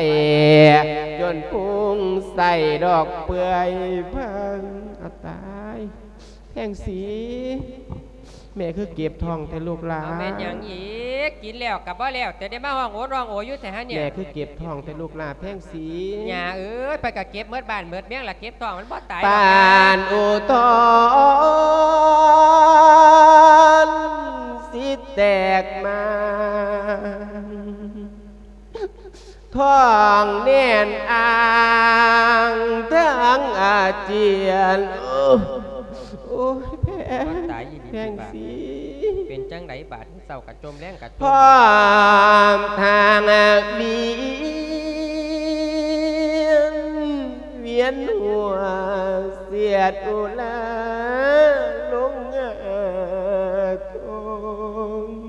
ຈົນພຸ່ງໃສ່ດອກເປື່ອຍເພິ່ງ. ອາ ຕາຍ ແພງສີ ແມ່ຄືເຈັບທ້ອງແທ້ລູກຫຼາ? ເອົາແມ່ນຫຍັງອີກ? ກິນແລ້ວກໍບໍ່ແລ້ວ ແຕ່ໄດ້ມາຮ້ອງໂອດຮ້ອງໂອຢູ່ແທ້ຫັ້ນເນ່ຍ. ແມ່ຄືເຈັບທ້ອງແທ້ລູກຫຼາແພງສີ? ຍ່າເອີຍ ໄປກໍເຈັບໝົດບ້ານໝົດເມືອງລະ ເຈັບທ້ອງມັນບໍ່ຕາຍດອກ. ປານອຸທອນຊິແຕກມາ ທ້ອງແໜ້ນອາງທັງອາຈຽນ. ໂອ້ຍ ໂອ້ຍ ແພງ ຕາຍອີ່ຫຼີ ແພງສີ ເປັນຈັ່ງໃດບາດ ເຊົ້າກະຈົ່ມ ແລງກະຈົ່ມ ພ້ອມທາງວຽນ ວຽນຫົວ ສຽດອຸລາລົງຫາ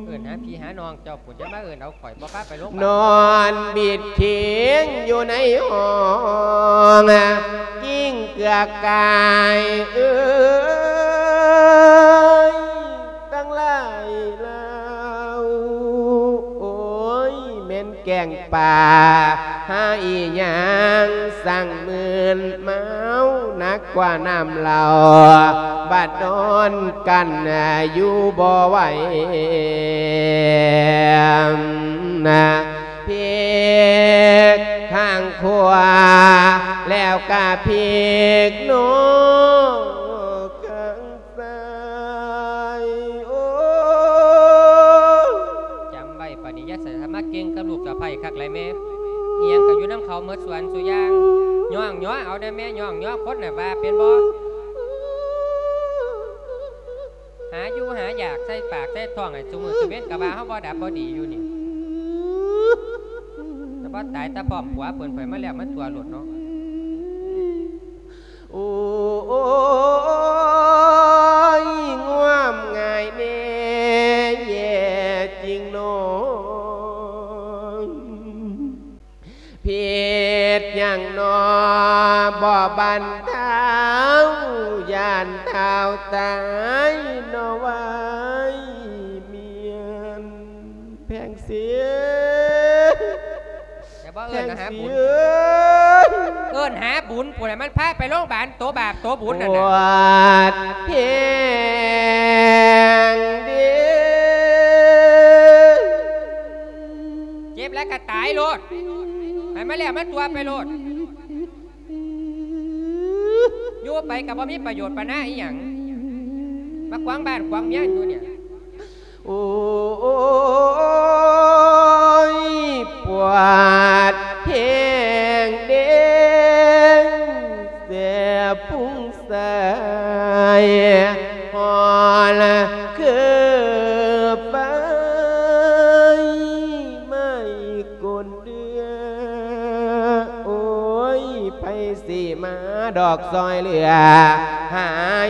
ເອີ້ນຫາພີ່ຫານ້ອງເຈົ້າພຸ້ນ ຢ່າມາເອີ້ນເອົາຂ້ອຍ ບໍ່ພາໄປໂລງບານ. ນອນບິດເຄງຢູ່ໃນຫ້ອງ ກິ້ງເກືອກກາຍເອີຍ ຕັ້ງຫຼາຍລາວ ໂອ້ຍ ແມ່ນແກງປາ ຫາອີ່ຫຍັງ ສັງມື່ນເມົາ ໜັກກວ່ານ້ຳເຫຼົ້າ ບັດນອນກັນຢູ່ບໍ່ໄຫວ. ພິກຂ້າງຂວາ ແລ້ວກະພິກໂນກຂ້າງ ຊ້າຍ ໂອ້ ຈຳໄວ້ ປານນີ້ຢ່າໃສ່ສະມາເກັ່ງກັບລູກສະໃພ້ຄັກຫຼາຍແມ່. ອີ່ຫຍັງກໍຢູ່ນຳເຂົາໝົດ ສ່ວນສູ່ຢ່າງ ຍ້ອງຍໍເອົາແດ່ແມ່ ຍ້ອງຍໍຄົນນະ ວ່າເປັນບໍ່? ຫາຢູ່ຫາຢາກໃສ່ປາກໃສ່ທ້ອງໃຫ້ຊຸມື້ຊຸເວັນ ກໍວ່າເຮົາບໍ່ດັບບໍ່ດີຢູ່ນີ້. ແຕ່ບໍ່ຕາຍ ແຕ່ພ້ອມຜົວເພິ່ນໄປມາແລ້ວ ມັນຕົວະໂລດເນາະ. ໂອ້ຍ ງວມງາຍແດ່ ແຍ່ຈິງໜໍ ຜິດຫຍັງໜໍ ບໍ່ບັນເທົາ ຢ້ານທ້າວຕາຍໜໍ ວາຍມຽນ ແພງສີ. ແຕ່ບໍ່ເອີ້ນຫາບຸນ ແພງສີເອີຍ ເອີ້ນຫາບຸນພຸ້ນນະ ມັນພາໄປໂລງບານ ໂຕບາບໂຕບຸນນັ້ນນະ. ປວດແພງເດ້ ເຈັບແລ້ວກໍຕາຍໂລດ ໃຫ້ມັນແລ້ວມັນຕົວະໄປໂລດ. ຢູ່ໄປກໍບໍ່ມີປະໂຫຍດປານາອີ່ຫຍັງ ມາຂວາງບ້ານຂວາງເມືອງຢູ່ນີ້. ໂອ້ຍ ປວດແພງເດ້ ແສບພຸ້ງສາຍ ຮ້ອນຄືໄຟໄໝ້ກົ້ນເດືອ ໂອ້ຍ ໃຜຊິມາດອກຊ່ອຍເຫຼືອ ຫາ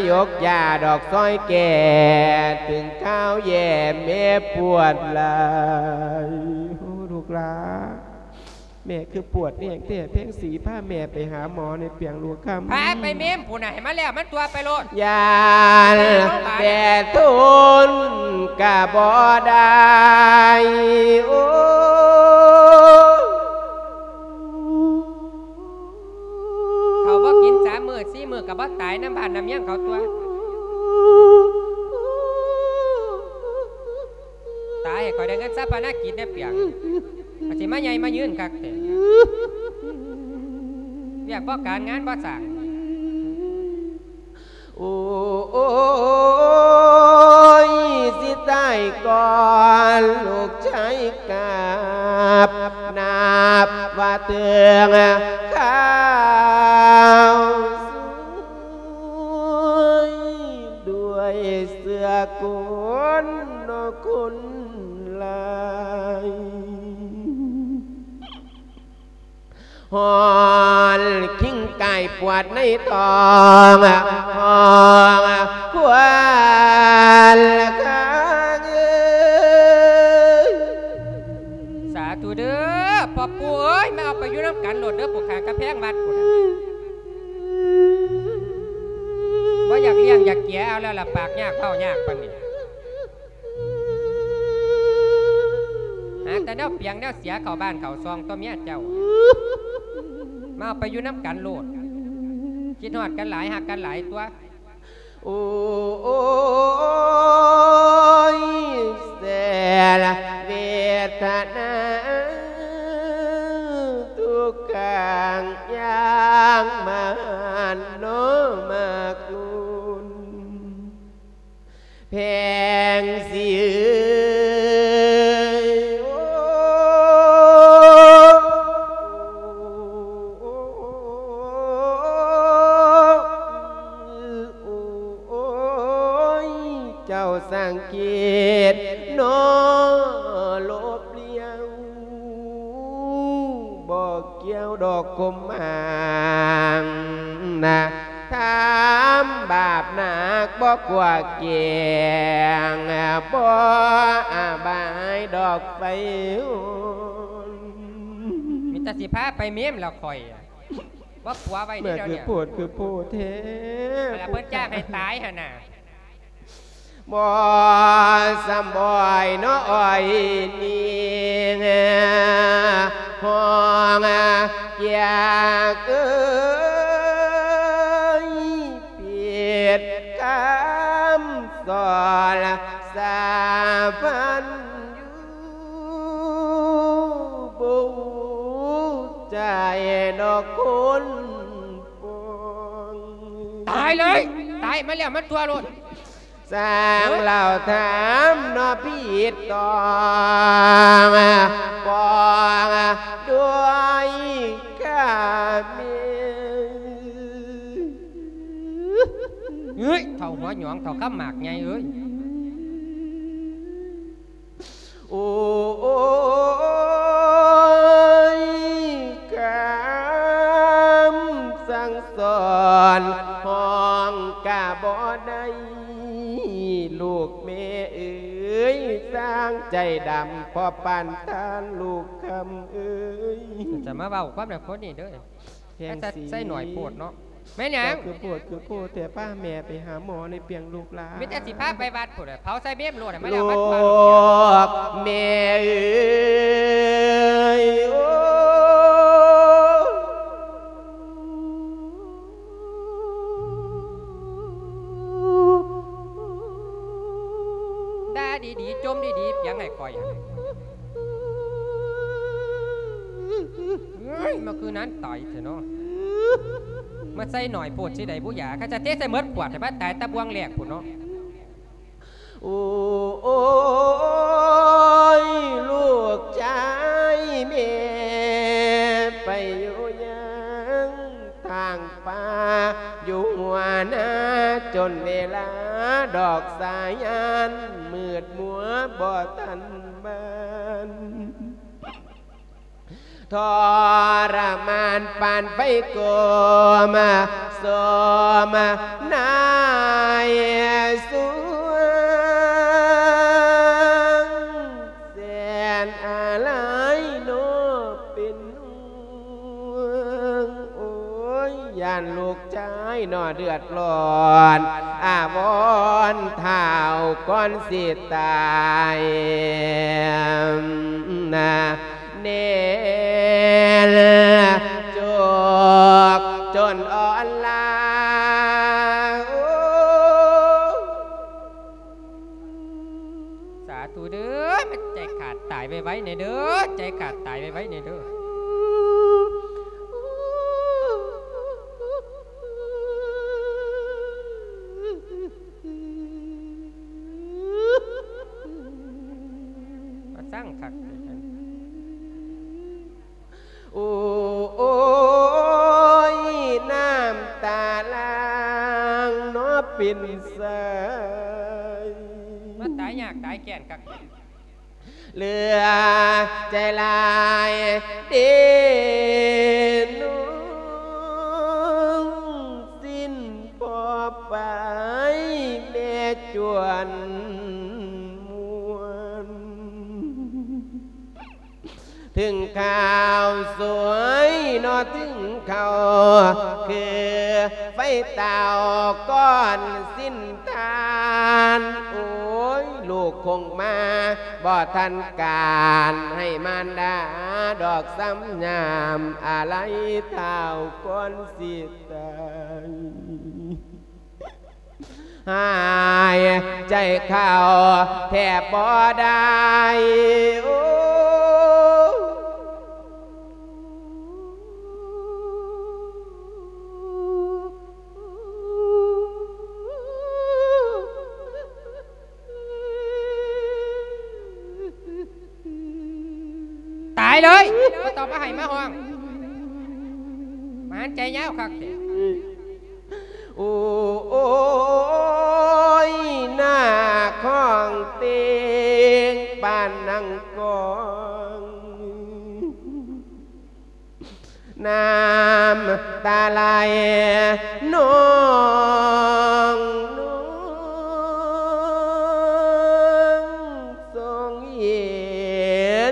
ຢົກຢາດອກຊ່ອຍແກ່ ເຖິງຄາວແຍ່ແມ່ປວດຫຼາຍ. ໂອ້ ລູກຫຼາ ແມ່ຄືປວດແຮງແທ້ ແພງສີ ພາແມ່ໄປຫາໝໍໃນປຽງລູກຄຳ. ພາໄປເມມພຸ້ນນະ ໃຫ້ມັນແລ້ວມັນຕົວະໄປໂລດ. ຢ້ານແຕ່ທົນກະບໍ່ໄດ້ ໂອ້ ເຂົາບໍ່ກິນສາມມື້ສີ່ມື້ກໍບໍ່ຕາຍນຳບ້ານນຳເມືອງເຂົາຕົວະ. ຕາຍໃຫ້ຂ້ອຍໄດ້ເງິນຊາປະນະກິດແດ່ປຽງ ອາດຊິມາໃຫຍ່ມາຍືນຄັກແທ້ ວຽກບໍ່ການງານບໍ່ສ້າງ. ໂອ້ຍ ຊິຕາຍກ່ອນລູກຊາຍກັບ ນັບວ່າເຖິງຄາວສວຍ ດ້ວຍເສື້ອກົນເນາະຄົນຫຼາຍ. ຮ້ອນຄິງກາຍປວດໃນທ້ອງ ຮ້ອງຄວນຄາງເອີຍ. ສາທຸເດີ ພໍ່ປູ່ເອີຍ ມາເອົາໄປຢູ່ນຳກັນໂລດເດີ ຜູ້ຂ້າງກຳແພງວັດພຸ້ນນະ ບໍ່ຢາກລ້ຽງຢາກເກຍເອົາແລ້ວລະ ປາກຍາກເວົ້າຍາກປານນີ້. ແຕ່ແນວປຽງແນວເສຍເຂົ້າບ້ານເຂົ້າຊ່ອງຕົວະເມຍເຈົ້າ. ມາເອົາໄປຢູ່ນຳກັນໂລດ. ຄິດຮອດກັນຫຼາຍ ຮັກກັນຫຼາຍຕົວະ. ໂອ້ຍ ແສນເວທະນາ ທຸກກາງຍາງມານໂນມາກຸນ ແພງສີເອີຍ ໂອ້ ໂອ້ຍ ເຈົ້າສັງເກດໜໍ ລົບລ້ຽວ ບໍ່ກ່ຽວດອກກົມໝາງນະ ທຳບາບໜັກບໍ່ກົວແກງ ບໍ່ອາບາຍດອກໄຟໂຫນ. ມີແຕ່ຊິພາໄປເມມລະຂ້ອຍ ບໍ່ປົວໄວ້ນີ້ດຽວນີ້ ຄືໂພດຄືໂພດແທ້ ຫັ້ນລະເພິ່ນຈ້າງໃຫ້ຕາຍຫັ້ນນະ. ບໍ່ສຳບອຍເນາະອ້ອຍນີ້ ຫ້ອງກຽກເອີຍ ຜິດຄຳສອນສາພັນຢູ່ ບໍ່ຮູ້ໃຈດອກຄົນປອງ. ຕາຍເລີຍ ຕາຍມາແລ້ວມາຕົວະໂລດ. ຊ່າງເລົ່າຖາມເນາະ ຜິດຕ້ອງປອງດ້ວຍຂ້າແມ່. ເອີຍ ເຖົ້າຫົວຫຍອງ ເຖົ້າຄຳໝາກໃຫຍ່ເອີຍ. ໂອ້ຍ ຄຳສັ່ງສອນຫ້ອງກະບໍ່ໄດ້ ລູກແມ່ເອີຍ ຊ່າງໃຈດຳພໍປານທ່ານລູກຄຳເອີຍ. ຈະມາເວົ້າຄວາມນັ້ນຄົນນີ້ເດີ. ແພງສີ ໃສ່ໜ້ອຍໂພດເນາະ. ແມ່ນຫຍັງ? ເຈົ້າຄືໂພດຄືໂພດແທ້ ພາແມ່ໄປຫາໝໍໃນປຽງລູກຫຼາ. ມີແຕ່ຊິພາໄປວັດພຸ້ນແຫຼະ ເຜົາໃສ່ເມມໂລດ ໃຫ້ມັນແລ້ວມັນທົ່ວໂລດ. ແມ່ເອີຍ ໂອ້ ດ່າດີໆ ຈົ່ມດີໆ ປຽງໃຫ້ຂ້ອຍ. ເອີຍ ມາຄືນັ້ນຕາຍແທ້ເນາະ ມາໃສ່ໜ້ອຍໂພດຊິໄດ້ບຸຢາ ຄັນຈະເທໃສ່ໝົດຂວດໃຫ້ມັນຕາຍແຕ່ບ່ວງແລກພຸ້ນເນາະ. ໂອ້ຍ ລູກຊາຍແມ່ໄປຢູ່ຫຍັງ ທາງປ່າຢູ່ຫົວນາ ຈົນເວລາດອກສາຍຍານ ມືດມົວບໍ່ທັນບານ ທໍລະມານປານໄຟໂກມ ໂສມນາຍສວງ ແສນອາໄລເນາະເປັນຫ່ວງ ໂອ້ຍ ຢ້ານລູກຊາຍເນາະເດືອດຮ້ອນ ອາວອນທ້າວກ່ອນຊິຕາຍນະ ແນນຈົກຈົນອ່ອນລາ ໂອ້ ສາທຸເດີ ໃຈຂາດຕາຍໄວໆແດ່ເດີ ໃຈຂາດຕາຍໄວໆແດ່ເດີ. ມາສ້າງຄັກ ໂອ້ຍ ນ້ຳຕາຫຼັ່ງເນາະເປັນສາຍ ມາຕາຍຍາກຕາຍແຄ້ນຄັກ ເຫຼືອໃຈຫຼາຍເດ ນ້ອງສິ້ນພໍໄປ ແມ່ຈວນມ່ວນ ເຖິງຂ່າວສວຍເນາະ ເຖິງຂ່າວຄື ໄອ້ເຕົ້າກ່ອນສິນທານ ໂອ້ຍ ລູກຄົງມາບໍ່ທັນການ ໃຫ້ມານດາດອກສຳຍາມ ອາໄລເຕົ້າກ່ອນສິຕາຍ ຫາຍໃຈເຂົ້າແທບບໍ່ໄດ້ ໂອ້. ຕາຍເລີຍ ບໍ່ຕ້ອງມາໃຫ້ມາຮ້ອງ ມາຫັນໃຈຍາວຄັກແທ້ ໂອ້ຍ ນາຄອງເຕັງປານນັ່ງກອງ ນ້ຳຕາໄຫຼນອງ ນອງ ຊົງເຫັ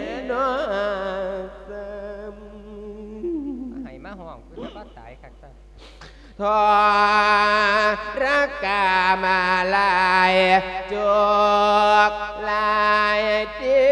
ນນ້ອງຊ້ຳ ໃຫ້ມາຮ້ອງ ຄືວ່າຕາຍຄັກຊະ ທໍລະກາມາຫຼາຍຈຸກຫຼາຍເຕີ.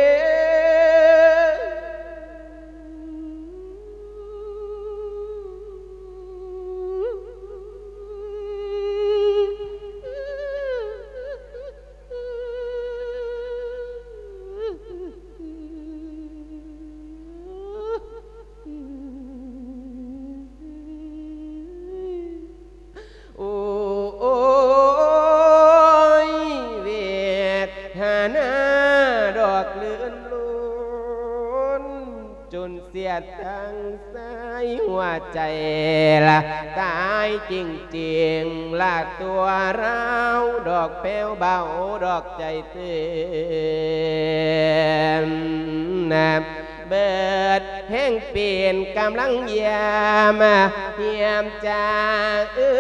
ໂອ້ຍ ເວທະນາດອກລື່ນລົນ ຈົນສຽດທັງສາຍຫົວໃຈລະຕາຍຈິງໆ ລະຕົວລາວດອກແປ້ວເບົາດອກໃຈເຕັ້ນນະ ເບີດແຮງເປັນກຳລັງຢາມ ຮຽມຈາເອີ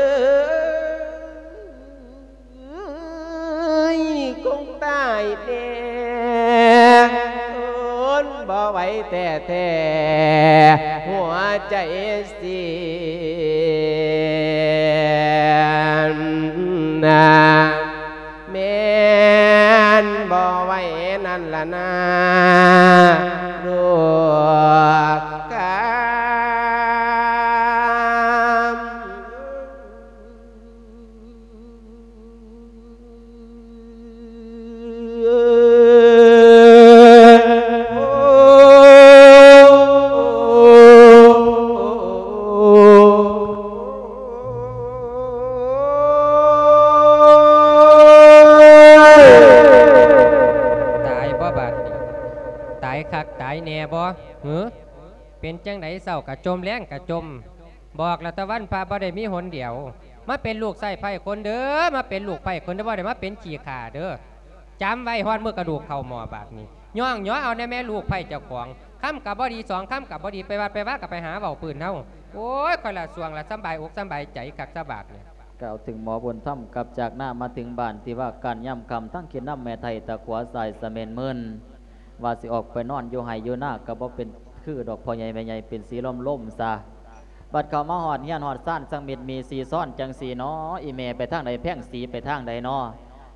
ຍ ຄົງຕາຍແນ່ ທົນບໍ່ໄຫວແທ້ໆ ຫົວໃຈເສຍນະ ແມ່ນບໍ່ໄຫວນັ້ນລະນາ ລູກກາ. ຕາຍບໍ່ບາດນີ້? ຕາຍຄັກຕາຍແນ່ບໍ່? ຫື? ເປັນຈັ່ງໃດ ເຊົ້າກະຈົ່ມ ແລງກະຈົ່ມ ບອກລະຕະວັນພະບໍ່ໄດ້ມີຫົນດຽວ ມາເປັນລູກໃຊ້ໄພ້ຄົນເດີ ມາເປັນລູກໄພ້ຄົນເດີ ບໍ່ໄດ້ມາເປັນຂີ້ຂ້າເດີ ຈຳໄວ້ ຮອດມື້ກະດູກເຂົ້າໝໍ້ບາດນີ້ ຍ້ອງຍໍເອົາແນ່ແມ່ລູກໄພ້ເຈົ້າຂອງ ຄຳກະບໍ່ດີ ສອງຄຳກະບໍ່ດີ ໄປວັດໄປວາກະໄປຫາເວົ້າພື້ນເຮົາ ໂອ້ຍ ຂ້ອຍລະຊ່ວງລະສຳບາຍອົກສຳບາຍໃຈຄັກຊະບາດນີ້. ກ່າວເຖິງໝໍບຸນທຳກັບຈາກນາມາເຖິງບ້ານ ທີ່ວ່າການຍາມຄ່ຳ ທັງກິນນ້ຳແມ່ໄທ້ຕາຂົວສາຍສະເໝັນເມີນ ວ່າຊິອອກໄປນອນຢູ່ໄຮ່ຢູ່ນາກະບໍ່ເປັນຄືດອກ ພໍ່ໃຫຍ່ແມ່ໃຫຍ່ເປັນສີລົມໆຊະ ບັດເຂົ້າມາຮອດເຮືອນຮອດຊານ ຊ່າງມິດມີສີຊ້ອນຈັ່ງຊີ້ເນາະ ອີ່ແມ່ໄປທາງໃດ ແພງສີໄປທາງໃດເນາະ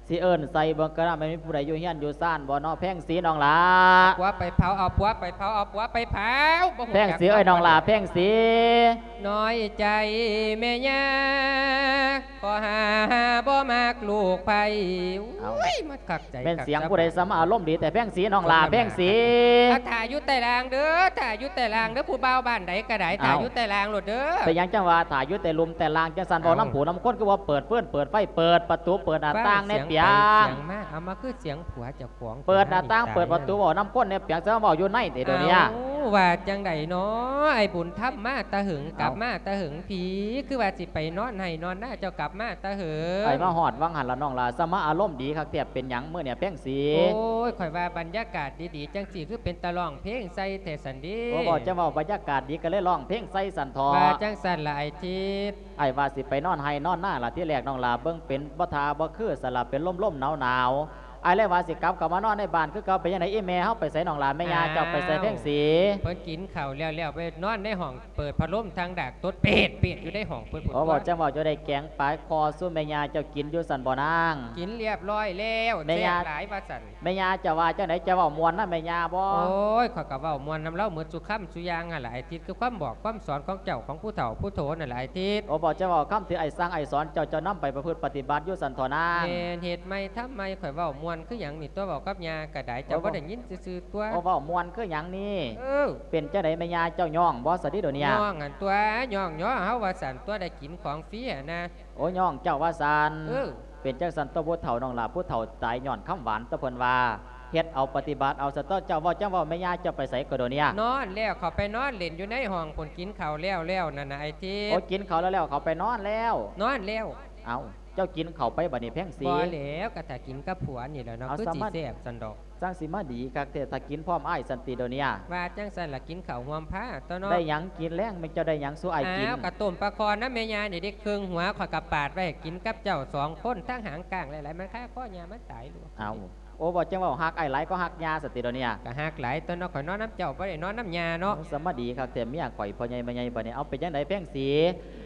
ຊິເອີ້ນໃສ່ເບິ່ງກະນະ ແມ່ນມີຜູ້ໃດຢູ່ເຮືອນຢູ່ຊານບໍ່ເນາະ ແພງສີນ້ອງຫຼ້າ ເອົາຜົວໄປເຜົາ ເອົາຜົວໄປເຜົາ ເອົາຜົວໄປເຜົາ ບໍ່ຮູ້ຈັກ ແພງສີເອີຍ ນ້ອງຫຼ້າ ແພງສີ ນ້ອຍໃຈແມ່ຍ່າ ຂໍຫາບໍ່ມັກລູກໃຜ ເອົ້າ ໂອ້ຍ ມັນຄັກໃຈ ແມ່ນສຽງຜູ້ໃດສະມາອາລົມດີແຕ່ ແພງສີ ນ້ອງຫຼ້າ ແພງສີ ຖ້າຢູ່ໃຕ້ລ່າງເດີ ຖ້າຢູ່ໃຕ້ລ່າງເດີ ຜູ້ບ່າວບ້ານໃດກະໄດ້ ຖ້າຢູ່ໃຕ້ລ່າງໂລດເດີ ເປັນຫຍັງຈັ່ງວ່າຖ້າຢູ່ແຕ່ລຸ່ມແຕ່ລ່າງ ຈັ່ງຊັ້ນ ເວົ້ານຳຜູ້ນຳຄົນ ຄືວ່າເປີດຟືນເປີດໄຟ ເປີດປະຕູເປີດໜ້າຕ່າງແດ່ ເປັນຫຍັງ? ມາ ເອົາມາຄືສຽງຜົວເຈົ້າຂອງ ເປີດໜ້າຕ່າງ ເປີດປະຕູ ເວົ້ານຳຄົນແດ່ ເປັນຫຍັງ ຊິມາເວົ້າຢູ່ໃນແທ້ໂດນນີ້ ເອົ້າ ວ່າຈັ່ງໃດນໍ ອ້າຍບຸນທຳ ມາແຕ່ເຫິງ ກັບມາແຕ່ເຫິງພີ້ ຄືວ່າຊິໄປນອນໄຮ່ນອນນາ ເຈົ້າກັບມາແຕ່ເຫິງ ອ້າຍມາຮອດຫວ່າງຫັ້ນລະນ້ອງຫຼ້າ ສະມາອາລົມດີຄັກແທ້ ເປັນຫຍັງມື້ນີ້ແພງສີ ໂອ້ຍ ຂ້ອຍວ່າບັນຍາກາດດີໆຈັ່ງຊີ້ ຄືເປັນຕາຮ້ອງເພງໃສ່ແທ້ຊັ້ນເດ ໂອ້ ເວົ້າຈັ່ງເວົ້າ ບັນຍາກາດດີກະເລີຍຮ້ອງເພງໃສ່ຊັ້ນເຖາະ ວ່າຈັ່ງຊັ້ນລະອ້າຍທິດ ອ້າຍວ່າຊິໄປນອນໄຮ່ນອນນາລະ ທີແລກນ້ອງຫຼ້າເບິ່ງເປັນບໍ່ທ່າບໍ່ຄື ສະລະເປັນລົມໆໜາວໆ ອ້າຍເລີຍວ່າຊິກັບເຂົ້າມານອນໃນບ້ານຄືເກົ່າ. ເປັນຈັ່ງໃດ ອີ່ແມ່ເຮົາໄປໃສນ້ອງຫຼ້າ? ແມ່ຍ່າເຈົ້າໄປໃສ ອ້າວ ແພງສີ? ເພິ່ນກິນເຂົ້າແລ້ວໆ ໄປນອນໃນຫ້ອງ ເປີດພັດລົມທາງດາກ ຕົດເປດໆຢູ່ໃນຫ້ອງເພິ່ນພຸ້ນ. ໂອ້ ເວົ້າຈັ່ງເວົ້າ ເຈົ້າໄດ້ແກງປາຄໍສູ່ແມ່ຍ່າເຈົ້າກິນຢູ່ຊັ້ນບໍ່ນາງ? ກິນລຽບຮ້ອຍແລ້ວ ແມ່ຍ່າ ແຊບຫຼາຍວ່າຊັ້ນ. ແມ່ຍ່າເຈົ້າວ່າຈັ່ງໃດ? ເຈົ້າເວົ້າມ່ວນນຳແມ່ຍ່າບໍ່? ໂອ້ຍ ຂ້ອຍກໍເວົ້າມ່ວນນຳລາວໝົດສູ່ຄຳສູ່ຢ່າງຫັ້ນລະ ອ້າຍທິດ ຄືຄວາມບອກຄວາມສອນຂອງເຈົ້າ ຂອງຜູ້ເຖົ້າຜູ້ໂຕນັ້ນລະ ອ້າຍທິດ. ໂອ້ ເວົ້າຈັ່ງເວົ້າ ຄຳທີ່ອ້າຍສັ່ງອ້າຍສອນເຈົ້າ ເຈົ້ານຳໄປປະພຶດປະຕິບັດຢູ່ຊັ້ນເຖາະນາງ. ແມ່ນ ເຮັດໃໝ່ທຳໃໝ່ ຂ້ອຍເວົ້າມ່ວນຄືຫຍັງນີ້ຕົວະ ເວົ້າກັບຍ່າກໍໄດ້ ເຈົ້າບໍ່ໄດ້ຍິນຊື່ໆຕົວະ. ໂອ້ ເວົ້າມ່ວນຄືຫຍັງນີ້? ເອີ ເປັນຈັ່ງໃດແມ່ຍ່າເຈົ້າຍ້ອງບໍ່ສະເດດຽວນີ້? ຍ້ອງຫັ້ນຕົວະ ຍ້ອງຍໍເຮົາວ່າຊັ້ນຕົວະ ໄດ້ກິນຂອງຟຣີຫັ້ນນະ. ໂອ້ ຍ້ອງເຈົ້າວ່າຊັ້ນ. ເອີ ເປັນຈັ່ງຊັ້ນຕົວະຜູ້ເຖົ້ານ້ອງຫຼ້າ ຜູ້ເຖົ້າຕາຍຍ້ອນຄຳຫວານຕົວະ ເພິ່ນວ່າເຮັດເອົາປະຕິບັດເອົາຊະຕົວະ. ເຈົ້າເວົ້າຈັ່ງເວົ້າ ແມ່ຍ່າເຈົ້າໄປໃສກໍດຽວນີ້? ນອນແລ້ວ ເຂົາໄປນອນຫຼິ້ນຢູ່ໃນຫ້ອງພຸ້ນ ກິນເຂົ້າແລ້ວໆນັ້ນນະ ອ້າຍທິດ. ໂອ້ ກິນເຂົ້າແລ້ວໆ ເຂົາໄປນອນແລ້ວ? ນອນແລ້ວ. ເອົ້າ ເຈົ້າກິນເຂົ້າໄປບັດນີ້ແພງສີ? ບໍ່ແລ້ວ ກໍຖ້າກິນກັບຜົວນີ້ແຫຼະເນາະ ເອົາ ຄືຊິແຊບຊັ້ນດອກ. ຈັ່ງຊິມາດີຄັກແທ້ ຖ້າກິນພ້ອມອ້າຍຊັ້ນຕິດຽວນີ້? ວ່າຈັ່ງຊັ້ນລະ ກິນເຂົ້າຮ່ວມພາຕົວະເນາະ. ໄດ້ຫຍັງກິນແລງ ແມ່ນເຈົ້າໄດ້ຫຍັງສູ່ອ້າຍກິນ? ອ້າວ ກະຕົ້ມປາຄໍ່ນຳແມ່ຍ່ານີ້ເດ້ ເຄິ່ງຫົວ ຂ້ອຍກະປາດໄວ້ໃຫ້ກິນກັບເຈົ້າສອງຄົນ ທັງຫາງກ້າງຫຼາຍໆ ມັນຄາຄໍ່ຍ່າມັນຕາຍໂລດ. ເອົ້າ ໂອ້ ເວົ້າຈັ່ງເວົ້າ ຮັກອ້າຍຫຼາຍກໍຮັກຍ່າຊັ້ນຕິດຽວນີ້? ກະຮັກຫຼາຍຕົວະເນາະ ຂ້ອຍນອນນຳເຈົ້າ ບໍ່ໄດ້ນອນນຳຍ່າເນາະ. ໂອ້ ສະມາດີຄັກແທ້ ເມຍຂ້ອຍພໍ່ໃຫຍ່ແມ່ໃຫຍ່ບັດນີ້. ເອົາ ເປັນຈັ່ງໃດແພງສີ?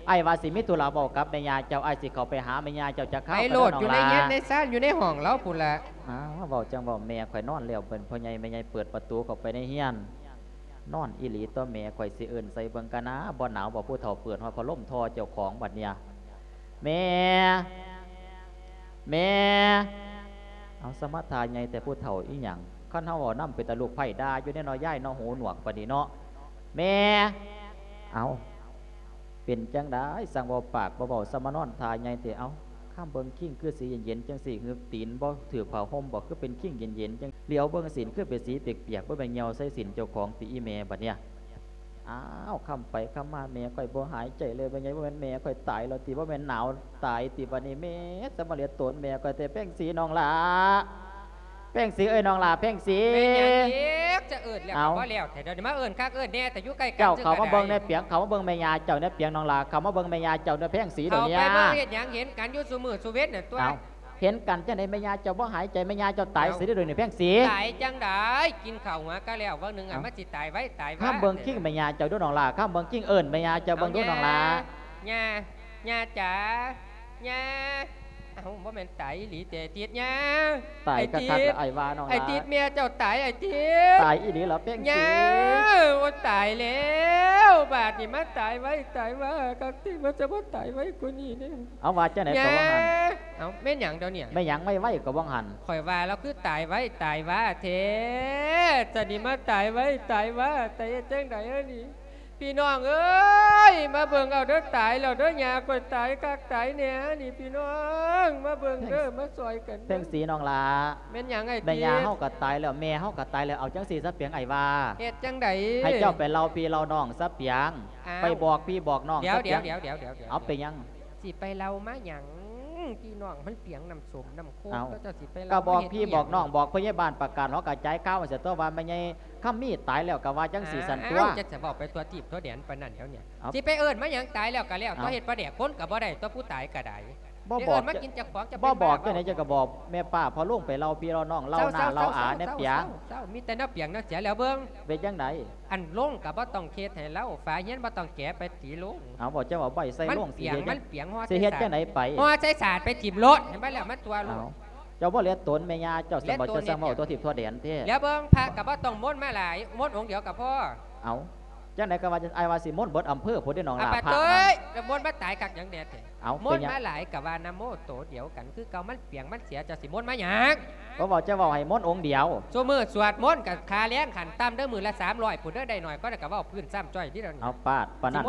ອ້າຍວ່າຊິມີທຸລະເວົ້າກັບແມ່ຍ່າເຈົ້າ ອ້າຍຊິເຂົ້າໄປຫາແມ່ຍ່າເຈົ້າຈັກຄາວ. ໄປໂລດ ຢູ່ໃນເຮືອນໃນຊານ ຢູ່ໃນຫ້ອງລາວພຸ້ນລະ. ອ້າວ ເວົ້າຈັ່ງເວົ້າ ແມ່ຂ້ອຍນອນແລ້ວ ເພິ່ນພໍ່ໃຫຍ່ແມ່ໃຫຍ່ເປີດປະຕູເຂົ້າໄປໃນເຮືອນ. ນອນອີ່ຫຼີຕົວະ ແມ່ຂ້ອຍຊິເອີ້ນໃສ່ເບິ່ງກະນາ ບໍ່ໜາວບໍ່ ຜູ້ເຖົ້າເປີດຮອດພັດລົມທໍ່ເຈົ້າຂອງບັດນີ້. ແມ່ ແມ່ ເອົາ ສະມາທ່າໃຫຍ່ແຕ່ຜູ້ເຖົ້າອີ່ຫຍັງ? ຄັນເຮົາເວົ້ານຳເປັນຕາລູກໃພ້ດ່າຢູ່ເດ້ເນາະ ຍາຍເນາະ ຫູໜວກປານນີ້ເນາະ. ແມ່ ເອົາ ເປັນຈັ່ງໃດ ຊ່າງເວົ້າປາກບໍ່ເວົ້າ ສະມານອນທ່າໃຫຍ່ແທ້. ເອົາ ຄຳເບິ່ງຄີງຄືຊິເຢັນໆ ຈັ່ງຊີ້ ຫື ຕີນບໍ່ຖືກຜ້າຫົ່ມບໍ່ ຄືເປັນຄີງເຢັນໆ ຈັ່ງ ຫຼຽວເບິ່ງຊີ້ນຄືເປັນສີປຽກໆ ບໍ່ແມ່ນຍ່ຽວໃສ່ຊີ້ນເຈົ້າຂອງຕິອີ່ແມ່ບັດນີ້. ອ້າວ ຄຳໄປຄຳມາ ແມ່ຂ້ອຍບໍ່ຫາຍໃຈເລີຍ ແມ່ໃຫຍ່ ບໍ່ແມ່ນແມ່ຂ້ອຍຕາຍແລ້ວຕິ ບໍ່ແມ່ນໜາວຕາຍຕິບັດນີ້. ແມ່ ສະມາເຫຼືອໂຕນແມ່ຂ້ອຍແທ້ ແພງສີນ້ອງຫຼ້າ ແພງສີເອີຍ ນ້ອງຫຼ້າ ແພງສີ. ແມ່ນຫຍັງອີກ ຈະເອີ້ນແລ້ວກໍບໍ່ແລ້ວແທ້ ດຽວນີ້ມາເອີ້ນຄັກເອີ້ນແນ່ ແຕ່ຢູ່ໃກ້ກັນ ເຈົ້າເຂົ້າມາເບິ່ງແນ່ປຽງ ເຂົ້າມາເບິ່ງແມ່ຍ່າເຈົ້າແນ່ປຽງ ນ້ອງຫຼ້າ ເຂົ້າມາເບິ່ງແມ່ຍ່າເຈົ້າແນ່ແພງສີດຽວນີ້. ເຂົ້າໄປເບິ່ງເຮັດຫຍັງ ເຫັນກັນຢູ່ຊຸມື້ຊຸເວັນນັ້ນຕົວະ. ເອົາ ເຫັນກັນຈັ່ງໃດ ແມ່ຍ່າເຈົ້າບໍ່ຫາຍໃຈ ແມ່ຍ່າເຈົ້າຕາຍຊິເດ້ດຽວນີ້ແພງສີ. ຕາຍຈັ່ງໃດ ກິນເຂົ້າຫົວກະແລ້ວ ຫວ່າງໜຶ່ງ ເອົ້າ ມັນຊິຕາຍໄວຕາຍວາ. ຄຳເບິ່ງຄີງແມ່ຍ່າເຈົ້າດູນ້ອງຫຼ້າ ຄຳເບິ່ງຄີງເອີ້ນແມ່ຍ່າເຈົ້າເບິ່ງດູນ້ອງຫຼ້າ. ຍ່າ ຍ່າ ຍ່າຈ໋າ ຍ່າ. ເອົ້າ ບໍ່ແມ່ນຕາຍອີ່ຫຼີຕິ ຕິດຍ່າ. ຕາຍຄັກໆ ອ້າຍວ່ານ້ອງຫຼ້າ ຕິດ ແມ່ເຈົ້າຕາຍ ຕິດ ຕາຍອີ່ຫຼີລະແພງສີ. ໂອ້ຍ ຕາຍແລ້ວ ບາດນີ້ມາຕາຍໄວຕາຍວາຄັກຕິ ມັນຈະບໍ່ຕາຍໄວກວ່ານີ້ເດ້. ເອົາ ວ່າຈັ່ງໃດກໍວ່າຫັ້ນ. ເອົ້າ ແມ່ນຫຍັງດຽວນີ້? ແມ່ນຫຍັງໄວໆກໍວ່າຫັ້ນ? ຂ້ອຍວ່າລາວຄືຕາຍໄວຕາຍວາແທ້ ຈະນີ້ມາຕາຍໄວຕາຍວາ ແຕ່ເຮັດຈັ່ງໃດອັນນີ້? ພີ່ນ້ອງເອີຍ ມາເບິ່ງເອົາເດີ ຕາຍແລ້ວເດີ ຍ່າຂ້ອຍຕາຍຄັກຕາຍແນ່ນີ້ ພີ່ນ້ອງ ມາເບິ່ງເດີ ມາຊ່ອຍກັນເດີ. ແພງສີນ້ອງຫຼ້າ ແມ່ນຫຍັງອ້າຍຕິດ? ແມ່ຍ່າເຮົາກໍຕາຍແລ້ວ ແມ່ເຮົາກໍຕາຍແລ້ວ ເອົາຈັ່ງຊີ້ຊະປຽງ ອ້າຍວ່າ ເຮັດຈັ່ງໃດ? ໃຫ້ເຈົ້າໄປເລົ່າພີ່ເລົ່ານ້ອງຊະປຽງ. ອ້າວ ໄປບອກພີ່ບອກນ້ອງຊະປຽງ. ດຽວໆໆໆໆ ເອົາ ເປັນຫຍັງ? ຊິໄປເລົ່າມາຫຍັງ? ພີ່ນ້ອງມັນປຽງນ້ຳສົ້ມນ້ຳໂຄກ ເຈົ້າຊິໄປເລົ່າ ກໍບອກພີ່ບອກນ້ອງ ບອກພະຍາບານ ປະກາດຫໍກະຈາຍຂ່າວໃຫ້ຊະຕົວະ ວ່າແມ່ໃຫຍ່ຄຳມີຕາຍແລ້ວ ກໍວ່າຈັ່ງຊີ້ຊັ້ນຕົວະ. ເຈົ້າຊິເວົ້າໄປທົ່ວທີບທົ່ວແດນປານນັ້ນແລ້ວນີ້ ຊິໄປເອີ້ນມາຫຍັງ? ຕາຍແລ້ວກໍແລ້ວ ເອົາ ເຮັດປາແດກຄົນກໍບໍ່ໄດ້ຕົວະ ຜູ້ຕາຍກໍໄດ້. ບໍ່ບອກ ມາກິນເຈົ້າຂອງ ເຈົ້າ ບໍ່ບອກຈັ່ງໃດ ເຈົ້າກໍບອກແມ່ປ້າພໍ່ລຸງໄປເລົ່າພີ່ເລົ່ານ້ອງ ເລົ່າໜ້າເລົ່າອາແນ່ປຽງ. ມີແຕ່ແນວປຽງແນວເສຍແລ້ວເບິ່ງ. ເປັນຈັ່ງໃດ? ອັນໂລງກໍບໍ່ຕ້ອງເຮັດໃຫ້ລາວ ຝາຮຽນບໍ່ຕ້ອງແກະ ໄປຕີໂລງ. ເອົາ ບໍ່ ເຈົ້າເອົາໄວ້ໃສ່ໂລງ ມັນປຽງ ຊິເຮັດຈັ່ງໃດໄປ? ຫໍ່ໃສ່ສາດໄປຖິ້ມໂລດ ໃຫ້ມັນແລ້ວມັນຕົວໂລດ. ເຈົ້າບໍ່ເຫຼືອຕົນແມ່ຍ່າເຈົ້າ ສຳບໍ່ ເຈົ້າຊ່າງເວົ້າທົ່ວທິບທົ່ວແດນແທ້. ແລ້ວເບິ່ງ ພະກໍບໍ່ຕ້ອງມົນມາຫຼາຍ ມົນອົງດຽວກໍພໍ. ເອົາ ຈັ່ງໃດກໍວ່າ ອ້າຍວ່າຊິມົນເບິດອຳເພີພຸ້ນເດ້ນ້ອງຫຼ້າ ພະນັ້ນ. ໂອ້ຍ ແລ້ວມົນມາຕາຍຄັກຫຍັງແດ່ແທ້? ເອົາ ມົນມາຫຼາຍກໍວ່ານະໂມໂຕດຽວກັນຄືເກົ່າ ມັນປຽງມັນເສຍ ເຈົ້າຊິມົນມາຫຍັງ? ບໍ່ເວົ້າ ຈະເວົ້າໃຫ້ມົນອົງດຽວ. ຊຸມື້ສວດມົນກໍຄ່າແຮງຂັ້ນຕ່ຳເດີ ມື້ລະສາມຮ້ອຍພຸ້ນເດີ ໄດ້ໜ້ອຍກໍໄດ້ ກໍເວົ້າພື້ນຊ້ຳຈ້ອຍນີ້ດຽວນີ້. ເອົາ ປາດປານນັ້ນຕິ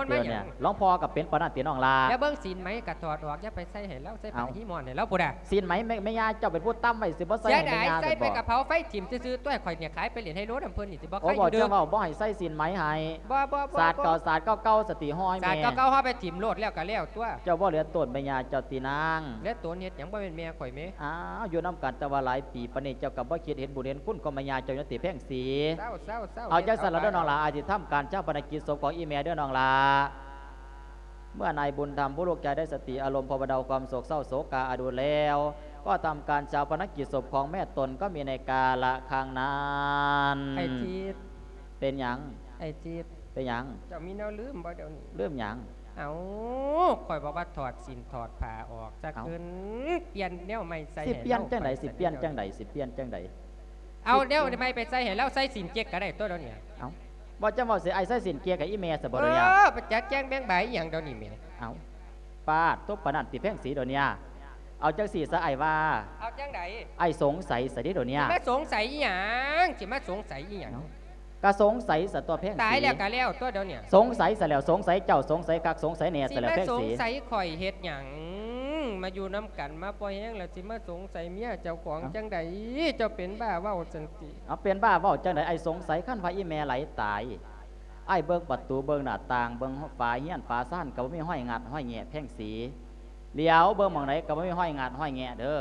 ຫຼວງພໍ່ກໍເປັນປານນັ້ນຕິນ້ອງຫຼ້າ. ແລ້ວເບິ່ງສີນໄໝກໍຖອດອອກ ຢ່າໄປໃສ່ໃຫ້ລາວ ໃສ່ຜ້າຮີໝອນໃຫ້ລາວພຸ້ນນະ. ສີນໄໝແມ່ຍ່າເຈົ້າເປັນຜູ້ຕຳໄວ້ ຊິບໍ່ໃສ່ໃຫ້ແມ່ຍ່າ ໃສ່ໄປກໍເຜົາໄຟຖິ້ມຊື່ໆ ຕົວະ ຂ້ອຍນີ້ຂາຍໄປຫຼິ້ນໄຮໂລນຳເພິ່ນນີ້ ຊິບໍ່ໃຄ່ຢູ່ເດີ. ບໍ່ ເຈົ້າເວົ້າບໍ່ໃຫ້ໃສ່ສີນໄໝໃຫ້. ບໍ່ ບໍ່ ສາດເກົ່າສາດເກົ່າໆ ສະຕິຫ້ອຍແມ່ ສາດເກົ່າໆ ເຮົາໄປຖິ້ມໂລດແລ້ວກໍແລ້ວຕົວະ. ເຈົ້າບໍ່ເຫຼືອຕົນແມ່ຍ່າເຈົ້າຕິນາງ? ເຫຼືອຕົນເຮັດຫຍັງ ບໍ່ແມ່ນແມ່ຂ້ອຍແມ? ອ້າວ ຢູ່ນຳກັນແຕ່ວ່າຫຼາຍປີປານນີ້ ເຈົ້າກໍບໍ່ຄິດເຫັນບຸນເຫັນຄຸນຂອງແມ່ຍ່າເຈົ້າຢູ່ຕິແພງສີ? ເຊົາໆໆ ເອົາ ຈັ່ງຊັ້ນລະເດີນ້ອງຫຼ້າ ອາດຊິທຳການຊາປະນະກິດສົບຂອງອີ່ແມ່ເດີນ້ອງຫຼ້າ. ເມື່ອນາຍບຸນທຳຜູ້ລູກຊາຍໄດ້ສະຕິອາລົມ ພາວະນາຄວາມໂສກເສົ້າໂສກາອະດູດແລ້ວ ກໍທຳການຊາປະນະກິດສົບຂອງແມ່ຕົນກໍມີໃນກາລະຄັ້ງນັ້ນ. ໄອ້ຈິດ ເປັນຫຍັງ? ໄອ້ຈິດ ເປັນຫຍັງ? ເຈົ້າມີແນວລືມບໍ່ດຽວນີ້? ລືມຫຍັງ? ເອົ້າ ຂ້ອຍບອກວ່າຖອດສິ້ນຖອດຜ້າອອກຊະ ເອົ້າ ເກີນ ປ່ຽນແນວໃໝ່ໃສ່ ຊິປ່ຽນຈັ່ງໃດ? ຊິປ່ຽນຈັ່ງໃດ? ຊິປ່ຽນຈັ່ງໃດ? ເອົາແນວໃໝ່ໄປໃສ່ໃຫ້ລາວ ໃສ່ສິ້ນເຈັກກໍໄດ້ຕົວະດຽວນີ້. ເອົ້າ ບໍ່ຈຳເວົ້າຊິ ອ້າຍໃສ່ສິ້ນເກຍກັບອີ່ແມ່ຊະບໍ່ດຽວນີ້? ເອີ ໄປຈັດແຈງແບ່ງບາຍອີ່ຫຍັງດຽວນີ້ແມ່? ເອົ້າ ປາດ ຕົກປານນັ້ນຕິແພງສີດຽວນີ້? ເອົາຈັ່ງຊີ້ຊະອ້າຍວ່າ ເອົາຈັ່ງໃດ? ອ້າຍສົງໄສຊະເດດຽວນີ້. ຊິມາສົງໄສອີ່ຫຍັງ? ຊິມາສົງໄສອີ່ຫຍັງ? ເອົ້າ ກະສົງໄສຊະຕົວະແພງສີ. ຕາຍແລ້ວກະແລ້ວຕົວະດຽວນີ້. ສົງໄສຊະແລ້ວ ສົງໄສເຈົ້າ ສົງໄສຄັກ ສົງໄສແນ່ຊະແລ້ວແພງສີ. ຊິມາສົງໄສຂ້ອຍເຮັດຫຍັງ? ມາຢູ່ນຳກັນມາພໍແຮງແລ້ວ ຊິມາສົງໄສເມຍເຈົ້າຂອງ ເອົ້າ ຈັ່ງໃດ? ເຈົ້າເປັນບ້າເວົ້າຊັ້ນຕິ? ເອົາ ເປັນບ້າເວົ້າຈັ່ງໃດ? ອ້າຍສົງໄສ ຄັນວ່າອີ່ແມ່ໄຫຼຕາຍ ອ້າຍເບິ່ງປະຕູ ເບິ່ງໜ້າຕ່າງ ເບິ່ງຝາເຮືອນຝາຊານ ກໍບໍ່ມີຮອຍງັດຮອຍແງະແພງສີ. ຫຼຽວເບິ່ງໝ່ອງໃດກໍບໍ່ມີຮອຍງັດຮອຍແງະເດີ.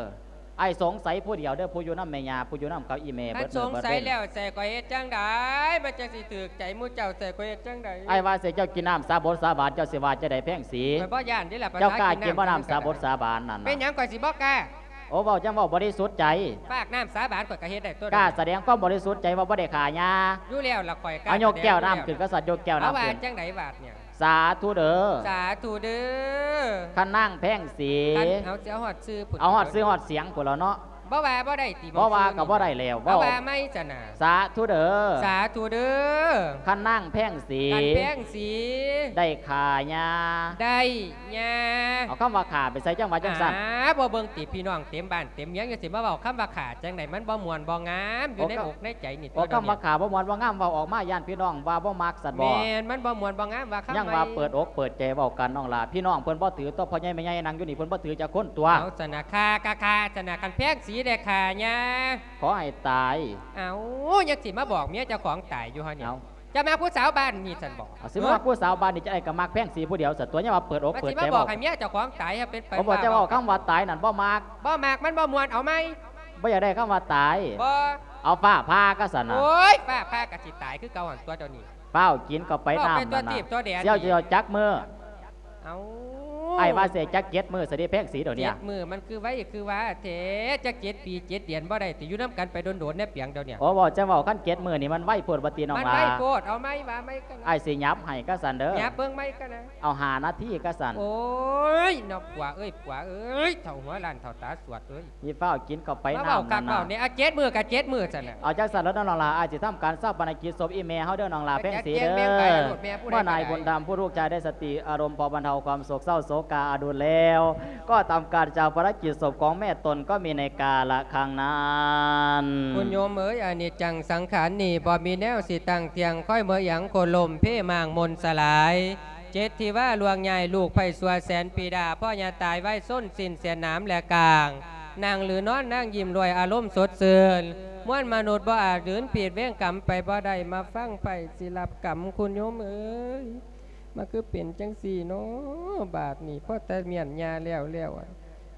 ອ້າຍສົງໄສຜູ້ດຽວເດີ ຜູ້ຢູ່ນຳແມ່ຍ່າ ຜູ້ຢູ່ນຳກັບອີ່ແມ່ ມັນສົງໄສແລ້ວໃສ່ຂ້ອຍເຮັດຈັ່ງໃດ? ມັນຈັ່ງຊິຖືກໃຈໝູ່ເຈົ້າໃສ່ຂ້ອຍເຮັດຈັ່ງໃດ? ອ້າຍວ່າໃສ່ເຈົ້າກິນນ້ຳສາບົດສາບານ ເຈົ້າຊິວ່າຈັ່ງໃດແພງສີ? ຂ້ອຍບໍ່ຢ້ານເດ້ລະ ເຈົ້າກ້າກິນບໍ່ນ້ຳສາບົດສາບານນັ້ນນະ? ເປັນຫຍັງຂ້ອຍຊິບໍ່ກ້າ? ໂອ້ ເວົ້າຈັ່ງເວົ້າບໍລິສຸດໃຈ. ປາກນ້ຳສາບານຂ້ອຍກໍເຮັດໄດ້ຕົວະ. ກ້າສະແດງຄວາມບໍລິສຸດໃຈວ່າບໍ່ໄດ້ຂ້າຍ່າ. ຢູ່ແລ້ວລະ ຂ້ອຍກ້າ. ເອົາ ຍົກແກ້ວນ້ຳຂຶ້ນກະສັດ ຍົກແກ້ວນ້ຳຂຶ້ນ. ເອົາ ວ່າຈັ່ງໃດບາດນີ້? ສາທຸເດີ ສາທຸເດີ ຄັນນາງແພງສີ. ຄັນ ເອົາ ຊິເອົາຮອດຊື່ພຸ້ນ. ເອົາຮອດຊື່ຮອດສຽງພຸ້ນລະເນາະ. ບໍ່ວ່າບໍ່ໄດ້ຕິ? ບໍ່ວ່າກໍບໍ່ໄດ້ແລ້ວ. ເວົ້າ ເອົາ ວ່າໃໝ່ຊັ້ນນະ. ສາທຸເດີ ສາທຸເດີ ຄັນນາງແພງສີ. ຄັນແພງສີ ໄດ້ຂ້າຍ່າ. ໄດ້ ຍ່າ. ເອົາຄຳວ່າຂ້າໄປໃສ່ ຈັ່ງວ່າຈັ່ງຊັ້ນ. ອາ ບໍ່ເບິ່ງຕິ ພີ່ນ້ອງເຕັມບ້ານເຕັມເມືອງ ຈັ່ງຊິມາເວົ້າຄຳວ່າຂ້າຈັ່ງໃດ? ມັນບໍ່ມ່ວນບໍ່ງາມຢູ່ໃນອົກໃນໃຈນີ້. ເວົ້າຄຳວ່າຂ້າບໍ່ມ່ວນບໍ່ງາມ ເວົ້າອອກມາຢ້ານພີ່ນ້ອງວ່າບໍ່ມັກຊັ້ນບໍ? ແມ່ນ ມັນບໍ່ມ່ວນບໍ່ງາມ ວ່າຄຳໃໝ່. ຍັງວ່າເປີດອົກເປີດໃຈເວົ້າກັນນ້ອງຫຼ້າ. ພີ່ນ້ອງເພິ່ນບໍ່ຖືຕົວະ ພໍ່ໃຫຍ່ແມ່ໃຫຍ່ນັ່ງຢູ່ນີ້ ເພິ່ນບໍ່ຖືຈັກຄົນຕົວະ. ເອົາຊັ້ນນະ ຂ້າກໍຂ້າຊັ້ນນະ ຄັນແພງສີໄດ້ຂ້າຍ່າ ຂໍໃຫ້ຕາຍ. ເອົ້າ ຍັງຊິມາບອກເມຍເຈົ້າຂອງຕາຍຢູ່ຫັ້ນນີ້. ເອົ້າ ຈະມາຜູ້ສາວບ້ານນີ້ຊັ້ນບໍ? ເອົາ ຊິມາຜູ້ສາວບ້ານນີ້ ຈະໄດ້ກໍມັກແພງສີຜູ້ດຽວຊະຕົວະ. ຍັງວ່າເປີດອົກເປີດໃຈເວົ້າ. ມາຊິມາບອກໃຫ້ເມຍເຈົ້າຂອງຕາຍ ເຮົາເປັນໄປ. ໂອ້ ບໍ່ ເວົ້າ ຈະເວົ້າຄຳວ່າຕາຍນັ້ນບໍ່ມັກ. ບໍ່ມັກ ມັນບໍ່ມ່ວນ ເອົາໃໝ່. ບໍ່ຢາກໄດ້ຄຳວ່າຕາຍ. ບໍ່. ເອົາຟ້າຜ່າກະຊັ້ນນະ. ໂອ້ຍ ຟ້າຜ່າກະຊິຕາຍຄືເກົ່າຫັ້ນຕົວະດຽວນີ້. ຟ້າວກິນເຂົ້າໄປນ້ຳນັ້ນນະ. ເຈົ້າຊິເອົາຈັກມື້? ເອົ້າ ອ້າຍວ່າຊິຈັກເຈັດມື້ຊະເດແພງສີດຽວນີ້. ເຈັດມື້ ມັນຄືໄວຄືວ່າແທ້ ຈັກເຈັດປີເຈັດເດືອນບໍ່ໄດ້ຕິ? ຢູ່ນຳກັນໄປດົນໆແດ່ປຽງດຽວນີ້. ໂອ້ ເວົ້າຈັ່ງເວົ້າ ຄັນເຈັດມື້ນີ້ມັນໄວໂພດວ່າຕິນ້ອງຫຼ້າ? ມັນໄວໂພດ ເອົາໃໝ່ ວ່າໃໝ່ກັນນະ. ອ້າຍຊິຫຍັບໃຫ້ກະຊັ້ນເດີ. ຫຍັບເບິ່ງໃໝ່ກັນນະ. ເອົາຫ້ານາທີກະຊັ້ນ. ໂອ້ຍ ນ້ອງຜົວເອີຍ ຜົວເອີຍ ເຖົ້າຫົວລ້ານ ເຖົ້າຕາສວດເອີຍ. ມີຟ້າວກິນເຂົ້າໄປນ້ຳນັ້ນນະ. ມາເວົ້າຄັກເວົ້າແນ່ ເອົາເຈັດມື້ກະເຈັດມື້ຊັ້ນນະ. ເອົາຈັ່ງຊັ້ນລະນ້ອງຫຼ້າ ອ້າຍຊິທຳການຊາປະນະກິດສົບອີ່ແມ່ເຮົາເດີນ້ອງຫຼ້າແພງສີເດີ. ເມື່ອນາຍບຸນທຳຜູ້ລູກຊາຍໄດ້ສະຕິອາລົມ ພໍບັນເທົາຄວາມໂສກເສົ້າໂສກາອະດຸນແລ້ວ ກໍທຳການຊາປະນະກິດສົບຂອງແມ່ຕົນກໍມີໃນກາລະຄັ້ງນັ້ນ. ຄຸນໂຍມເອີຍ ອະນິດຈັງສັງຂານນີ້ ບໍ່ມີແນວຊິຕັ້ງທ່ຽງ ຄອຍເມື່ອຫຍັງໂຄ່ນລົ້ມເພມ້າງມົນສະຫຼາຍ. ເຈັດທີ່ວ່າລ່ວງຍ້າຍ ລູກໃພ້ຊົ່ວແສນປີດາ ພໍ່ຍ່າຕາຍໄວຊົນສິ້ນເສຍໜາມແລະກາງ ນັ່ງຫຼືນອນນາງຍິ້ມດ້ວຍອາລົມສົດຊື່ນ ມວນມະນຸດບໍ່ອາດຫືນຜິດ ເວນກຳໄປບໍ່ໄດ້ ມາຟັງໃພ້ຊິຮັບກຳ ຄຸນໂຍມເອີຍ ມາຄືເປັນຈັ່ງຊີ້ເນາະ ບາດນີ້ ພໍແຕ່ມ້ຽນຍ່າແລ້ວແລ້ວ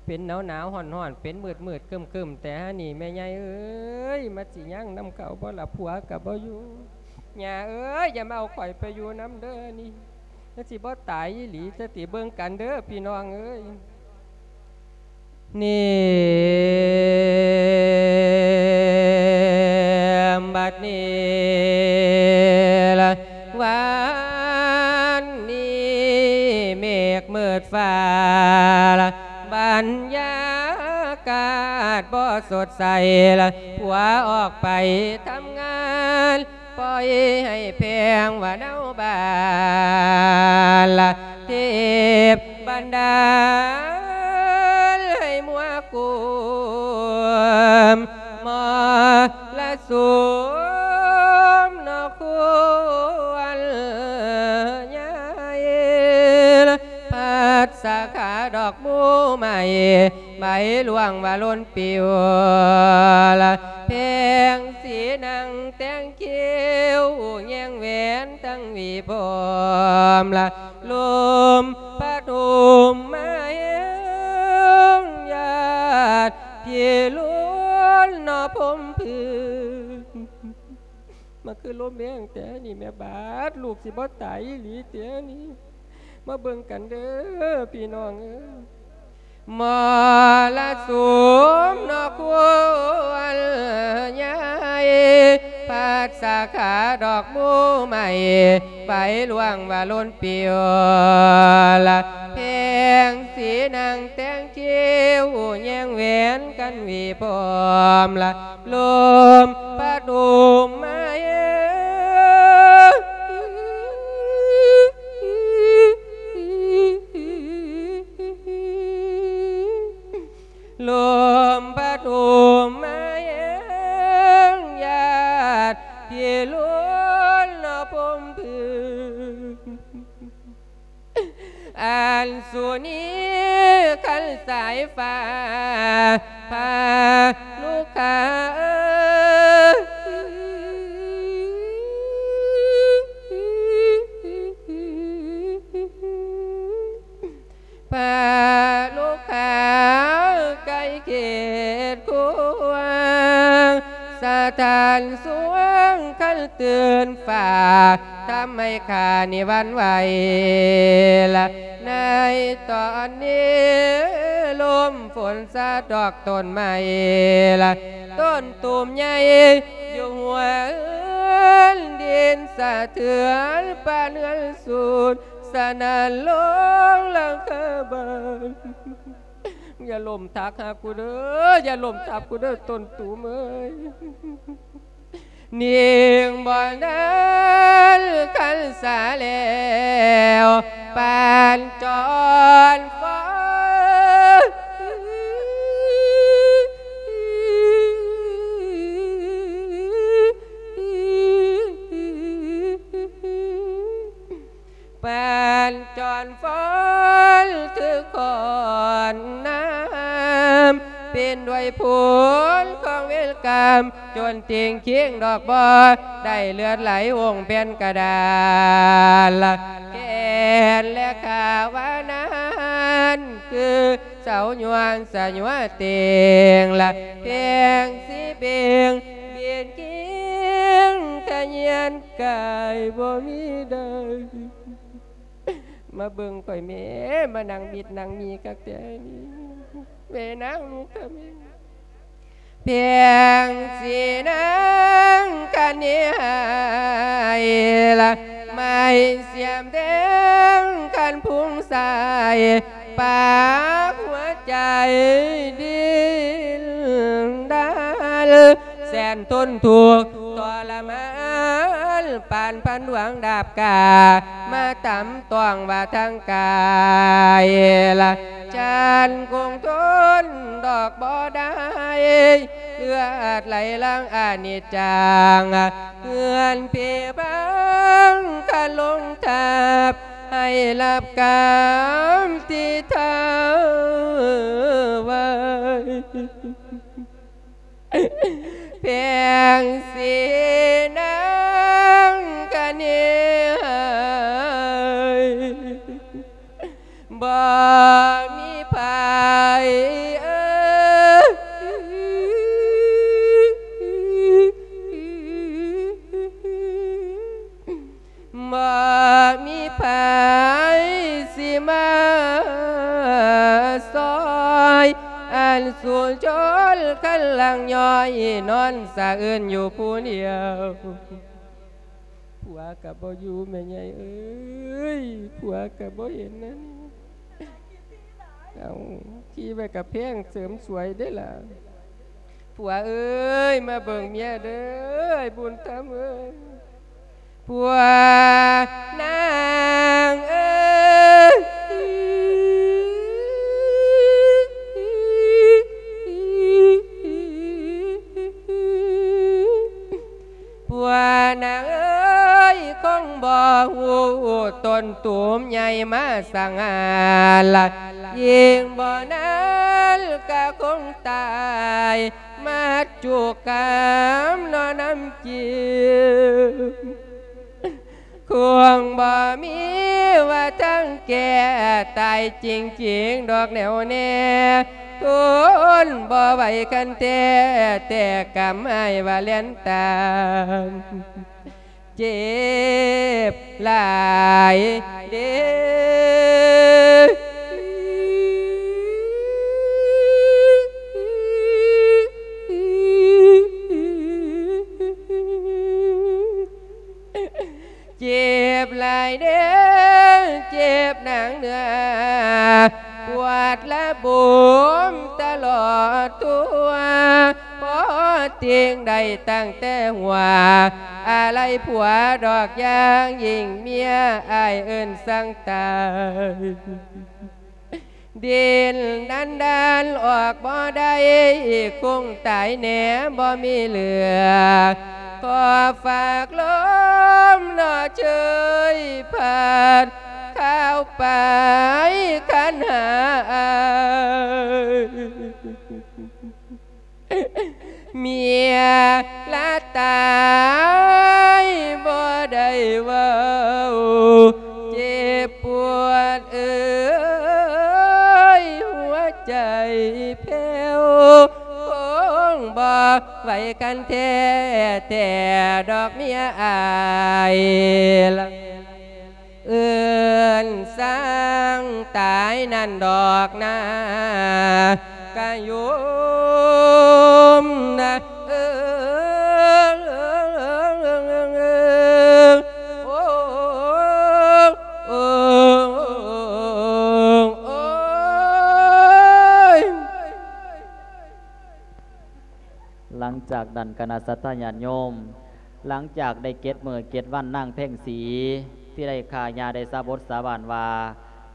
ເປັນໜາວໆຮ້ອນໆ ເປັນມືດໆຄຶ້ມໆ ແຕ່ຫານີ້ ແມ່ໃຫຍ່ເອີຍ ມັນຊິຍັງນຳເຂົາບໍ່ລະ ຜົວກໍບໍ່ຢູ່ ຍ່າເອີຍ ຢ່າມາເອົາຂ້ອຍໄປຢູ່ນຳເດີນີ້ ມັນຊິບໍ່ຕາຍອີ່ຫຼີຊະຕິ ເບິ່ງກັນເດີພີ່ນ້ອງເອີຍ. ນີ້ ບັດນີ້ລະ ວັນນີ້ເມກມືດຟ້າລະ ບັນຍາກາດບໍ່ສົດໃສລະ ຜົວອອກໄປທຳງານ ປ່ອຍໃຫ້ແພງວ່າເນົາບ້ານລະ ເທບບັນດານໃຫ້ມົວກຸມ ມໍລະສຸມເນາະຄວນຍາຍ ພັດສາຂາດອກໝູ່ໃໝ່ ໃບຫຼວງວ່າຫຼົ່ນປິວລະ ແພງສີນັ່ງແຕ່ງຄິ້ວ ແຍງແຫວນທັງຫວີຜົມລະ ລົມພັດໂຫມມາແຮງ ຍາດພິລຸນເນາະພົມພືນ ມາຄືລົມແຮງແທ້ນີ້ແມ່ ບາດລູກຊິບໍ່ຕາຍອີ່ຫຼີເຕນີ້ ມາເບິ່ງກັນເດີພີ່ນ້ອງເອີຍ. ມໍລະສຸມເນາະຄວນໃຫຍ່ ພັດສາຂາດອກໝູ່ໃໝ່ ໄປລ່ວງວ່າລົ້ນປິວລະ ແພງສີນາງແຕ່ງຄິ້ວ ແຍງແຫວນກັນຫວີພ້ອມລະ ລົມພັດໂຫມມາແຮງ ລົມພັດໂຫມມາແຮງ ຍາດພິລຸນເນາະພົມພຶງ ອັນສຸນີຄັນສາຍຟ້າ ພາລູກຄ້າເອີຍ ພາລູກຄ້າໄກ່ເຂດຂົວ ສະທ້ານສວງຄັນຕື່ນຟ້າ ທຳໃຫ້ຂ້ານີ້ຫວັ່ນໄຫວລະ ໃນຕອນນີ້ ລົມຝົນສະດອກຕົ້ນໄມ້ລະ ຕົ້ນຕູມໃຫຍ່ ຢູ່ຫົວເຮືອນ ດິນສະເທືອນ ປານເຮືອນສູນ ສະໜັ່ນລົງຫຼັງຄາບ້ານ. ຢ່າລົ້ມທັບຫາກູເດີ້ ຢ່າລົ້ມທັບກູເດີ້ ຕົ້ນຕູມເອີຍ. ຍິງບໍ່ທັນຄັນສາແລ້ວ ປານຈອນຟ້ອນ ປານຈອນຟ້ອນຖືກຂອນນ້ຳ ເປັນດ້ວຍຜົນຂອງເວນກຳ ຈົນຕິງຄິງດອກບໍ່ ໄດ້ເລືອດໄຫຼອົງແຜ່ນກະດານ ແກ່ນແລະຂາວານານ ຄືເສົາຍວນສະຍວເຕັງລະ ແພງສີເປັງ ເປັນກິງຂະຍຽນກາຍບໍ່ມີໃດ. ມາເບິ່ງຂ້ອຍແມ້ ມານັ່ງມິດນັ່ງມີຄັກແທ້ນີ້ ແມ່ນາງລູກຂ້າແມ່ ແພງສີນາງຄະເນຫາຍລະ ໄມ້ສຽມແດງຄັນພຸງສາຍ ປາກຫົວໃຈດີ້ນດັນ ແສນທົນທຸກທໍລະມານ ປານພັນດວງດາບກາ ມາຕຳຕ້ອງວ່າທາງກາຍລະ ຈັນຄົງທົນດອກບໍ່ໄດ້ ເລືອດໄຫຼຫຼັງອະນິດຈັງ ເຮືອນເພພັງຄະລົງທັບ ໃຫ້ຮັບກຳທີ່ທ້າວໄວ້. ແພງສີນາງຄະເນຫາຍ ບໍ່ມີໃຜ ເອີຍ ບໍ່ມີໃຜຊິມາຊ່ອຍ ອັນສູນຊົນຄັນຫຼັງຍ້ອຍ ນອນສະອືນຢູ່ຜູ້ດຽວ. ຜົວກະບໍ່ຢູ່ແມ່ໃຫຍ່ເອີຍ ຜົວກະບໍ່ເຫັນນັ້ນ. ເອົາ ຂີ່ໄວ້ກະແພງເສີມສວຍເດ້ລະ. ຜົວເອີຍ ມາເບິ່ງເມຍເດີ ອ້າຍບຸນທຳເອີຍ ຜົວນາງເອີຍ. ຜົວນາງເອີຍ ຄົງບໍ່ຮູ້ຕົ້ນຕູມໃຫຍ່ມາສັງຫານລະ ຍິ່ງບໍ່ນານກະຄົງຕາຍ ມັດຈຸກຳເນາະນຳຈິງ ຄົງບໍ່ມີວ່າທາງແກ້ ຕາຍຈິງໆດອກແນວແນ່ ທົນບໍ່ໄຫວຄັນແທ້ ແຕ່ກຳອ້າຍວ່າແລ່ນຕາມ ເຈັບຫຼາຍເດ້. ເດີເຈັບໜັກເນື້ອ ປວດລະບົມຕະຫຼອດຕົວ ພໍຕິງໄດ້ຕັ້ງແຕ່ຫົວ ອາໄລຜົວດອກຢ່າງຍິ່ງເມຍ ອ້າຍເອີ້ນສັ່ງຕາຍ ດິນດັນດານອອກບໍ່ໄດ້ ຄົງຕາຍແນ່ບໍ່ມີເຫຼືອ ຂໍຝາກລົມເນາະເຊີຍ ຜ່ານຂ່າວໄປຄັນຫາອ້າຍ ເມຍລະຕາຍບໍ່ໄດ້ເວົ້າ ເຈັບປວດເອີຍ ຫົວໃຈແຜ່ວ ຄົງບໍ່ໄຫວກັນແທ້ ແທ້ດອກເມຍອ້າຍ ເອີ້ນຊ່າງຕາຍນັ້ນດອກນາ ກະໂຍມນະ ເອີ ໂອ້ ໂອ້ ໂອ້ ໂອ້ຍ. ຫຼັງຈາກນັ້ນ ຄະນະສັດທາຍາດໂຍມ ຫຼັງຈາກໄດ້ເຈັດມື້ເຈັດວັນ ນາງແພງສີທີ່ໄດ້ຂ້າຍ່າໄດ້ສາບົດສາບານວ່າ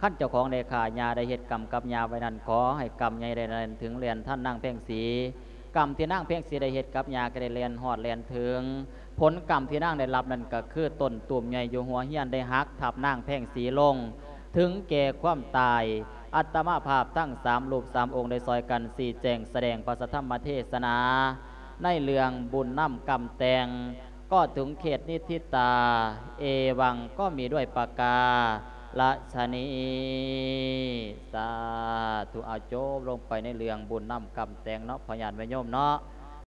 ຄັນເຈົ້າຂອງໄດ້ຂ້າຍ່າ ໄດ້ເຮັດກຳກັບຍ່າໄວ້ນັ້ນ ຂໍໃຫ້ກຳໃຫຍ່ໄດ້ແລ່ນເຖິງແລ່ນທັນນາງແພງສີ ກຳທີ່ນາງແພງສີໄດ້ເຮັດກັບຍ່າ ກໍໄດ້ແລ່ນຮອດແລ່ນເຖິງ. ຜົນກຳທີ່ນາງໄດ້ຮັບນັ້ນ ກໍຄືຕົ້ນຕູມໃຫຍ່ຢູ່ຫົວເຮືອນໄດ້ຫັກທັບນາງແພງສີລົງ ເຖິງແກ່ຄວາມຕາຍ. ອາດຕະມາພາບທັງສາມຮູບສາມອົງໄດ້ຊ່ອຍກັນຊີ້ແຈງສະແດງພະສະທຳມະເທສະໜາ ໃນເລື່ອງບຸນນຳກຳແຕ່ງ ກໍເຖິງເຂດນິທິຕາ ເອວັງ ກໍມີດ້ວຍປະກາລະຊະນີ. ສາທຸ. ເອົາ ຈົບລົງໄປໃນເລື່ອງບຸນນຳກຳແຕ່ງເນາະ ພໍ່ຍາດແມ່ໂຍມເນາະ.